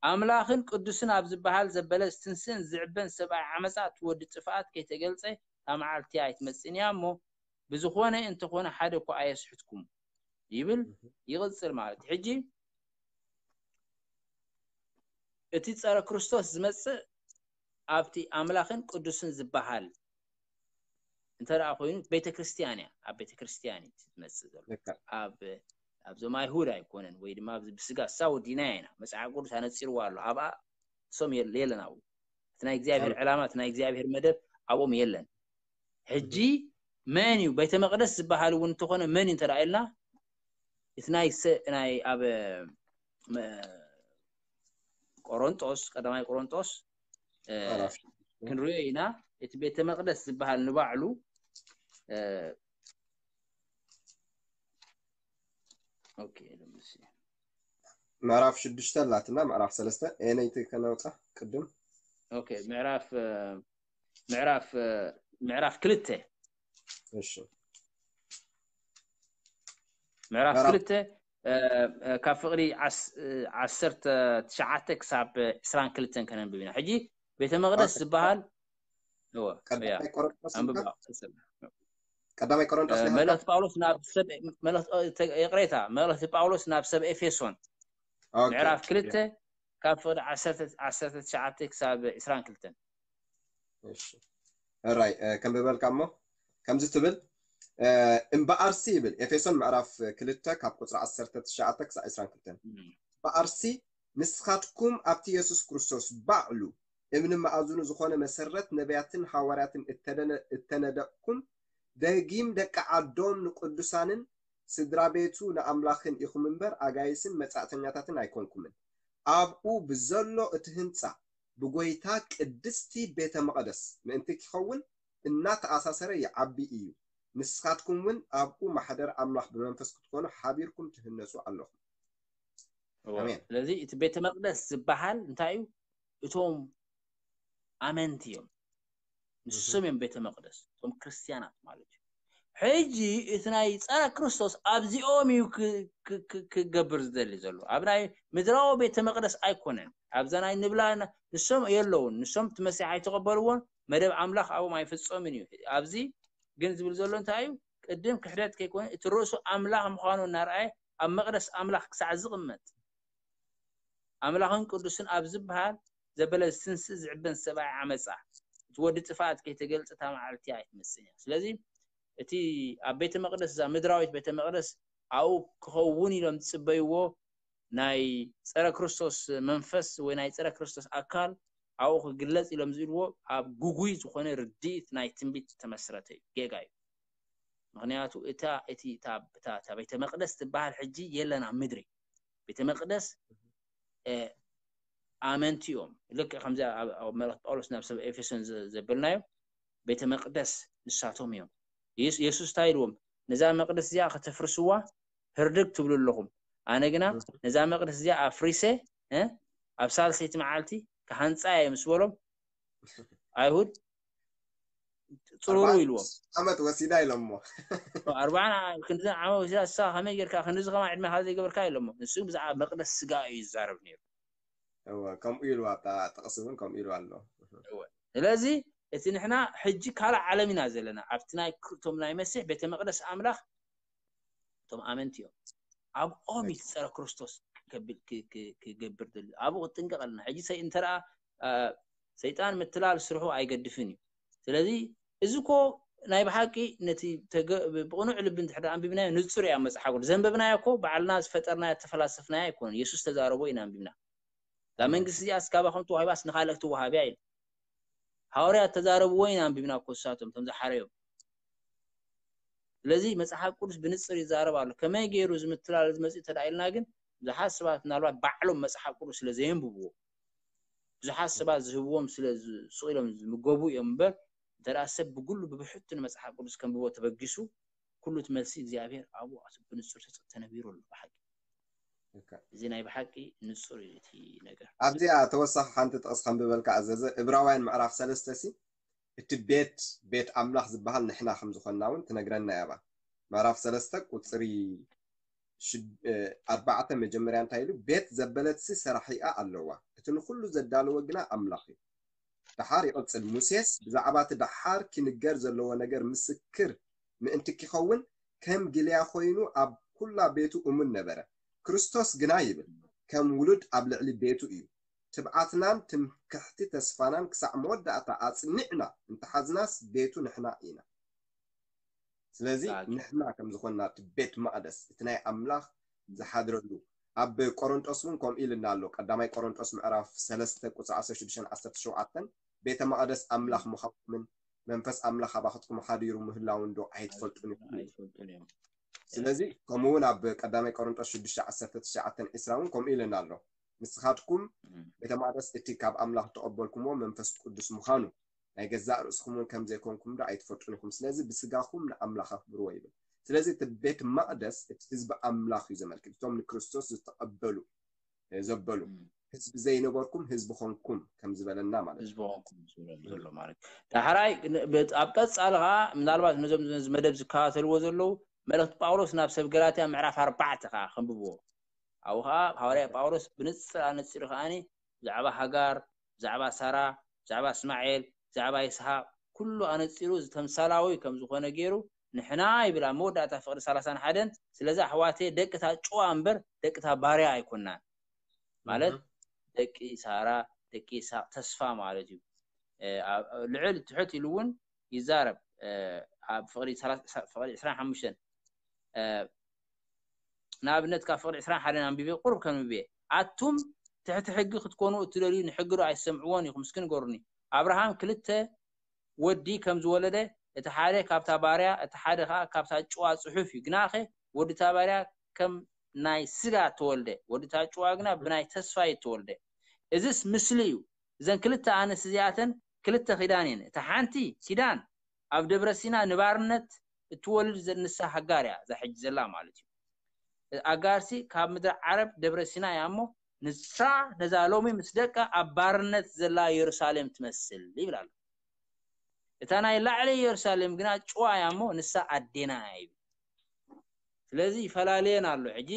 ኣምላኽን ቅዱስን ኣብ ዝበሃል ዘበለ ዝትንስእን ዝዕበን ሰብኣይ ዓመፃ እቲ ወዲ ጥፍኣት ከይተገልፀ እታ መዓልቲ ኣይትመፅእን እያ እሞ ብዝኾነ እንተኾነ ሓደ እኳ ኣየስሕትኩም ይብል። ይቕፅል ማለት እዩ። ሕጂ እቲ ፀረ ክርስቶስ ዝመፅእ ኣብቲ ኣምላኽን ቅዱስን ዝበሃል እንተ ደኣ ኮይኑ ቤተ ክርስቲያን እያ ኣብ ቤተ ክርስቲያን እዩ ዝመፅእ ዘሎ ኣብ ኣብዞም ኣይሁድ ኣይኮነን ወይ ድማ ኣብዚ ብስጋ እሳ ወዲና ኢና መፅሓፍ ቅዱስ ኣነፂርዋ ኣሎ ኣብኣ እሶም የለን ኣብኡ እቲ ናይ እግዚኣብሔር ዕላማ እቲ ናይ እግዚኣብሔር መደብ ኣብኦም የለን ሕጂ መን እዩ ቤተ መቅደስ ዝበሃል እውን እንተኾነ መን እዩ እንተ ኢልና እቲ ናይ ሰ- ናይ ኣብ መ- ቆሮንጦስ ቀዳማይ ቆሮንጦስ እ፣ ምዕራፍ ክንሪኦ ኢና። እቲ ቤተ መቅደስ ዝበሃል ንባዕሉ እ፣ okay let me see. ምዕራፍ ሽዱሽተ ኣላትና ምዕራፍ ሰለስተ ኤነይቲ ከነውፃ ቅድም okay ምዕራፍ እ፣ ምዕራፍ እ፣ ምዕራፍ ክልተ እሺ ምዕራፍ ምዕራፍ- ክልተ እ፣ እ፣ ካብ ፍቕዲ ዓስ- እ፣ ዓሰርተ ትሽዓተ ክሳብ ዕስራን ክልተን ከነንብብ ኢና። ሕጂ ቤተ መቅደስ ኦኬ። ዝበሃል እወ፣ እያ። ቀዳማይ ቆሮንጦስ ኣንብብ ኢልካ? ቀጽል። ቀዳማይ ቆሮንጦስ እ፣ ናይ መልእኽቲ ጳውሎስ ናብ ሰብ መልእኽቲ እ፣ ተ- ይቕሬታ፣ መልእኽቲ ጳውሎስ ናብ ሰብ ኤፌሶን ኦኬ። ምዕራፍ ክልተ ካብ ፍቕዲ ዓሰርተ ዓሰርተ ትሽዓተ ክሳብ ዕስራን ክልተን። እሺ ራይ ከንብበልካ እሞ ከምዚ ትብል እ፣ እምበኣርሲ ይብል ኤፌሶን ምዕራፍ ክልተ ካብ ቁፅሪ ዓሰርተ ትሽዓተ ክሳብ ዕስራን ክልተን እምበኣርሲ ንስኻትኩም ኣብቲ የሱስ ክርስቶስ ባዕሉ እብኒ መኣዝኑ ዝኾነ መሰረት ነቢያትን ሃዋርያትን እተደነ- እተነደቕኩም ደጊም ደቂ ዓዶም ንቅዱሳንን ስድራ ቤቱ ንኣምላኽን ኢኹም እምበር ኣጋይስን መጻእተኛታትን ኣይኮንኩምን። ኣብኡ ብዘሎ እቲ ህንጻ ብጎይታ ቅድስቲ ቤተ መቕደስ ምእንቲ ኪኸውን እናተኣሳሰረ ይዓቢ እዩ። ንስኻትኩም እውን ኣብኡ ማሕደር ኣምላኽ ብመንፈስ ክትኮኑ ሓቢርኩም ትህነጹ ኣለኹም። እወ። ኣሜን። ስለዚ እቲ ቤተ መቅደስ ዝበሃል እንታይ እዩ? እቶም ኣመንቲ እዮም። ንሶም እዮም ቤተ መቅደስ፣ እቶም ክርስትያናት ማለት እዩ። ሕጂ እቲ ናይ ጸረ ክርስቶስ ኣብዚኦም እዩ ክ- ክ- ክ- ክገብር ዝደሊ ዘሎ። ኣብ ናይ ምድራዊ ቤተ መቅደስ ኣይኮነን። ኣብዛ ናይ ንብላ ና- ንሶም የለውን። ንሶም እቲ መሲሕ ኣይተቐበልዎን፣ መደብ ኣምላኽ ኣብኦም ኣይፍጸምን እዩ። ኣብዚ ግን ዝብል ዘሎ እንታይ እዩ? ቅድም ክሕደት ከይኮነ እቲ ርእሱ ኣምላኽ ምዃኑ እናረኣየ ኣብ መቅደስ ኣምላኽ ክሳዕ ዝቕመጥ ኣምላኽን ቅዱስን ኣብ ዝበሃል ዘበለ ዝትንስእ ዝዕበን ሰብኣይ ዓመፃ እቲ ወዲ ጥፍኣት ከይተገልፀ እታ መዓልቲ ኣይትመፅእን እያ። ስለዚ እቲ ኣብ ቤተ መቅደስ እዛ ምድራዊት ቤተ መቅደስ ኣብኡ ክኸውን ኢሎም ዝፅበይዎ ናይ ፀረ ክርስቶስ መንፈስ ወይ ናይ ፀረ ክርስቶስ ኣካል ኣብኡ ክግለፅ ኢሎም ዝብልዎ ኣብ ጉጉይ ዝኾነ ርድኢት ናይ ትንቢት ዝተመስረተ እዩ። ጌጋ እዩ። ምክንያቱ እታ እቲ እታ እታ እታ ቤተ መቅደስ ትበሃል ሕጂ የለን ኣብ ምድሪ። ቤተ መቅደስ እ፣ ኣመንቲ እዮም። ልክዕ ከምዚ ኣብ ኣብ መልእኽቲ ጳውሎስ ናብ ሰብ ኤፌሶን ዘ- ዘበልናዮ ቤተ መቅደስ ንሳቶም እዮም። የሱ- የሱስ እንታይ ኢልዎም? ነዛ መቅደስ እዚኣ ከተፍርስዋ ህርድግ ትብሉ ኣለኹም፣ ኣነ ግና ነዛ መቅደስ እዚኣ ኣፍሪሰ እ፣ ኣብ ሳልሰይቲ መዓልቲ ክሃንፃ እየ ምስ በሎም ኣይሁድ ፅሩሩ ኣርባዕተ ኢልዎም። ዓመት ወሲዳ ኢሎሞ። ኣርባዕን ዓ- ክንዲ ዓመት ወሲዳ እሳ ከመይ ጌርካ ክንድዚ ከማ ዕድመ ካብ ዘይገበርካ ኢሎሞ። ንሱ ብዛዕባ መቅደስ ስጋ እዩ ዝዛረብ ነይሩ። እወ፣ ከምኡ ኢሉ ኣብታ ጥቕሲ እውን ከምኡ ኢሉ ኣሎ። ስለዚ እቲ ንሕና ሕጂ ካልእ ዓለም ኢና ዘለና። ኣብቲ ናይ ክርቶም ናይ መሲሕ ቤተ መቅደስ ኣምላኽ እቶም ኣመንቲ እዮም። ኣብኦም እዩ ጸረ ክርስቶስ ከብል- ክ- ክ- ክገብር ደሊ ኣብኡ ክትጥንቀቕ ኣለና። ሕጂ ሰይ እንተ ደኣ አ፣ ሰይጣን ምትላል ስርሑ ኣይገድፍን እዩ። ስለዚ እዚ እኮ ናይ ብሓቂ ነቲ ተገ- ብቕኑዕ ልቢ እንድሕር ደኣ ኣንቢብናዮ ንጹር እዩ ኣብ መጽሓፍ ቅዱስ። ዘንበብናዮ እኮ ባዕልና ዝፈጠርናዮ ተፈላሰፍናዮ ኣይኮነን። የሱስ ተዛረቦ ኢና ኣንቢብና። እዛ መንግስቲ እዚኣ እስካባኹም ተዋሂባስ ንኻልእ ክትወሃብ እያ ኢሉ። ሃዋርያት ተዛረብዎ ኢና ኣንቢብና እኮ ንሳቶም እቶም ዝሓረዮም። ስለዚ መጽሓፍ ቅዱስ ብንጽር ይዛረብ ኣሎ። ከመይ ገይሩ እዚ ምትላል እዚ መጺኡ እንተ ደኣ ኢልና ግን ብዙሓት ሰባት ምናልባት ባዕሎም መጽሓፍ ቅዱስ ስለ ዘየንብብዎ ብዙሓት ሰባት ዝህብዎም ስለ ዝ- ስቕ ኢሎም ዝምገቡ እዮም እምበር እንተ ደኣ ሰብ ብግሉ ብብሕቱ ንመጽሓፍ ቅዱስ ከንብቦ ተበጊሱ ኩሉ እቲ መልሲ እግዚኣብሔር ኣብኡ ብንጹር ተነቢሩ ኣሎ ብሓቂ። ልክዕ። እዚ ናይ ብሓቂ ንጹር እዩ እቲ ነገር። ኣብዚኣ ተወሳኺ ሓንቲ ጥቕስ ከንብበልካ ኣዘዘ እብራውያን ምዕራፍ ሰለስተ ሲ እቲ ቤት ቤት ኣምላኽ ዝበሃል ንሕና ከም ዝኾንና እውን ትነግረና እያ። ምዕራፍ ሰለስተ ቁፅሪ ሽድ- እ፣ ኣርባዕተ መጀመርያ እንታይ ኢሉ ቤት ዘበለትሲ ሰራሒኣ ኣለዋ እቲ ንኩሉ ዘዳለወ ግና ኣምላኽ እዩ። ደሓር ይቕጽል ሙሴስ ብዛዕባ እቲ ደሓር ኪንገር ዘለዎ ነገር ምስክር ምእንቲ ኪኸውን ከም ግልያ ኮይኑ ኣብ ኩላ ቤቱ እሙን ነበረ። ክርስቶስ ግና ይብል ከም ውሉድ ኣብ ልዕሊ ቤቱ እዩ። ትብዓትናን ትምክሕቲ ተስፋናን ክሳዕ መወዳእታ ኣጽኒዕና እንተሓዝናስ ቤቱ ንሕና ኢና። ስለዚ ብሓቂ። ንሕና ከም ዝኾንና እቲ ቤት መቕደስ እቲ ናይ ኣምላኽ ዝሓድረሉ ኣብ ቆሮንጦስ እውን ከምኡ ኢልና ኣሎ። ቀዳማይ ቆሮንጦስ ምዕራፍ ሰለስተ ቁፅሪ ዓሰርተ ሽዱሽተ ዓሰርተ ሸውዓተ ቤተ መቕደስ ኣምላኽ ምዃንኩምን መንፈስ ኣምላኽ ኣባኽትኩም ሓዲሩ ምህላው እንዶ ኣይትፈልጡን ኢኹም። ኣይትፈልጡን እዮም። ስለዚ ከምኡ እውን ኣብ ቀዳማይ ቆሮንጦስ ሽዱሽተ ዓሰርተ ትሽዓተ ዒስራ እውን ከምኡ ኢለና ኣሎ። ንስኻትኩም እም። ቤተ መቕደስ እቲ ካብ ኣምላኽ እተቐበልኩምዎ መንፈስ ቅዱስ ምዃኑ ናይ ገዛእ ርእስኹም እውን ከም ዘይኮንኩም ዶ ኣይትፈልጡን ኢኹም? ስለዚ ብስጋኹም ንኣምላኽ ኣኽብርዎ ይብል። ስለዚ እቲ ቤት መቕደስ እቲ ህዝቢ ኣምላኽ እዩ ዘመልክት። እቶም ንክርስቶስ ዝተቐበሉ እ፣ ዘበሉ እም። ህዝቢ ዘይነበርኩም ህዝቢ ኾንኩም ከም ዝበለና ማለት እዩ። ህዝቢ ኾንኩም ዝብሎም ዘሎ ማለት እዩ። ዳሕራይ ን- በት- ኣብ ቀጻሊ ከዓ ምናልባት ነዞም ነዚ መደብ ዝከታተልዎ ዘለዉ መልእክቲ ጳውሎስ ናብ ሰብ ገላትያ ምዕራፍ ኣርባዕተ ከዓ ከንብብዎ። ኣብኡ ከዓ ሃዋርያ ጳውሎስ ብንጽር ኣነጺሩ ከዓኒ ብዛዕባ ሃጋር፣ ብዛዕባ ሳራ፣ ብዛዕባ እስማኤል፣ ብዛዕባ ይስሓቅ ኩሉ ኣነጺሩ ዝተምሳላዊ ከም ዝኾነ ገይሩ ንሕና ይብል ኣብ መወዳእታ ፍቕዲ ሰላሳን ሓደን ስለዚ ኣሕዋተይ ደቂ እታ ጭዋ እምበር ደቂ እታ ባርያ ኣይኮናን። ማለት እህ። ደቂ ሳራ ደቂ ይስሓቅ ተስፋ ማለት እዩ። እ፣ ኣብ- ልዕል ትሕት ኢሉ እውን ይዛረብ። እ፣ ኣብ ፍቕዲ ሰላሳ- ፍቕዲ ዕስራን ሓሙሽተን እ፣ ንኣብነት ካብ ፍቕዲ ዕስራን ሓደን ኣንቢበ ቁሩብ ከንብብ እየ። ኣቱም ትሕቲ ሕጊ ክትኮኑ እትደልዩ ንሕጊ ዶ ኣይትሰምዕዎን ኢኹም? እስኪ ንገሩኒ። ኣብርሃም ክልተ ወዲ ከም ዝወለደ እቲ ሓደ ካብታ ባርያ እቲ ሓደ ከዓ ካብታ ጭዋ ጽሑፍ እዩ። ግናኸ ወዲ እታ ባርያ ከም ናይ ስጋ ተወልደ፣ ወዲ እታ ጭዋ ግና ብናይ ተስፋ እዩ ተወልደ። እዚስ ምስሊ እዩ። እዘን ክልተ ኣንስት እዚኣተን ክልተ ኪዳን እየን። እታ ሓንቲ ኪዳን ኣብ ደብረ ሲና ንባርነት እትወልድ ዘ- ንሳ ሃጋር እያ፣ እዛ ሕጂ ዘላ ማለት እዩ። ኣጋርሲ ካብ ምድሪ ዓረብ ደብረ ሲና እያ እሞ ንሳ ነዛ ሎሚ ምስ ደቃ ኣብ ባርነት ዘላ የሩሳሌም ትመስል ይብል ኣሎ። እታ ናይ ላዕሊ የሩሳሌም ግና ጭዋ እያ እሞ ንሳ ኣዴና እያ ይብል። ስለዚ ይፈላለየን ኣሎ። ሕጂ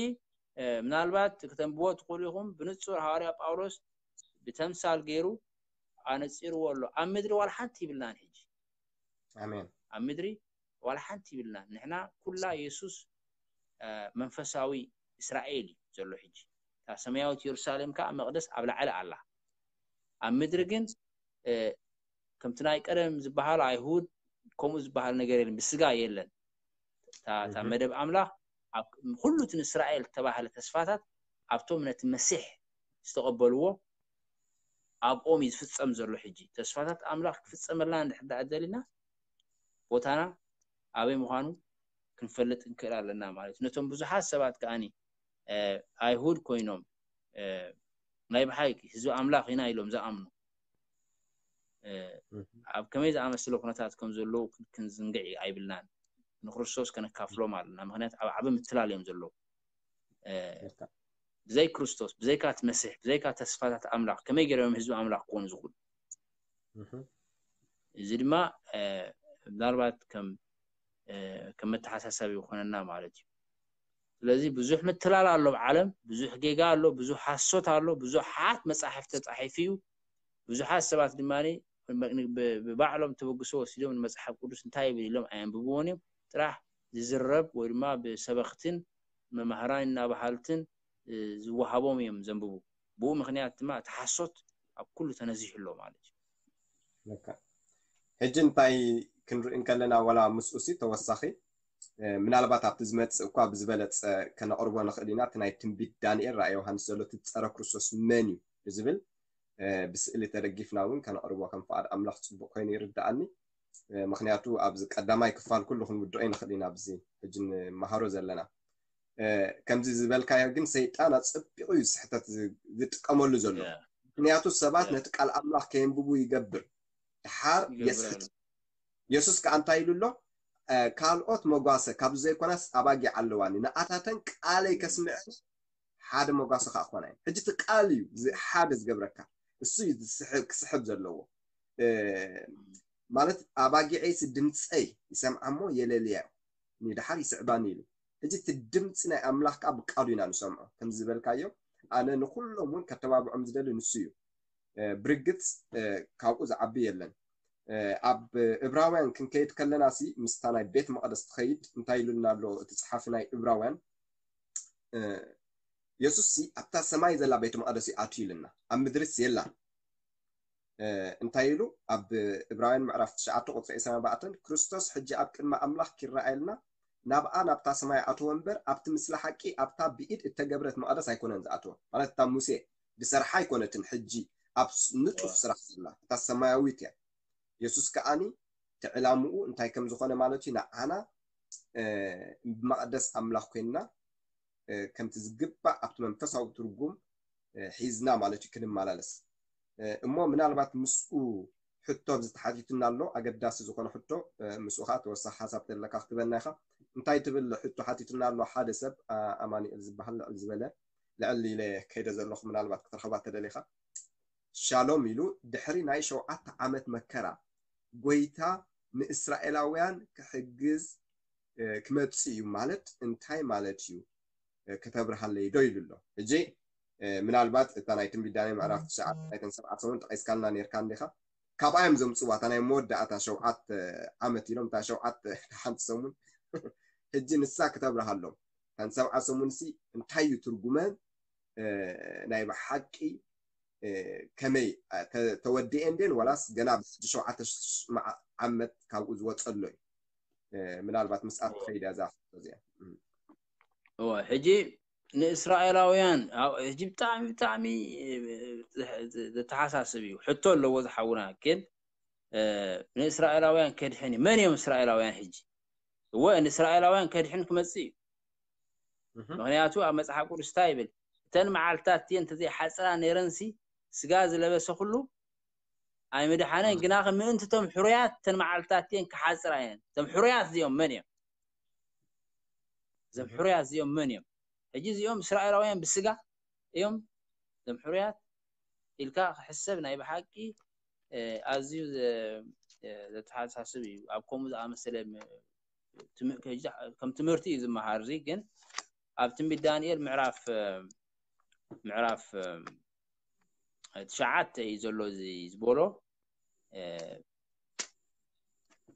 እ፣ ምናልባት ክተንብቦ ትኽእሉ ኢኹም። ብንጹር ሃዋርያ ጳውሎስ ብተምሳል ገይሩ ኣነጺርዎ ኣሎ። ኣብ ምድሪ ዋላ ሓንቲ ይብልናን ሕጂ ኣሜን። ኣብ ምድሪ ዋላ ሓንቲ ይብልናን። ንሕና ኩላ የሱስ እ፣ መንፈሳዊ እስራኤል እዩ ዘሎ ሕጂ። እታ ሰማያዊት የሩሳሌም ከዓ መቕደስ ኣብ ላዕሊ ኣላ። ኣብ ምድሪ ግን እ፣ ከምቲ ናይ ቀደም ዝበሃል ኣይሁድ ከምኡ ዝበሃል ነገር የለን፣ ብስጋ የለን። እታ እታ እህ። መደብ ኣምላኽ ኣብ ኩሉ እቲ ንእስራኤል ዝተባህለ ተስፋታት ኣብቶም ነቲ መሲሕ ዝተቐበልዎ ኣብኦም እዩ ዝፍጸም ዘሎ። ሕጂ ተስፋታት ኣምላኽ ክፍጸመልና እንድሕር ደኣ ደሊና ቦታና ኣበይ ምዃኑ ክንፈልጥ እንክእል ኣለና ማለት እዩ። ነቶም ብዙሓት ሰባት ከዓኒ እ፣ ኣይሁድ ኮይኖም እ፣ ናይ ብሓቂ ህዝቢ ኣምላኽ ኢና ኢሎም ዝኣምኑ እ፣ እህ። ኣብ ከመይ ዝኣመስለ ኩነታት ከም ዘለዉ ክን- ክንዝንግዕ ኣይብልናን። ንክርስቶስ ከነካፍሎም ኣለና። ምክንያቱ ኣብ ዓቢ ምትላል እዮም ዘለዉ። እ፣ ልክዕ። ብዘይ ክርስቶስ፣ ብዘይካ እቲ መሲሕ፣ ብዘይካ ተስፋታት ኣምላኽ ከመይ ገይሮም ህዝቢ ኣምላኽ ክኾኑ ዝኽእሉ? እህ። እዚ ድማ እ፣ ምናልባት ከም እ፣ ከም መተሓሳሰቢ ይኾነና ማለት እዩ። ስለዚ ብዙሕ ምትላል ኣሎ ኣብ ዓለም፣ ብዙሕ ጌጋ ኣሎ፣ ብዙሕ ሓሶት ኣሎ፣ ብዙሓት መጻሕፍቲ ተጻሒፉ እዩ። ብዙሓት ሰባት ድማ ብ- ብ- ብባዕሎም ተበግሶ ወሲዶም ንመጽሓፍ ቅዱስ እንታይ ይብል ኢሎም ኣየንብብዎን እዮም። ጥራሕ ዝዝረብ ወይ ድማ ብሰበኽትን መማህራን እናበሃልትን እ፣ ዝወሃቦም እዮም ዘንብቡ። ብኡ ምኽንያት ድማ እቲ ሓሶት ኣብ ኩሉ ተነዚሑ ኣሎ ማለት እዩ። ልክዕ። ሕጂ እንታይ ክንርኢ እንከለና ዋላ ምስኡሲ ተወሳኺ እ፣ ምናልባት ኣብቲ ዝመጽእ እኳ ብዝበለጸ ከነቕርቦ ንኽእል ኢና። እቲ ናይ ትንቢት ዳንኤል ራእይ ዮሃንስ ዘሎ እቲ ጸረ ክርስቶስ መን እዩ ብዝብል እ፣ ብስእሊ ተደጊፍና እውን ከነቕርቦ ከም ፍቓድ ኣምላኽ ጽቡቕ ኮይኑ ይርድኣኒ። እ፣ ምኽንያቱ ኣብዚ ቀዳማይ ክፋል ኩሉ ክንውድኦ ይንኽእል ኢና ኣብዚ ሕጂ ንመሃሮ ዘለና። እ፣ ከምዚ ዝበልካዮ ግን ሰይጣን ኣጸቢቑ እዩ ስሕተት ዝ- ዝጥቀመሉ ዘሎ። ያ፣ ምኽንያቱ ሰባት ያ። ነቲ ቃል ኣምላኽ ከየንብቡ ይገብር። ድሓር ይገብር የስሕት ኣሎ። የሱስ ከኣ እንታይ ኢሉ ኣሎ? እ፣ ካልኦት መጓሰ ካብዚ ዘይኮናስ ኣባጊዕ ኣለዋኒ፣ ንኣታተን ቃለይ ከስምዐን ሓደ መጓሰ ከኣ ክኾና እየን። ሕጂ እቲ ቃል እዩ ዚ-፣ ሓደ ዝገብረካ፣ እሱ እዩ ዝስሕብ፣ ክስሕብ ዘለዎ። እ፣ ማለት ኣባጊዐይሲ ድምፀይ ይሰምዓ እሞ የለልያ እዩ፣ ንድሓር ይስዕባኒ ኢሉ። ሕጂ እቲ ድምፂ ናይ ኣምላኽ ከኣ ብቃሉ ኢና ንሰምዖ። ከም ዝበልካዮ ኣነ ንኩሎም እውን ከተባብዖም ዝደሊ ንሱ እዩ። እ፣ ብርግፅ እ፣ ካብኡ ዝዓቢ የለን። እ፣ ኣብ እብራውያን ክንከይድ ከለና ሲ ምስታ ናይ ቤት መቕደስ ትኸይድ እንታይ ኢሉና ኣሎ እቲ ጸሓፊ ናይ እብራውያን? እ፣ የሱስ ሲ ኣብታ ሰማይ ዘላ ቤት መቕደስ እዩ ኣትዩ ኢልና፣ ኣብ ምድርስ የላን። እ፣ እንታይ ኢሉ ኣብ እብራውያን ምዕራፍ ትሽዓተ ቁጽሪ ዕስራን ኣርባዕተን፣ ክርስቶስ ሕጂ ኣብ ቅድሚ ኣምላኽ ኪረኣየልና ናብኣ ናብታ ሰማይ ኣተወ እምበር ኣብቲ ምስለ ሓቂ ኣብታ ብኢድ እተገብረት መቕደስ ኣይኮነን ዝኣተወ። ማለት እታ ሙሴ ዝሰርሓ ኣይኮነትን፣ ሕጂ ኣብ ስ-፣ ንጡፍ ዋ። ስራሕ ዘላ እታ ሰማያዊት እያ። የሱስ ከኣኒ እቲ ዕላምኡ እንታይ ከም ዝኾነ ማለት እዩ። ንዓና መቕደስ ኣምላኽ ኮይንና ከምቲ ዝግባእ ኣብቲ መንፈሳዊ ትርጉም ሒዝና ማለት እዩ ክንመላለስ። እሞ ምናልባት ምስኡ ሕቶ ኣብዚ ተሓቲቱና ኣሎ፣ ኣገዳሲ ዝኾነ ሕቶ። ምስኡ ከዓ ተወሳኺ ሓሳብ ተለካ ክትበና ኢኻ። እንታይ ትብል ሕቶ ሓቲቱና ኣሎ? ሓደ ሰብ ኣማኑኤል ዝበሃል ልዕል ዝበለ ልዕል ኢለ ከይደ ዘለኹ፣ ምናልባት ክትረኽባ ተደሊኻ። ሻሎም ኢሉ፣ ድሕሪ ናይ ሸውዓተ ዓመት መከራ ጎይታ ንእስራኤላውያን ክሕግዝ ክመጽእ እዩ ማለት እንታይ ማለት እዩ? ከተብርሃለይ ዶ ኢሉ ኣሎ። ሕጂ ምናልባት እታ ናይ ትንቢት ዳንኤል ምዕራፍ ትሽዓተ ናይተን ሰብዓ ሰሙን ጠቂስካልና ነርካ እንዲኻ። ካብኣ እዮም ዘምፅዋ እታ ናይ መወዳእታ ሸውዓተ ዓመት ኢሎም እታ ሸውዓተ ሓንቲ ሰሙን። ሕጂ ንሳ ክተብርሃሎም፣ እተን ሰብዓ ሰሙን ሲ እንታይ እዩ ትርጉመን? ናይ ብሓቂ ከመይ ተወዲኤን ደን ዋላስ ገና ብሕጂ ሸውዓተ ዓመት ካብኡ ዝወፀሎ እዩ? ምናልባት ምስኣ ትኸይድ እያ እዛ ሕቶ እዚኣ። እወ፣ ሕጂ ንእስራኤላውያን ሕጂ ብጣዕሚ ብጣዕሚ ዘተሓሳስብ እዩ። ሕቶ ኣለዎ ዝሓውና፣ ግን ንእስራኤላውያን ከድሕን እዩ። መን እዮም እስራኤላውያን? ሕጂ እወ፣ ንእስራኤላውያን ከድሕን ክመፅእ እዩ። ምክንያቱ ኣብ መፅሓፍ ቅዱስ እንታይ ይብል? እተን መዓልትታት እቲአን እንተዘይሓፅራ ነይረንሲ፣ ስጋ ዝለበሰ ኩሉ ኣይምድሓነን። ግና ምእንቲ እቶም ሕሩያት እተን መዓልትታት እቲአን ክሓፅራ እየን። እቶም ሕሩያት እዚኦም መን እዮም? እዞም ሕሩያት እዚኦም መን እዮም? ሕጂ እዚኦም እስራኤላውያን ብስጋ እዮም። እዞም ሕሩያት ኢልካ ክሕሰብ ናይ ብሓቂ ኣዝዩ ዘተሓሳስብ እዩ። ኣብ ከምኡ ዝኣመሰለ ከም ትምህርቲ እዩ ዝመሃር። እዚ ግን ኣብ ትንቢት ዳንኤል ምዕራፍ ምዕራፍ ትሽዓተ እዩ ዘሎ። እዚ ዝበሎ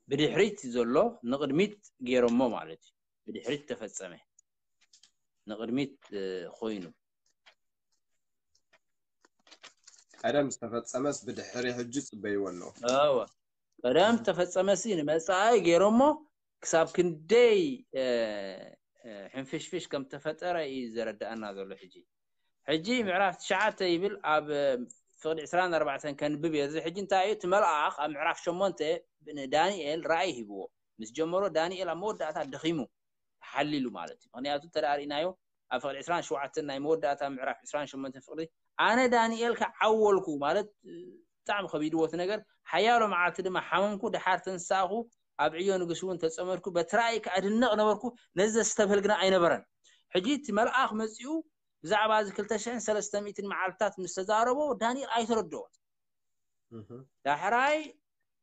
ብድሕሪት ዘሎ ንቕድሚት ገይሮሞ ማለት እዩ። ብድሕሪት ተፈጸመ፣ ንቕድሚት ኮይኑ። ቀደም ዝተፈጸመስ ብድሕሪ ሕጂ ጽበይዎ ኣሎ። እወ፣ ቀደም ዝተፈጸመሲ ንመጻኢ ገይሮሞ ክሳብ ክንደይ ሕንፍሽፍሽ ከም ተፈጠረ እዩ ዘረድኣና ዘሎ። ሕጂ ሕጂ ምዕራፍ ትሽዓተ ይብል፣ ኣብ ፍቕዲ ዕስራን ኣርባዕተን ከንብብ እየ። እዚ ሕጂ እንታይ እዩ? እቲ መልኣኽ ኣብ ምዕራፍ ሸሞንተ ንዳንኤል ራእይ ሂብዎ። ምስ ጀመሮ ዳንኤል ኣብ መወዳእታ ደኺሙ፣ ተሓሊሉ ማለት እዩ። ምክንያቱ እንተ ደኣ ርኢናዮ ኣብ ፍቕዲ ዕስራን ሸውዓተን ናይ መወዳእታ ምዕራፍ ዕስራን ሸሞንተን ፍቕዲ፣ ኣነ ዳንኤል ከዓ ዓወልኩ ማለት ብጣዕሚ ከቢድዎ እቲ ነገር። ሓያሎ መዓልቲ ድማ ሓመምኩ፣ ድሓር ተንሳእኹ፣ ኣብ ዕዮ ንጉስ እውን ተጸመድኩ። በቲ ራእይ ከዓ እድነቕ ነበርኩ፣ ነዚ ዘስተብህል ግና ኣይነበረን። ሕጂ እቲ መልኣኽ መጺኡ ብዛዕባ እዚ ክልተ ሽሕን ሰለስተ ሚእትን መዓልትታት ምስ ተዛረቦ ዳንኤል ኣይተረድኦን። ዳሕራይ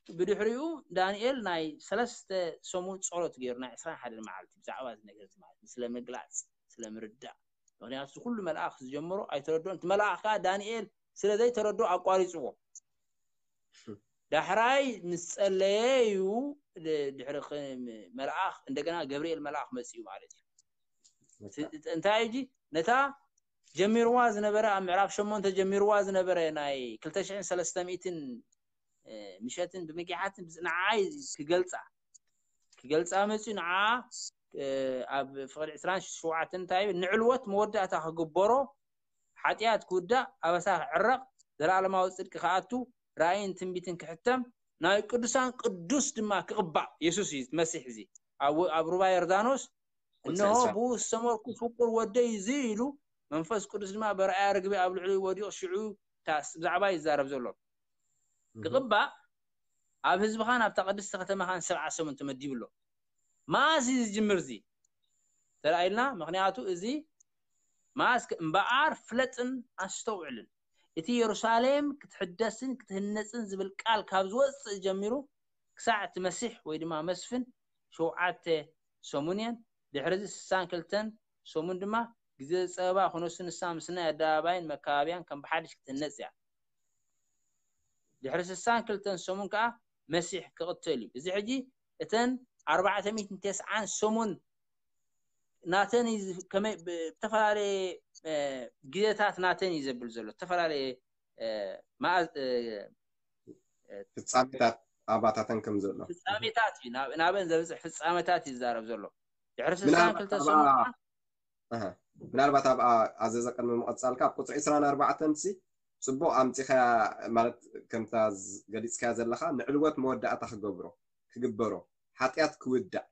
ብድሕሪኡ ዳንኤል ናይ ሰለስተ ሰሙን ጸሎት ገይሩ ናይ ዕስራን ሓደን መዓልቲ ብዛዕባ እዚ ነገር እዚ ማለት ስለ ምግላጽ ስለ ምርዳእ። ምክንያቱ እዚ ኩሉ መልኣኽ ዝጀመሮ ኣይተረድኦን። እቲ መልኣኽ ከዓ ዳንኤል ስለ ዘይተረድኦ ኣቋሪጽዎ። ዳሕራይ ምስ ጸለየ እዩ ድሕሪ መልኣኽ እንደገና ገብርኤል መልኣኽ መጺኡ ማለት እዩ። እንታይ እዩ ነታ ጀሚርዋ ዝነበረ ኣብ ምዕራፍ ሸሞንተ ጀሚርዋ ዝነበረ ናይ ክልተ ሽሕን ሰለስተ ሚእትን ምሸትን ብምጊሓትን ንዓይ ክገልፃ ክገልፃ መፅዩ ንዓ ኣብ ፍቕዲ ዕስራን ሸውዓተን እንታይ ይብል? ንዕልወት መወዳእታ ክግበሮ፣ ሓጢኣት ክውዳእ፣ ኣበሳ ክዕረቕ፣ ዘለኣለማዊ ፅድቂ ክኣቱ፣ ራእይን ትንቢትን ክሕተም፣ ናይ ቅዱሳን ቅዱስ ድማ ክቕባእ። የሱስ እዩ መሲሕ እዚ ኣብ ሩባ ዮርዳኖስ እነሆ ብኡ ዝሰመርኩ ፍቁር ወደይ እዚ ኢሉ መንፈስ ቅዱስ ድማ በርኣያ ርግቢ ኣብ ልዕሊኡ ወዲቑ ሽዑ ብዛዕባ ይዛረብ ዘሎ ክቕባእ ኣብ ህዝብኻን ኣብታ ቅድስቲ ከተማኻን ሰብዓ ሰሙን ተመዲቡ ኣሎ። መኣስ እዩ ዝጅምር እዚ ተራኢልና? ምክንያቱ እዚ መኣስ እምበኣር ፍለጥን ኣስተውዕልን እቲ የሩሳሌም ክትሕደስን ክትህነፅን ዝብል ቃል ካብ ዝወፅእ ጀሚሩ ክሳዕ እቲ መሲሕ ወይ ድማ መስፍን ሸውዓተ ሰሙን እየን። ድሕሪ እዚ ስሳን ክልተን ሰሙን ድማ ግዜ ጸበባ ክነሱ ንሳ ምስ ናይ ኣደባባይን መካባብያን ከም ብሓድሽ ክትህነጽ እያ። ድሕሪ ስሳን ክልተን ሰሙን ከኣ መሲሕ ክቕተል እዩ። እዚ ሕጂ እተን ኣርባዕተ ሚእትን ተስዓን ሰሙን ናተን እዩ ዝ- ከመይ ብ- ብተፈላለየ እ፣ ግዜታት ናተን እዩ ዘብል ዘሎ ዝተፈላለየ እ፣ መኣ- እ፣ ፍጻሜታት ኣባታተን ከም ዘሎ ፍጻሜታት እዩ ናብ- ናበን ዘብፅሕ ፍጻሜታት እዩ ዝዛረብ ዘሎ። ድሕሪ ስሳን ምናልባት ክልተ ኣብኣ ሰሙን ኣሃ፣ ምናልባት ኣብኣ ኣዘዘ ቅድሚ ምቕጻልካ ኣብ ቁፅሪ ዕስራን ኣርባዕተን ሲ ጽቡቕ ኣምፂኻያ ማለት ከምታ ዝ- ገሊፅካያ ዘለኻ ንዕልወት መወዳእታ ክገብሮ ክግበሮ፣ ሓጢኣት ክውዳእ፣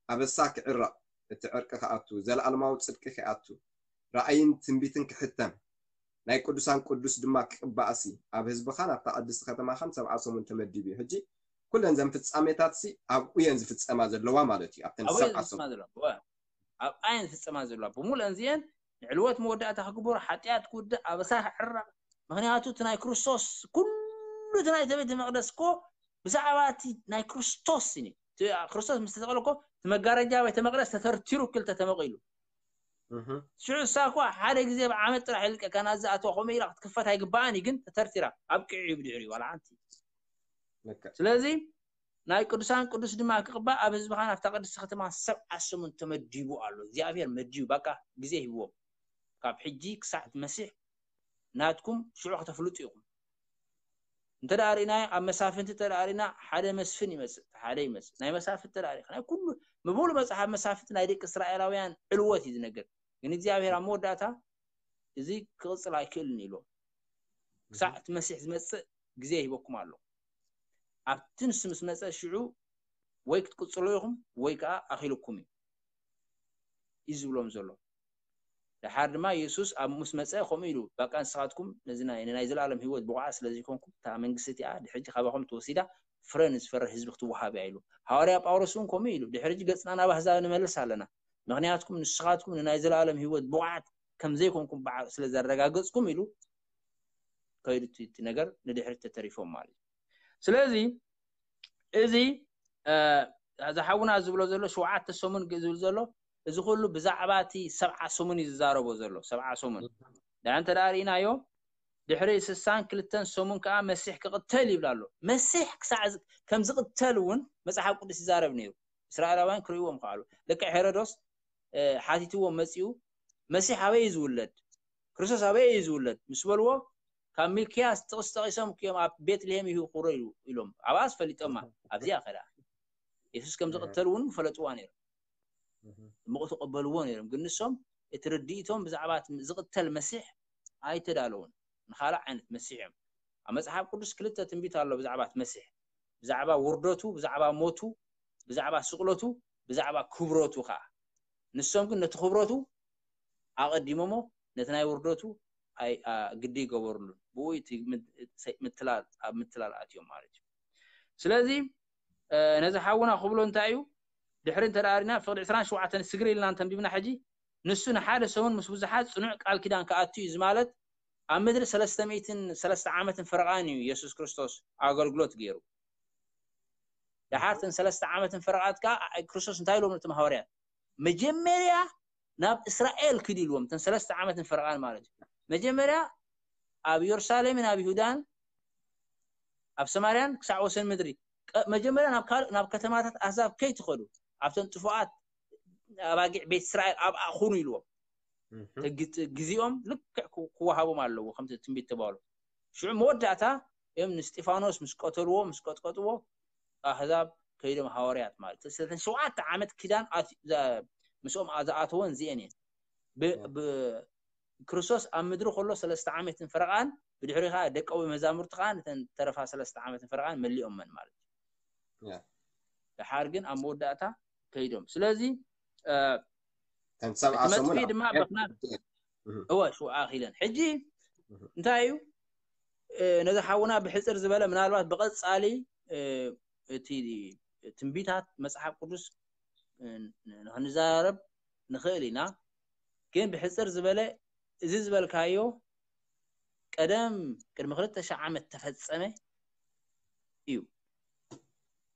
ኣበሳ ክዕረቕ፣ እቲ ዕርቂ ክኣቱ፣ ዘለኣለማዊ ጽድቂ ክኣቱ፣ ራእይን ትንቢትን ክሕተም፣ ናይ ቅዱሳን ቅዱስ ድማ ክቅባእሲ፣ ኣብ ህዝብኻን ኣብታ ቅድስቲ ከተማኻን ሰብዓ ሰሙን ተመዲቡ እዩ። ሕጂ ኩለን ዘን ፍጻሜታትሲ ኣብኡ እየን ዝፍጸማ ዘለዋ ማለት እዩ። ኣብተን ኣብኡ እየን ሰብዓ ዝፍጸማ ሰሙን ዘለዋ። እወ። ኣብኣ እየን ዝፍጸማ ዘለዋ። ብምሉእን እዚአን ንዕልወት መወዳእታ ክግበሩ፣ ሓጢኣት ክውዳእ፣ ኣበሳ ክዕረቕ። ምኽንያቱ እቲ ናይ ክርስቶስ ኩሉ እቲ ናይ ቤተ መቕደስ እኮ ብዛዕባ እቲ ናይ ክርስቶስ እዩ። እቲ ክርስቶስ ምስ ተሰቕለ እኮ እቲ መጋረጃ ቤተ መቕደስ ተተርቲሩ ክልተ ተመቒሉ። እህ። ሽዑ እሳ እኮ ሓደ ግዜ ብዓመት ጥራሕ ይልቀ፣ ካና ዝኣተዋ ከምኡ ኢላ ክትክፈት ኣይግባኣን እዩ፣ ግን ተተርቲራ ኣብቂዑ እዩ ብድሕሪኡ ዋላ ሓንቲ። ልክዕ። ስለዚ ናይ ቅዱሳን ቅዱስ ድማ ክቕባእ ኣብ ህዝብኻ ናብታ ቅድስቲ ከተማ ሰብዓ ሰሙን ተመዲቡ ኣሎ። እግዚኣብሔር መዲቡ፣ በቃ ግዜ ሂብዎም። ካብ ሕጂ ክሳዕ እቲ መሲሕ ናትኩም ሽዑ ከተፍልጡ ኢኹም። እንተ ደኣ ርኢናዮ፣ ኣብ መሳፍንቲ እንተ ደኣ ርኢና፣ ሓደ መስፍን ይመጽእ፣ ሓደ ይመጽእ። ናይ መሳፍንቲ እንተ ደኣ ርኢኻ፣ ናይ ኩሉ፣ ምሉእ መጽሓፍ መሳፍንቲ ናይ ደቂ እስራኤላውያን ዕልወት እዩ ዝነግር። ግን እግዚኣብሔር ኣብ መወዳእታ እዚ ክቕጽል ኣይክእልን ኢልዎም። ክሳዕ እቲ መሲሕ ዝመጽእ ግዜ ሂበኩም ኣሎ። ኣብቲ ንሱ ምስ መጸ ሽዑ ወይ ክትቅጽሉ ኢኹም ወይ ከኣ ኣኺልኩም እዩ፣ እዩ ዝብሎም ዘሎ። ደሓር ድማ የሱስ ኣብ ምስ መጸ ከምኡ ኢሉ፣ በቃ ንስኻትኩም ነዚ ናይ፣ ናይ ዘለኣለም ህይወት ብቑዓት ስለ ዘይኮንኩም፣ እታ መንግስቲ እቲኣ ድሕጂ ካባኹም ተወሲዳ ፍረ ንዝፈሪ ህዝቢ ክትወሃብ እያ ኢሉ። ሃዋርያ ጳውሎስ እውን ከምኡ ኢሉ፣ ድሕሪ ሕጂ ገጽና ናብ ኣህዛብ ንመልስ ኣለና። ምኽንያትኩም ንስኻትኩም ንናይ ዘለኣለም ህይወት ብቑዓት ከም ዘይኮንኩም ብዓ-፣ ስለ ዘረጋገጽኩም ኢሉ ከይዱ እቲ፣ እቲ ነገር ንድሕሪት ተተሪፎም ማለት እዩ። ስለዚ እዚ፣ እ፣ እዚ ሓውና ዝብሎ ዘሎ ሸውዓተ ሰሙን ግ-፣ ዝብል ዘሎ እዚ ኩሉ ብዛዕባ እቲ ሰብዓ ሰሙን እዩ ዝዛረቦ ዘሎ፣ ሰብዓ ሰሙን። ደኣ እንተ ደኣ ርኢናዮ፣ ድሕሪ ስሳን ክልተን ሰሙን ከኣ መሲሕ ክቕተል ይብል ኣሎ። መሲሕ ክሳዕ ዝ-፣ ከም ዝቕተል እውን መጽሓፍ ቅዱስ ይዛረብ ነይሩ። እስራኤላውያን ክርእይዎም ከኣሉ። ልክዕ ሄሮዶስ፣ እ፣ ሓቲትዎ መጺኡ፣ "መሲሕ ኣበይ እዩ ዝውለድ? ክርስቶስ ኣበይ እዩ ዝውለድ?" ምስ በልዎ፣ "ካብ ሚልክያስ ጥቕሲ ጠቒሶም እዮም ኣብ ቤትልሄም ይሁኩሮ" ኢሉ-፣ ኢሎም። ኣብኣስ ፈሊጦማ። ኣብዚኣ ከ ደኣ የሱስ ከም ዝቕተል እውን ፈለጥዋ ነይሮም። እህ። እሞ ተቐበልዎ ነይሮም። ግን ንሶም እቲ ርድኢቶም ብዛዕባ እቲ ዝቕተል መሲሕ ኣይተዳለውን። ንኻልእ ዓይነት መሲሕ እዮም። ኣብ መጽሓፍ ቅዱስ ክልተ ትንቢት ኣሎ ብዛዕባ እቲ መሲሕ። ብዛዕባ ውርደቱ፣ ብዛዕባ ሞቱ፣ ብዛዕባ ስቕለቱ፣ ብዛዕባ ክብረቱ ከኣ። ንሶም ግን ነቲ ክብረቱ ኣቐዲሞሞ፣ ነቲ ናይ ውርደቱ ኣይ-፣ ኣ-፣ ግዲ ይገበሩሉን። ብኡ እቲ ምት-፣ ሰ-፣ ምትላል፣ ኣብ ምትላል ኣትዮም ማለት እዩ። ስለዚ፣ እ፣ ነዚ ሓውና ክብሎ እንታይ እዩ? ድሕሪ እንተ ደኣ ርኢና፣ ፍቕዲ ዕስራን ሸውዓተን ስግር ኢልና እንተንቢብና ሕጂ፣ ንሱ ንሓደ ሰሙን ምስ ብዙሓት ጽኑዕ ቃል ኪዳን ክኣቱ እዩ። እዚ ማለት ኣብ ምድሪ ሰለስተ ሚእትን ሰለስተ ዓመትን ፈረቓን እዩ የሱስ ክርስቶስ ኣገልግሎት ገይሩ። ደሓር እተን ሰለስተ ዓመትን ፈረቓት ከኣ ክርስቶስ እንታይ ኢሎም ነቶም ሃዋርያት? መጀመርያ ናብ እስራኤል ኪዱ ኢልዎም፣ እተን ሰለስተ ዓመትን ፈረቓን ማለት እዩ። መጀመርያ ኣብ የሩሳሌምን ኣብ ይሁዳን ኣብ ሰማርያን ክሳዕ ወሰን ምድሪ፣ ቀ-፣ መጀመርያ ናብ ካልእ፣ ናብ ከተማታት ኣህዛብ ከይትኸዱ፣ ኣብተን ጥፉኣት ኣባጊዕ ቤት እስራኤል ኣብኣ ኩኑ ኢልዎም። እህ። እቲ ግ-፣ ግዜኦም ልክዕ ክው-፣ ክወሃቦም ኣለዎ፣ ከምቲ ትንቢት ተባህሉ። ሽዑ መወዳእታ እዮም ንስጢፋኖስ ምስ ቀተልዎ፣ ምስ ቀጥቀጥዎ፣ ኣህዛብ ከይዶም ሃዋርያት ማለት እዩ። ስለተን ሸውዓተ ዓመት ኪዳን ኣት-፣ ዘ-፣ ምስኦም ኣ-፣ ዝኣተወን እዚአን እየን። ብ-፣ ያ። ብ-፣ ክርስቶስ ኣብ ምድሪ ከሎ ሰለስተ ዓመትን ፈረቓን፣ ብድሕሪ ኸኣ ደቀ መዛሙርቲ ኸኣ ነተን ተረፋ ሰለስተ ዓመትን ፈረቓን መሊኦመን ማለት እዩ። ያ። ደሓር ግን ኣብ መወዳእታ ከይዶም። ስለዚ፣ እ፣ እተን ሰብዓ እቲ መጥፍኢ ሰሙን ድማ ኣብ ብኽና-፣ እህ። እወ፣ ሽውዓ ኣኺለን። ሕጂ እህ። እንታይ እዩ? እ፣ ነዚ ሓውና ብሕጽር ዝበለ፣ ምናልባት ብቐጻሊ፣ እ፣ እቲ ትንቢታት መጽሓፍ ቅዱስ፣ እ፣ ንኽንዛረብ ንኽእል ኢና። ግን ብሕጽር ዝበለ፣ እዚ ዝበልካዮ ቀደም፣ ቅድሚ ክልተ ሺሕ ዓመት ተፈጸመ እዩ።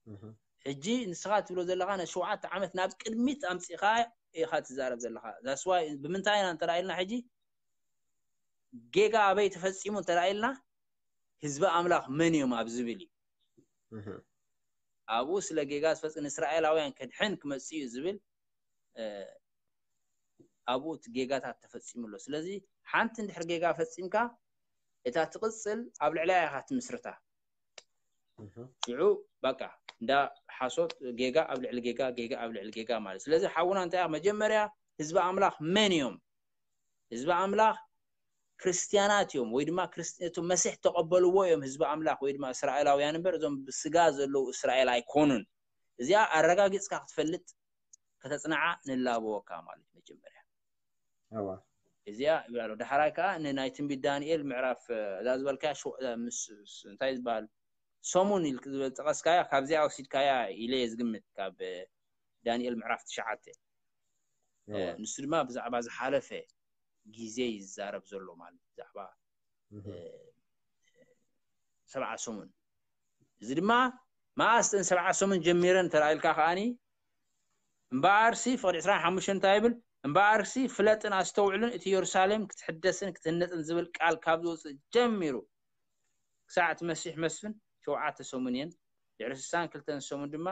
እህ። ሕጂ ንስኻ ትብሎ ዘለኻ፣ ነቲ ሸውዓተ ዓመት ናብ ቅድሚት ኣምጺእኻ ኢኻ ትዛረብ ዘለኻ። That's why ብምንታይ ኢና እንተ ኢልና፣ ሕጂ ጌጋ ኣበይ ተፈጺሙ እንተ ኢልና፣ ህዝቢ ኣምላኽ መን እዮም ኣብ ዝብል እዩ። እህ። ኣብኡ ስለ ጌጋ ዝፈጽም፣ ንእስራኤላውያን ከድሕን ክመጽእ እዩ ዝብል፣ እ፣ ኣብኡ እቲ ጌጋታት ተፈጺሙ ኣሎ። ስለዚ ሓንቲ እንድሕር ጌጋ ፈጺምካ፣ እታ ትቕጽል ኣብ ልዕሊኣ ኢኻ ትምስርታ። እህ። ሽዑ በቃ እንዳ ሓሶት፣ ጌጋ ኣብ ልዕሊ ጌጋ፣ ጌጋ ኣብ ልዕሊ ጌጋ ማለት። ስለዚ ሓውና እንታይ፣ መጀመርያ ህዝቢ ኣምላኽ መን እዮም? ህዝቢ ኣምላኽ ክርስትያናት እዮም፣ ወይ ድማ ክርስት-፣ እቶም መሲሕ ተቐበልዎ እዮም ህዝቢ ኣምላኽ፣ ወይ ድማ እስራኤላውያን እምበር፣ እዞም ብስጋ ዘለዉ እስራኤል ኣይኮኑን። እዚኣ ኣረጋጊፅካ ክትፈልጥ ከተፅንዓ ንላበወካ ማለት መጀመርያ እዋ እዚኣ ይብላ ኣሎ። ዳሕራይ ከዓ ንናይ ትንቢት ዳንኤል ምዕራፍ እዛ ዝበልካያ እንታይ ዝበሃል ሰሙን ኢል ዝበል ጠቐስካያ ካብዚኣ ወሲድካያ ኢለ እየ ዝግምት ካብ ዳንኤል ምዕራፍ ትሽዓተ ንሱ ድማ ብዛዕባ ዝሓለፈ ግዜ ይዛረብ ዘሎ ማለት ብዛዕባ ሰብዓ ሰሙን እዚ ድማ መኣስ እተን ሰብዓ ሰሙን ጀሚረን ተራኢልካ ከዓኒ እምበኣርሲ ፍቕዲ ዕስራን ሓሙሽተን እንታይ ይብል እምበኣርሲ ፍለጥን ኣስተውዕልን እቲ የሩሳሌም ክትሕደስን ክትህነፅን ዝብል ቃል ካብ ዝወፅእ ጀሚሩ ክሳዕ እቲ መሲሕ መስፍን ሸውዓተ ሰሙን እየን ድሕሪ ስሳን ክልተን ሰሙን ድማ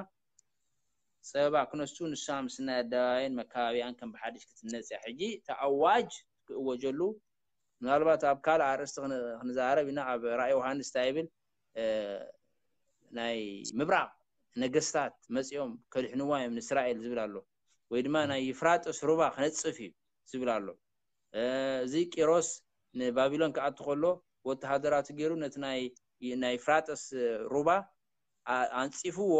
ፀበባ ክነሱ ንሳ ምስ ናይ ኣደባባይን መካባቢያን ከም ብሓድሽ ክትነፅ እያ ሕጂ እቲ ኣዋጅ ክእወጀሉ ምናልባት ኣብ ካልእ ኣርእስቲ ክንዛረብ ኢና ኣብ ራእይ ዮሃንስ እንታይ ይብል ናይ ምብራቕ ነገስታት መፂኦም ከድሕንዋ እዮም ንእስራኤል ዝብል ኣሎ ወይ ድማ ናይ ይፍራጥስ ሩባ ክነፅፍ እዩ ዝብል ኣሎ እዚ ቂሮስ ንባቢሎን ክኣቱ ከሎ ወተሃደራቱ ገይሩ ነቲ ናይ ፍራጥስ ሩባ ኣንፂፍዎ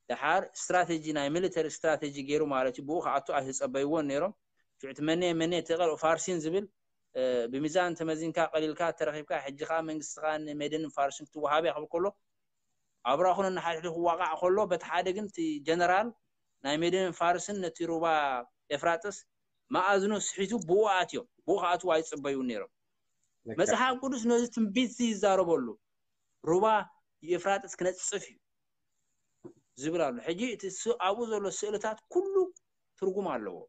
ደሓር ስትራቴጂ ናይ ሚሊተሪ ስትራቴጂ ገይሩ ማለት እዩ ብኡ ክኣቱ ኣይተፀበይዎን ነይሮም ሽዑ እቲ መነ መነ ተቐል ፋርሲን ዝብል ብሚዛን ተመዚንካ ቀሊልካ ተረኺብካ ሕጂ ከዓ መንግስቲ ከዓ ንሜድን ፋርስን ክትወሃብ እያ ክብል ከሎ ኣብራኹ ነንሓድሕዱ ክዋቃዕ ከሎ በቲ ሓደ ግን እቲ ጀነራል ናይ ሜድን ፋርስን ነቲ ሩባ ኤፍራጥስ መኣዝኑ ስሒቱ ብኡ ኣትዮም ብኡ ክኣትዉ ኣይፅበዩን ነይሮም መፅሓፍ ቅዱስ ነዚ ትንቢት ይዛረበሉ ሩባ የፍራጥስ ክነፅፍ እዩ ዝብል ኣሎ ሕጂ እቲ ኣብኡ ዘሎ ስእልታት ኩሉ ትርጉም ኣለዎ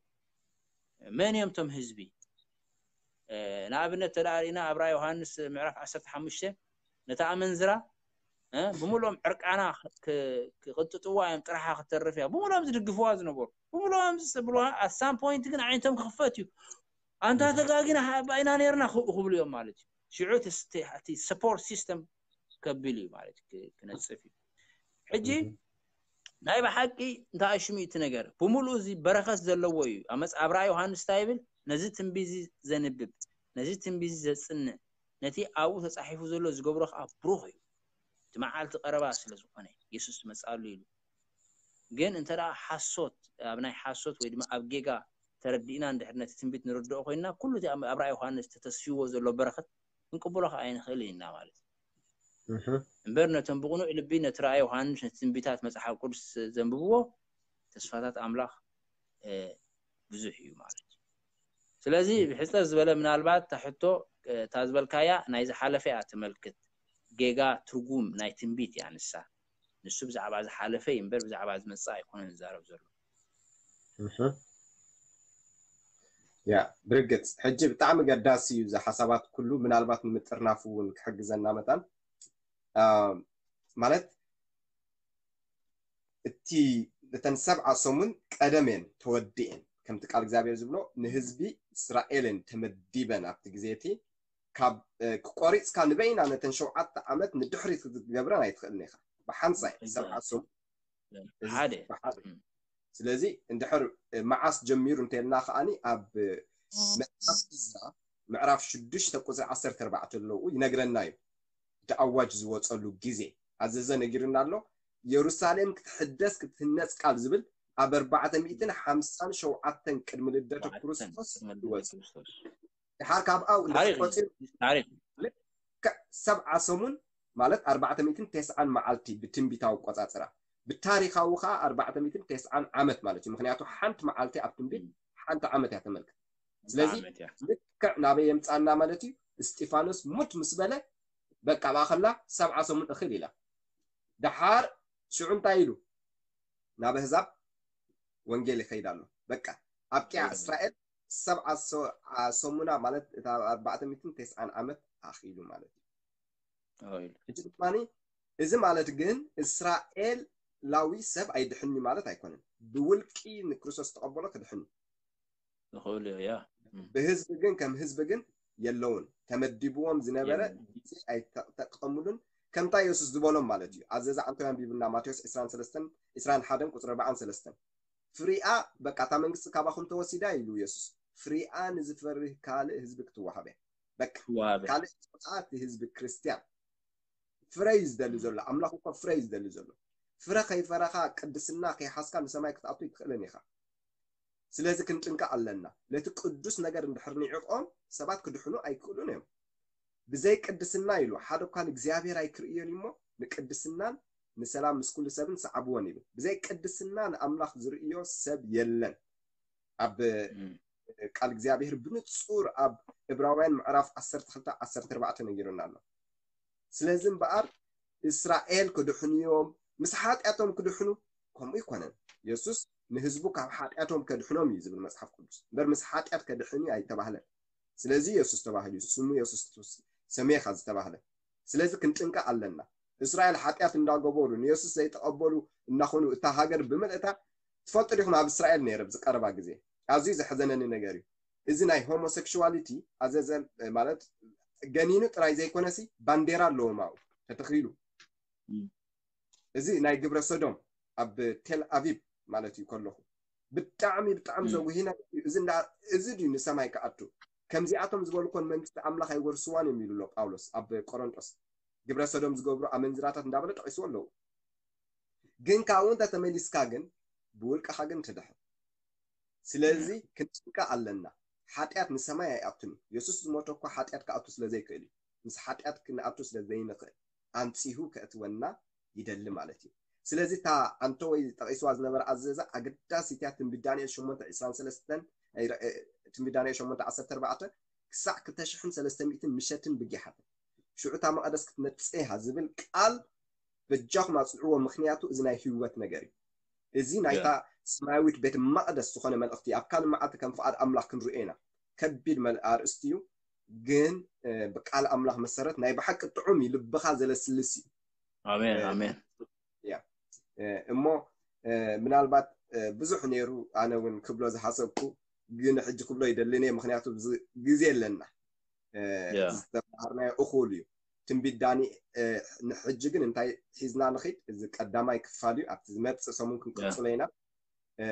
መን እዮም ቶም ህዝቢ ንኣብነት ተዳሪእና ኣብራ ዮሃንስ ምዕራፍ ዓሰርተ ሓሙሽተ ነታ ኣመንዝራ ብምሎም ዕርቃና ክቅጥጥዋ እዮም ጥራሓ ክተርፍ እያ ብምሎም ዝድግፍዋ ዝነበሩ ብምሎም ዝብልዋ ኣሳም ፖይንት ግን ዓይነቶም ክኽፈት እዩ ኣንታ ተጋጊና ባይና ነርና ክብሉ እዮም ማለት እዩ ሽዑ እቲ ሰፖርት ሲስተም ከቢል እዩ ማለት ክነፅፍ እዩ ሕጂ ናይ ብሓቂ እንታይ ሽሙ እቲ ነገር ብምሉኡ እዚ በረኸት ዘለዎ እዩ ኣብ ራእይ ዮሃንስ እንታይ ይብል ነዚ ትንቢዚ ዘንብብ ነዚ ትንቢዚ ዘፅንዕ ነቲ ኣብኡ ተፃሒፉ ዘሎ ዝገብሮ ከዓ ብሩኽ እዩ እቲ መዓልቲ ቀረባ ስለ ዝኾነ የሱስ መፅኣሉ ኢሉ ግን እንተ ሓሶት ኣብ ናይ ሓሶት ወይ ድማ ኣብ ጌጋ ተረዲእና እንድሕር ነቲ ትንቢት ንርድኦ ኮይንና ኩሉ እቲ ኣብ ራእይ ዮሃንስ ተተስፊዎ ዘሎ በረኸት ክንቅብሎ ከዓ ኣይንኽእል ኢና ማለት እዩ እምበር ነቶም ብቕኑዕ ልቢ ነቲ ራእይ ዮሃንስ ነቲ ትንቢታት መፅሓፍ ቅዱስ ዘንብብዎ ተስፋታት ኣምላኽ ብዙሕ እዩ ማለት እዩ ስለዚ ብሕፅር ዝበለ ምናልባት እታ ሕቶ እታ ዝበልካያ ናይ ዝሓለፈ እያ ትመልክት ጌጋ ትርጉም ናይ ትንቢት እያ ንሳ ንሱ ብዛዕባ ዝሓለፈ እዩ እምበር ብዛዕባ ዝመፅእ ኣይኮነን ዝዛረብ ዘሎ ያ ብርግፅ ሕጂ ብጣዕሚ ገዳሲ እዩ እዚ ሓሳባት ኩሉ ምናልባት ንምጥርናፍ እውን ክሕግዘና መታን ማለት እቲ እተን ሰብዓ ሰሙን ቀደም እየን ተወዲኤን ከምቲ ቃል እግዚኣብሔር ዝብሎ ንህዝቢ እስራኤልን ተመዲበን ኣብቲ ግዜ እቲ ካብ ክቆሪፅካ ንበይና ነተን ሸውዓተ ዓመት ንድሕሪት ክትገብረን ኣይትኽእልን ኢኻ ብሓንሳይ ሰብዓ ሰሙን ሓደ ስለዚ እንድሕር መዓስ ጀሚሩ እንተልና ከዓኒ ኣብ መፅሓፍ እዝራ ምዕራፍ ሽዱሽተ ቁፅሪ ዓሰርተ ኣርባዕተ ኣለዉ ይነግረና እዩ እቲ ኣዋጅ ዝወፀሉ ግዜ ኣዘዘ ነጊርና ኣሎ የሩሳሌም ክትሕደስ ክትህነፅ ቃል ዝብል ኣብ ኣርባዕተ ሚእትን ሓምሳን ሸውዓተን ቅድሚ ልደተ ክርስቶስ ይወፅ ድሓር ካብ ኣው ቆፂሩ ሰብዓ ሰሙን ማለት ኣርባዕተ ሚእትን ተስዓን መዓልቲ ብትንቢታዊ ቆፃፅራ ብታሪካዊ ከዓ ኣርባዕተ ሚእትን ተስዓን ዓመት ማለት እዩ ምክንያቱ ሓንቲ መዓልቲ ኣብ ትንቢት ሓንቲ ዓመት እያ ተመልክት ስለዚ ልክዕ ናበይ የምፃና ማለት እዩ እስጢፋኖስ ሙት ምስ በለ በቃ ብኣኸላ ሰብዓ ሰሙን እኽል ኢላ ደሓር ሽዑ እንታይ ኢሉ ናብ ኣህዛብ ወንጌል ይኸይድ ኣሎ በቃ ኣብቂዓ እስራኤል ሰብዓ ሰሙና ማለት እታ ኣርባዕተ ሚእትን ተስዓን ዓመት ኣኽኢሉ ማለት እዩ ሕጂ ድማ እዚ ማለት ግን እስራኤላዊ ሰብ ኣይድሕኒ ማለት ኣይኮነን ብውልቂ ንክርስቶስ ተቐበሎ ክድሕኒ ይኽእሉ ያ ብህዝቢ ግን ከም ህዝቢ ግን የለውን ተመዲብዎም ዝነበረ ግዜ ኣይተጠቀሙሉን ከምታ የሱስ ዝበሎም ማለት እዩ ኣዘዛ ዓንቶ ኣንቢብና ማቴዎስ 23 21 ቁፅሪ 43 ፍሪኣ በቃ እታ መንግስቲ ካባኹም ተወሲዳ ኢሉ የሱስ ፍሪኣ ንዝፈርህ ካልእ ህዝቢ ክትወሃበ በቃ ካልእ እቲ ህዝቢ ክርስትያን ፍረ እዩ ዝደሊ ዘሎ ኣምላኽ እኮ ፍረ እዩ ዝደሊ ዘሎ ፍረ ከይፈረኻ ቅድስና ከይሓዝካ ንሰማይ ክትኣቱ ኣይትኽእልን ኢኻ። ስለዚ ክንጥንቀቕ ኣለና። ነቲ ቅዱስ ነገር እንድሕር ንዒቖም ሰባት ክድሕኑ ኣይክእሉን እዮም። ብዘይ ቅድስና ኢሉ ሓደ እኳ ንእግዚኣብሔር ኣይክርእዮን እሞ ንቅድስናን ንሰላም ምስ ኩሉ ሰብን ሰዓብዎን ይብል። ብዘይ ቅድስና ንኣምላኽ ዝርእዮ ሰብ የለን። ኣብ ቃል እግዚኣብሔር ብንጹር ኣብ ዕብራውያን ምዕራፍ ዓሰርተ ክልተ ዓሰርተ ኣርባዕተ ነጊሩና ኣሎ። ስለዚ እምበኣር እስራኤል ክድሕኑ እዮም። ምስ ሓጢኣቶም ክድሕኑ ከምኡ ኣይኮነን። የሱስ ንህዝቡ ካብ ሓጢኣቶም ከድሕኖም እዩ ዝብል መጽሓፍ ቅዱስ። እምበር ምስ ሓጢኣት ከድሕን እዩ ኣይተባህለን። ስለዚ የሱስ ተባሂሉ እዩ። ስሙ የሱስ ክርስቶስ ሰሜኻ ዝተባህለ። ስለዚ ክንጥንቀቕ ኣለና። እስራኤል ሓጢኣት እንዳገበሩ ንየሱስ ዘይተቐበሉ እናኾኑ እታ ሃገር ብምልእታ ትፈልጡ ዲኹም? ኣብ እስራኤል ነይረ ኣብዚ ቀረባ ግዜ ኣዝዩ ዘሕዘነኒ ነገር እዩ። እዚ ናይ ሆሞሴክሹዋሊቲ ኣዘዘ ማለት ገኒኑ ጥራይ ዘይኮነሲ ባንዴራ ኣለዎም ኣብኡ ተተኺሉ። እም። እዚ ናይ ግብረ ሰዶም ኣብ ቴል ኣቪቭ ማለት እዩ ከለኹ ብጣዕሚ ብጣዕሚ እም። ዘጉሂና እዩ። እዚ እንዳ- እዚ ድዩ ንሰማይ ክኣቱ? ከምዚኣቶም ዝበሉ ኮን መንግስቲ ኣምላኽ ኣይወርስዋን እዮም ኢሉ ኣሎ ጳውሎስ ኣብ ቆሮንጦስ። ግብረ ሰዶም ዝገብሩ ኣመንዝራታት እንዳበለ ጠቂስዎ ኣለዉ። ግን ካብኡ እንተ ተመሊስካ ግን ብውልቅኻ ግን ትድሕን። ስለዚ ክንጥንቀቕ ኣለና። ሓጢኣት ንሰማይ ኣይኣቱን እዩ። የሱስ ዝሞተ እኳ ሓጢኣት ክኣቱ ስለ ዘይክእል እዩ። ምስ ሓጢኣት ክንኣቱ ስለ ዘይንኽእል ኣንጺሁ ከእትወና ይደሊ ማለት እዩ። ስለዚ እታ ኣንተ ወይ ጠቒስዋ ዝነበረ ኣዘዛ ኣገዳሲት እያ። ትንቢት ዳንኤል ሸሞንተ ዕስራን ሰለስተን፣ እ፣ ትንቢት ዳንኤል ሸሞንተ ዓሰርተ ኣርባዕተ ክሳዕ ክልተ ሽሕን ሰለስተ ሚእትን ምሸትን ብጊሓትን ሽዑ እታ መቐደስ ክትነጽህ እያ ዝብል ቃል በጃኹም ኣጽንዕዎ፣ ምኽንያቱ እዚ ናይ ህይወት ነገር እዩ። እዚ ናይታ ሰማያዊት ቤት መቕደስ ዝኾነ መልእኽቲ ኣብ ካልእ መዓልቲ ከም ፍቓድ ኣምላኽ ክንርእዮ ኢና። ከቢድ መል- ኣርእስቲ እዩ፣ ግን እ፣ ብቃል ኣምላኽ መሰረት ናይ ብሓቂ ጥዑም እዩ፣ ልብኻ ዘለስልስ እዩ። ኣሜን እ፣ ኣሜን። እ፣ እሞ እ፣ ምናልባት እ፣ ብዙሕ ነይሩ ኣነ እውን ክብሎ ዝሓሰብኩ፣ ግን ሕጂ ክብሎ ይደልን እየ፣ ምኽንያቱ ብዙ ግዜ ኣለና። እ፣ ያ። ዝተማሃርናዮ እኹል እዩ። ትንቢት ዳኒ እ፣ ንሕጂ ግን እንታይ ሒዝና ንኺድ? እዚ ቀዳማይ ክፋል እዩ። ኣብቲ ዝመጽእ ሰሙን ክንቅጽሎ ኢና። እ፣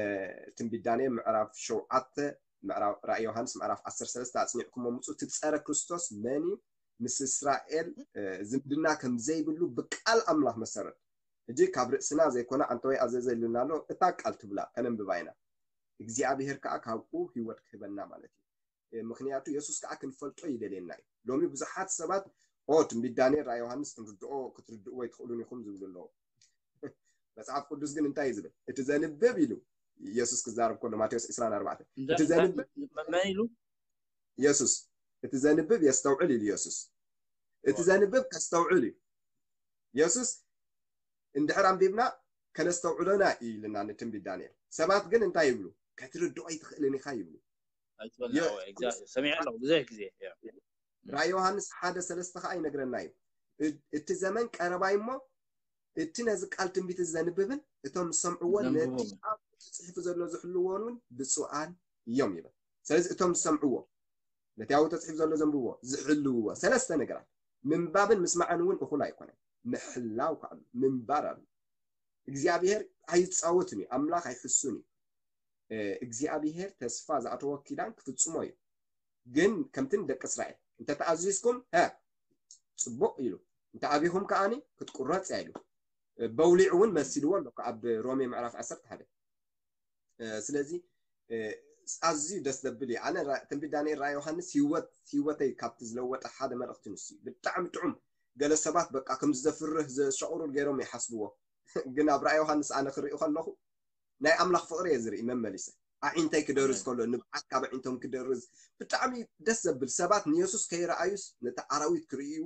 ትንቢት ዳንኤል ምዕራፍ ሸውዓተ፣ ምዕራፍ ራእይ ዮሃንስ ምዕራፍ ዓሰርተ ሰለስተ ኣጽኒዕኩም ምጹ። እቲ ጸረ ክርስቶስ መን እዩ? ምስ እስራኤል እ፣ ዝምድና ከም ዘይብሉ ብቃል ኣምላኽ መሰረት። ሕጂ ካብ ርእስና ዘይኮነ ኣንተ ወይ ኣዘዘ ኢሉና ኣሎ። እታ ቃል ትብላ ከነንብባ ኢና። እግዚኣብሔር ከዓ ካብኡ ህይወት ክህበና ማለት እዩ። እ፣ ምኽንያቱ የሱስ ከዓ ክንፈልጦ ይደልየና እዩ። ሎሚ ብዙሓት ሰባት ኦ ትንቢት ዳንኤል ራእይ ዮሃንስ ክንርድኦ ክትርድእዎ ኣይትኽእሉን ኢኹም ዝብሉ ኣለዉ። መጽሓፍ ቅዱስ ግን እንታይ እዩ ዝብል? እቲ ዘንብብ ኢሉ የሱስ ክዛረብ ከሎ ማቴዎስ ዕስራን ኣርባዕተን እቲ ዘንብብ መን ኢሉ? የሱስ እቲ ዘንብብ የስተውዕል ኢሉ የሱስ እቲ ዘንብብ ከስተውዕል እዩ። የሱስ እንድሕር ኣንቢብና ከነስተውዕሎና እዩ ኢልና ንትንቢት ዳንኤል። ሰባት ግን እንታይ ይብሉ? ከትርድኦ ኣይትኽእልን ኢኻ ይብሉ። ኣይትበልና። የ- ወይ፣ exactly። ሰሚዐ ኣለኹ ብዙሕ ግዜ። ያ። ራእይ ዮሃንስ ሓደ ሰለስተ ከዓ ይነግረና እዩ። እ- እቲ ዘመን ቀረባይ እሞ እቲ ነዚ ቃል ትንቢት እዚ ዘንብብን እቶም ዝሰምዕዎን ነቲ ዘንብቦም። ኣብ ተፅሒፉ ዘሎ ዝሕልዎን እውን ብፁዓን እዮም ይብል። ስለዚ እቶም ዝሰምዕዎ ነቲ ኣብኡ ተፅሒፉ ዘሎ ዘንብብዎ ዝሕልውዎ ሰለስተ ነገራት ምንባብን ምስማዕን እውን እኹል ኣይኮነን። ምሕላው ከዓ ኣሎ፣ ምንባር ኣሎ። እግዚኣብሔር ኣይፃወትን እዩ፣ ኣምላኽ ኣይሕሱን እዩ። እ፣ እግዚኣብሔር ተስፋ ዝኣተዎ ኪዳን ክፍፅሞ እዩ። ግን ከምቲ ንደቂ እስራኤል እንተተኣዚዝኩም ሀ ፅቡቅ ኢሉ እንተ ኣቢኹም ከዓኒ ክትቁረፅ እያ ኢሉ። እ፣ በውሊዕ እውን መሲልዎ ኣሎ ኣብ ሮሜ ምዕራፍ ዓሰርተ ሓደ። እ፣ ስለዚ እ፣ ኣዝዩ ደስ ዘብል እዩ። ኣነ ራ- ትንቢት ዳንኤል ራእይ ዮሃንስ ህይወት ህይወተይ ካብቲ ዝለወጠ ሓደ መልእኽቲ ንሱ እዩ። ብጣዕሚ ጥዑም። ገለ ሰባት በቃ ከምዚ ዘፍርህ ዘሸቑሩር ገይሮም ይሓስብዎ። ግን ኣብ ራእይ ዮሃንስ ኣነ ክርኢ ከለኹ ናይ ኣምላኽ ፍቕሪ እየ ዝርኢ መመሊሰ። ኣዒንተይ ክደርዝ ከሎ ንብዓት ካብ ኣዒንቶም ክደርዝ ብጣዕሚ ደስ ዘብል። ሰባት ንየሱስ ከይረኣዩስ ነቲ ኣራዊት ክርእዩ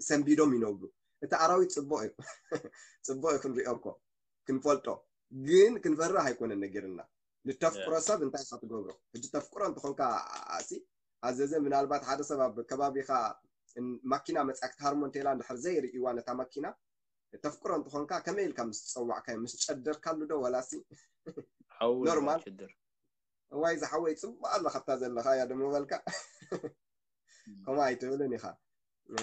ሰንቢዶም ይነብሩ። እቲ ኣራዊት ጽቡቕ እዩ። ጽቡቕ እዩ ክንሪኦ እኮ ክንፈልጦ፣ ግን ክንፈርህ ኣይኮነን ነጊርና። ንተፍቅሮ ሰብ እንታይ ኢኻ ትገብሮ? ሕጂ ተፍቅሮ እንተኾንካ ኣሲ ኣዘዘ ምናልባት ሓደ ሰብ ኣብ ከባቢኻ ን- ማኪና መፅያ ክትሃርሞ እንተላ እንድሕር ዘይርእይዋ ነታ ማኪና ተፍቅሮ እንተኾንካ ከመይ ኢልካ ምስ ፀዋዕካዮ ምስ ጨደርካሉ ዶ ወላሲ ሓው ኖርማል? ችድር እዋይ ዝሓወይ ፅቡቅ ኣለካ ኣብታ ዘለካ እያ ደሞ በልካ ከምኡ ኣይትብልን ኢኻ። እ፣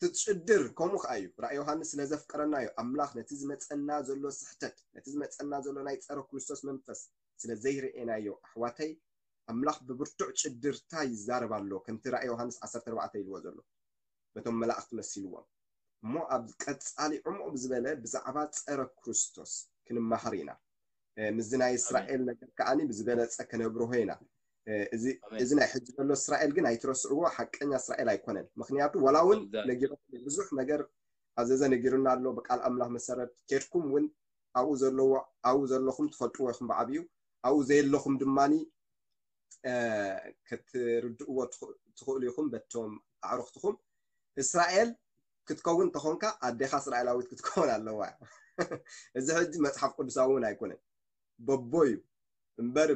ትፅድር ከምኡ ከዓ እዩ። ራእይ ዮሃንስ ስለ ዘፍቀረና እዩ። ኣምላኽ ነቲ ዝመፀና ዘሎ ስሕተት፣ ነቲ ዝመፀና ዘሎ ናይ ፀረ ክርስቶስ መንፈስ ስለ ዘይርኤናዮ ኣሕዋተይ፣ ኣምላኽ ብብርቱዕ ጭድርታ ይዛረብ ኣሎ። ከምቲ ራእይ ዮሃንስ ዓሰርተ ኣርባዕተ ኢልዎ ዘሎ በቶም መላእኽቲ መሲልዎም። እሞ ኣብ ቀጻሊ ዕሙቕ ብዝበለ ብዛዕባ ጸረ ክርስቶስ ክንመሃር ኢና። ምስዚ ናይ እስራኤል ነገር ከዓኒ ብዝበለጸ ከነብርሆ ኢና። እዚ ናይ ሕጂ ዘሎ እስራኤል ግን ኣይትረስዕዎ፣ ሓቀኛ እስራኤል ኣይኮነን። ምክንያቱ ዋላ እውን ነጊሩ ብዙሕ ነገር ኣዘዘ ነጊሩና ኣሎ። ብቃል ኣምላኽ መሰረት ኬድኩም እውን ኣብኡ ዘለዎ ኣብኡ ዘለኹም ትፈልጥዎ ኢኹም ብዓብዩ ኣብኡ ዘየለኹም ድማኒ ክትርድእዎ ትኽእሉ ኢኹም በቶም ኣዕሩኽትኹም። እስራኤል ክትከውን ተኾንካ ኣዴኻ እስራኤላዊት ክትከውን ኣለዋ። እዚ ሕጂ መፅሓፍ ቅዱሳዊ እውን ኣይኮነን፣ በቦ እዩ እምበር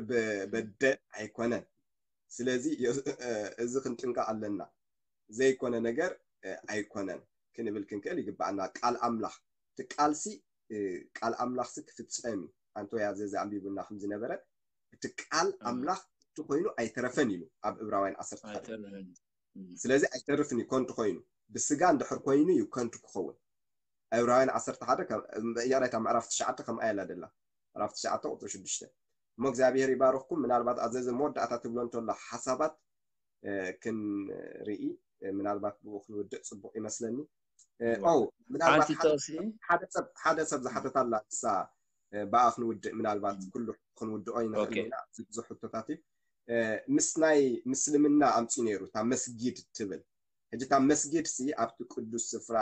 በደ ኣይኮነን። ስለዚ እዚ ክንጥንቀቕ ኣለና። ዘይኮነ ነገር ኣይኮነን ክንብል ክንክእል ይግባኣና። ቃል ኣምላኽ ትቃልሲ ቃል ኣምላኽሲ ክፍጸም እዩ። ኣንቶያ ዘዚ ኣንቢቡና ከም ዝነበረ እቲ ቃል ኣምላኽ እቲ ኮይኑ ኣይተረፈን ኢሉ ኣብ ዕብራውያን ዓሰርተ ሓደ። ስለዚ ኣይተርፍን እዩ ከንቱ ኮይኑ። ብስጋ እንድሕር ኮይኑ እዩ ከንቱ ክኸውን። ዕብራውያን ዓሰርተ ሓደ ይቕሬታ፣ ምዕራፍ ትሽዓተ ከምኣ ኢላ ደላ። ምዕራፍ ትሽዓተ ቁፅሪ ሽዱሽተ። እሞ እግዚኣብሔር ይባርኽኩም። ምናልባት ኣዘዘ መወዳእታ ትብሎ እንተሎ ሓሳባት ክንርኢ ምናልባት ብኡ ክንውድእ ፅቡቅ ይመስለኒ። ኦ ምናልባት ሓደ ሰብ ዝሓተታ ኣላ ንሳ ብኣ ክንውድእ ምናልባት ኩሉ ክንውድኦ ይንኽእል ኢና። ብዙሕ ሕቶታት እዩ ምስ ናይ ምስልምና ኣምፂ ነይሩ እታ መስጊድ ትብል። ሕጂ እታ መስጊድ ሲ ኣብቲ ቅዱስ ስፍራ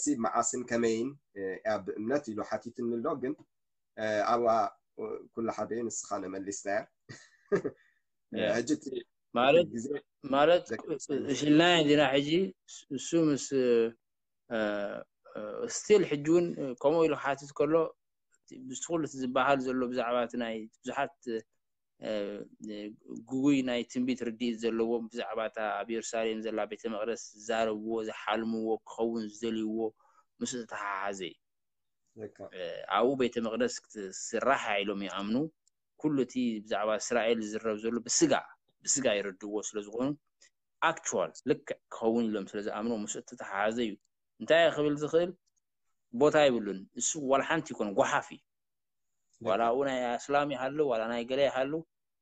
ሲ መዓስን ከመይን እያ ብእምነት ኢሉ ሓቲትኒ ኣሎ። ግን ኣብኣ ኩሉ ሓደ እዩ፣ ንስኻ ነመሊስናያ። ሕጂ ማለት ማለት ሽልናዮ እንዲና ሕጂ እሱ ምስ ስቲል ሕጂ እውን ከምኡ ኢሉ ክሓትት ከሎ ብዝቲ ኩሉ እቲ ዝበሃል ዘሎ ብዛዕባ እቲ ናይ ብዙሓት ግጉይ ናይ ትንቢት ርድኢት ዘለዎም ብዛዕባ እታ ኣብ የሩሳሌም ዘላ ቤተ መቅደስ ዝዛረብዎ ዝሓልምዎ ክኸውን ዝደልይዎ ምስ ዝተሓሓዘ እዩ። ኣብኡ ቤተ መቅደስ ክትስራሕ ኢሎም ይኣምኑ። ኩሉ እቲ ብዛዕባ እስራኤል ዝዝረብ ዘሎ ብስጋ ብስጋ ይርድእዎ ስለዝኾኑ ኣክቹዋል ልክዕ ክኸውን ኢሎም ስለዝኣምኑ ምስ እተተሓሓዘ እዩ። እንታይ ክብል ዝኽእል ቦታ ይብሉን። እሱ ዋላ ሓንቲ ይኮን ጓሓፍ እዩ። ዋላ ኣብኡ ናይ ኣስላም ይሃሉ ዋላ ናይ ገለ ይሃሉ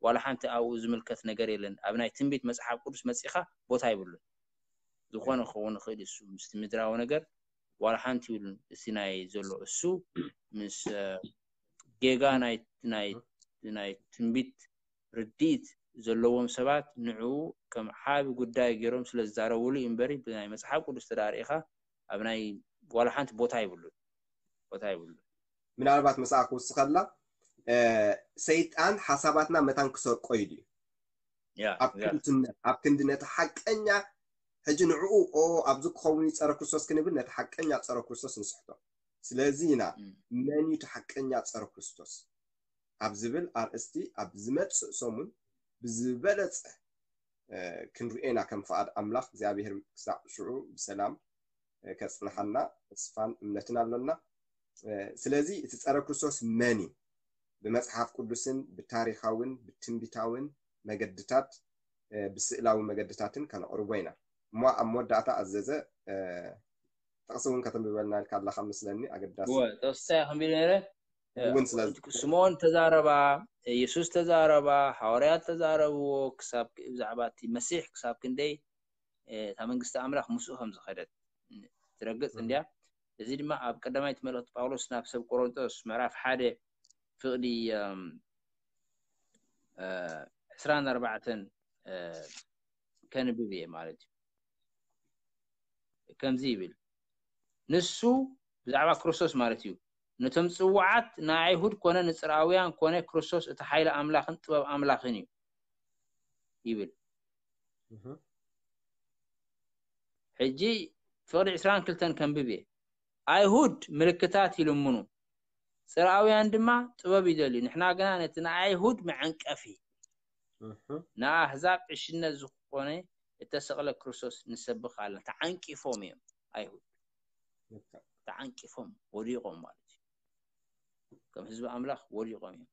ዋላ ሓንቲ ኣብኡ ዝምልከት ነገር የለን። ኣብ ናይ ትንቢት መፅሓፍ ቅዱስ መፂኻ ቦታ ይብሉን። ዝኾነ ክኸውን ይኽእል እሱ ምስቲ ምድራዊ ነገር ዋላ ሓንቲ ይብሉን። እቲ ናይ ዘሎ እሱ ምስ ጌጋ ናይ ናይ ናይ ትንቢት ርድኢት ዘለዎም ሰባት ንዕኡ ከም ዓቢ ጉዳይ ገይሮም ስለ ዝዛረብሉ እዩ እምበሪ ብናይ መጽሓፍ ቅዱስ ተዳሪእኻ ኣብ ናይ ዋላ ሓንቲ ቦታ ይብሉን ቦታ ይብሉን። ምናልባት ምስኣ ክውስኸላ ሰይጣን ሓሳባትና መታን ክሰርቆ ኢሉ እዩ። ኣብ ክንድነት ኣብ ክንዲ ነቲ ሓቀኛ ሕጂ ንዕኡ ኦ ኣብዚ ክኸውን እዩ ጸረ ክርስቶስ ክንብል ነቲ ሓቀኛ ጸረ ክርስቶስ ንስሕቶ። ስለዚ ኢና መን እዩ እቲ ሓቀኛ ጸረ ክርስቶስ ኣብ ዝብል ኣርእስቲ ኣብ ዝመጽእ ሰሙን ብዝበለጸ ክንርኤና ከም ፍቓድ ኣምላኽ እግዚኣብሔር ክሳዕ ሽዑ ብሰላም ከጽንሓና ተስፋን እምነትን ኣሎና። ስለዚ እቲ ጸረ ክርስቶስ መን እዩ? ብመጽሓፍ ቅዱስን ብታሪኻውን ብትንቢታውን መገድታት ብስእላዊ መገድታትን ከነቕርቦ ኢና። እሞ ኣብ መወዳእታ ኣዘዘ ጥቕሲ እውን ከተንብበልና ኢልካ ኣለካ መስለኒ። ኣገዳሲ ጥቕስታ ከንቢሉ ነረ እውን ስለ ስምዖን ተዛረባ፣ የሱስ ተዛረባ፣ ሃዋርያት ተዛረብዎ ክሳብ ብዛዕባ እቲ መሲሕ ክሳብ ክንደይ እታ መንግስቲ ኣምላኽ ምስኡ ከም ዝኸደት ትረግጽ እንድያ። እዚ ድማ ኣብ ቀዳማይቲ መልእኽቲ ጳውሎስ ናብ ሰብ ቆሮንጦስ ምዕራፍ ሓደ ፍቕዲ ዕስራን ኣርባዕተን ከንብብ እየ ማለት እዩ። ከምዚ ይብል፣ ንሱ ብዛዕባ ክርስቶስ ማለት እዩ፣ ነቶም ጽዋዓት ንኣይሁድ ኮነ ንጽርኣውያን ኮነ ክርስቶስ እቲ ሓይሊ ኣምላኽን ጥበብ ኣምላኽን እዩ ይብል። ሕጂ ፍቕዲ ዕስራን ክልተን ከንብብ እየ። ኣይሁድ ምልክታት ይልምኑ፣ ጽርኣውያን ድማ ጥበብ ይደልዩ። ንሕና ግና ነቲ ንኣይሁድ መዐንቀፊ ንኣህዛብ ዕሽነት ዝኾነ እተሰቕለ ክርስቶስ ንሰብኽ ኣለና። ተዓንቂፎም እዮም ኣይሁድ፣ ተዓንቂፎም ወዲቖም ማለት እዩ። ከም ህዝቢ ኣምላኽ ወዲቖም እዮም።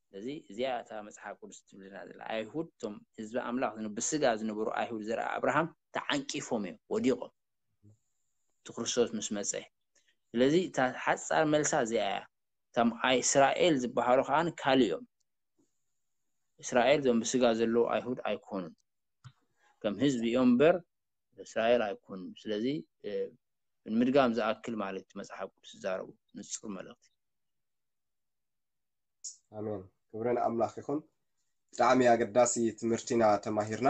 ስለዚ እዚኣ እታ መጽሓፍ ቅዱስ ትብልና ዘላ ኣይሁድ እቶም ህዝቢ ኣምላኽ ብስጋ ዝነበሩ ኣይሁድ ዘርኣ ኣብርሃም ተዓንቂፎም እዮም ወዲቖም እቲ ክርስቶስ ምስ መጸ። ስለዚ እታ ሓጻር መልሳ እዚኣ እያ። እቶም እስራኤል ዝበሃሉ ከዓ ካልእ እዮም። እስራኤል እዞም ብስጋ ዘለዉ ኣይሁድ ኣይኮኑን። ከም ህዝቢ እዮም እምበር እስራኤል ኣይኮኑን። ስለዚ ንምድጋም ዝኣክል ማለት እዩ መጽሓፍ ቅዱስ ዝዛረቡ ንጹር መልእኽቲ። ኣሜን። ክብሪ ንኣምላኽ ይኹን። ብጣዕሚ ኣገዳሲ ትምህርቲና ተማሂርና።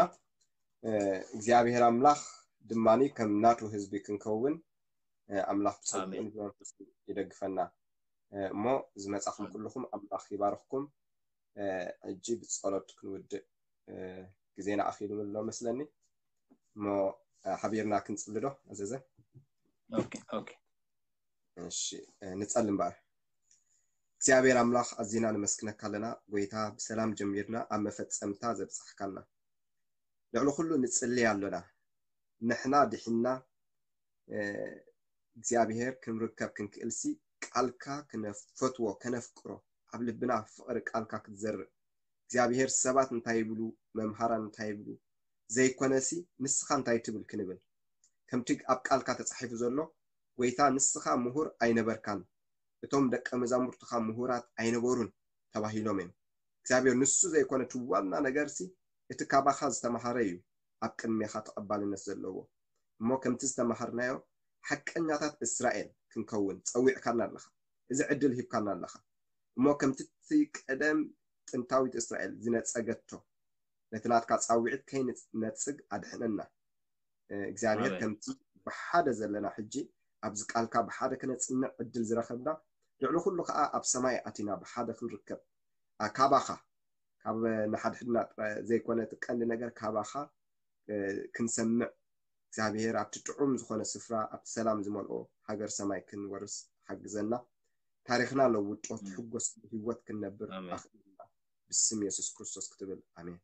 እግዚኣብሔር ኣምላኽ ድማ ከም ናቱ ህዝቢ ክንከውን ኣምላኽ ብጸጉን ብመንፈስ ይደግፈና። እሞ ዝመጻኹም ኩልኹም ኣምላኽ ይባርኽኩም። ሕጂ ብጸሎት ክንውድእ ግዜና ኣኺሉ ኣሎ መስለኒ። እሞ ሓቢርና ክንጽሊ ዶ ኣዘዘ? ኦኬ ኦኬ። እሺ፣ ንጸሊ እምበኣር። እግዚኣብሔር ኣምላኽ ኣዚና ነመስግነካ ኣለና። ጎይታ፣ ብሰላም ጀሚርና ኣብ መፈጸምታ ዘብጻሕካና። ልዕሊ ኩሉ ንጽሊ ኣሎና። ንሕና ድሒንና እግዚኣብሔር ክንርከብ ክንክእልሲ ቃልካ ክነፈትዎ ከነፍቅሮ ኣብ ልብና ፍቕሪ ቃልካ ክትዘርእ እግዚኣብሔር ሰባት እንታይ ይብሉ መምሃራን እንታይ ይብሉ ዘይኮነሲ ንስኻ እንታይ ትብል ክንብል ከምቲ ኣብ ቃልካ ተጻሒፉ ዘሎ ጎይታ ንስኻ ምሁር ኣይነበርካን እቶም ደቀ መዛሙርትኻ ምሁራት ኣይነበሩን ተባሂሎም እዮም እግዚኣብሔር ንሱ ዘይኮነ እቲ ዋና ነገርሲ እቲ ካባኻ ዝተማሃረ እዩ ኣብ ቅድሜኻ ተቐባልነት ዘለዎ እሞ ከምቲ ዝተማሃርናዮ ሓቀኛታት እስራኤል ክንከውን ጸዊዕካና ኣለኻ እዚ ዕድል ሂብካና ኣለኻ እሞ ከምቲ እቲ ቀደም ጥንታዊት እስራኤል ዝነጸገቶ ነቲ ናትካ ጻውዒት ከይንነጽግ ኣድሕነና እግዚኣብሔር ከምቲ ብሓደ ዘለና ሕጂ ኣብዚ ቃልካ ብሓደ ክነጽንዕ ዕድል ዝረኸብና ልዕሊ ኩሉ ከዓ ኣብ ሰማይ ኣቲና ብሓደ ክንርከብ ካባኻ ካብ ንሓድሕድና ዘይኮነ እቲ ቀንዲ ነገር ካባኻ ክንሰምዕ እግዚኣብሔር ኣብቲ ጥዑም ዝኾነ ስፍራ ኣብቲ ሰላም ዝመልኦ ሃገር ሰማይ ክንወርስ ሓግዘና ታሪኽና ለውጦ ትሕጎስ ህይወት ክንነብር ኣኽእልና ብስም የሱስ ክርስቶስ ክትብል ኣሜን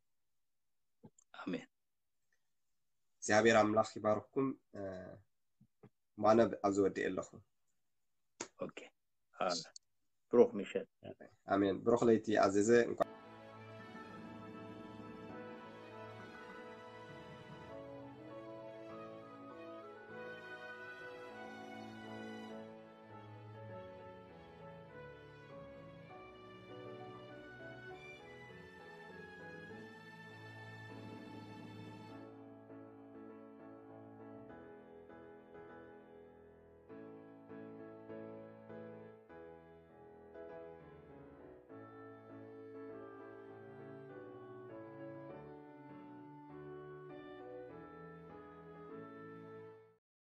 ኣሜን እግዚኣብሔር ኣምላኽ ይባርኩም ማነ ኣብዚ ወዲእ ኣለኹ ብሩክ ምሸት ኣሜን ብሩክ ለይቲ ኣዘዘ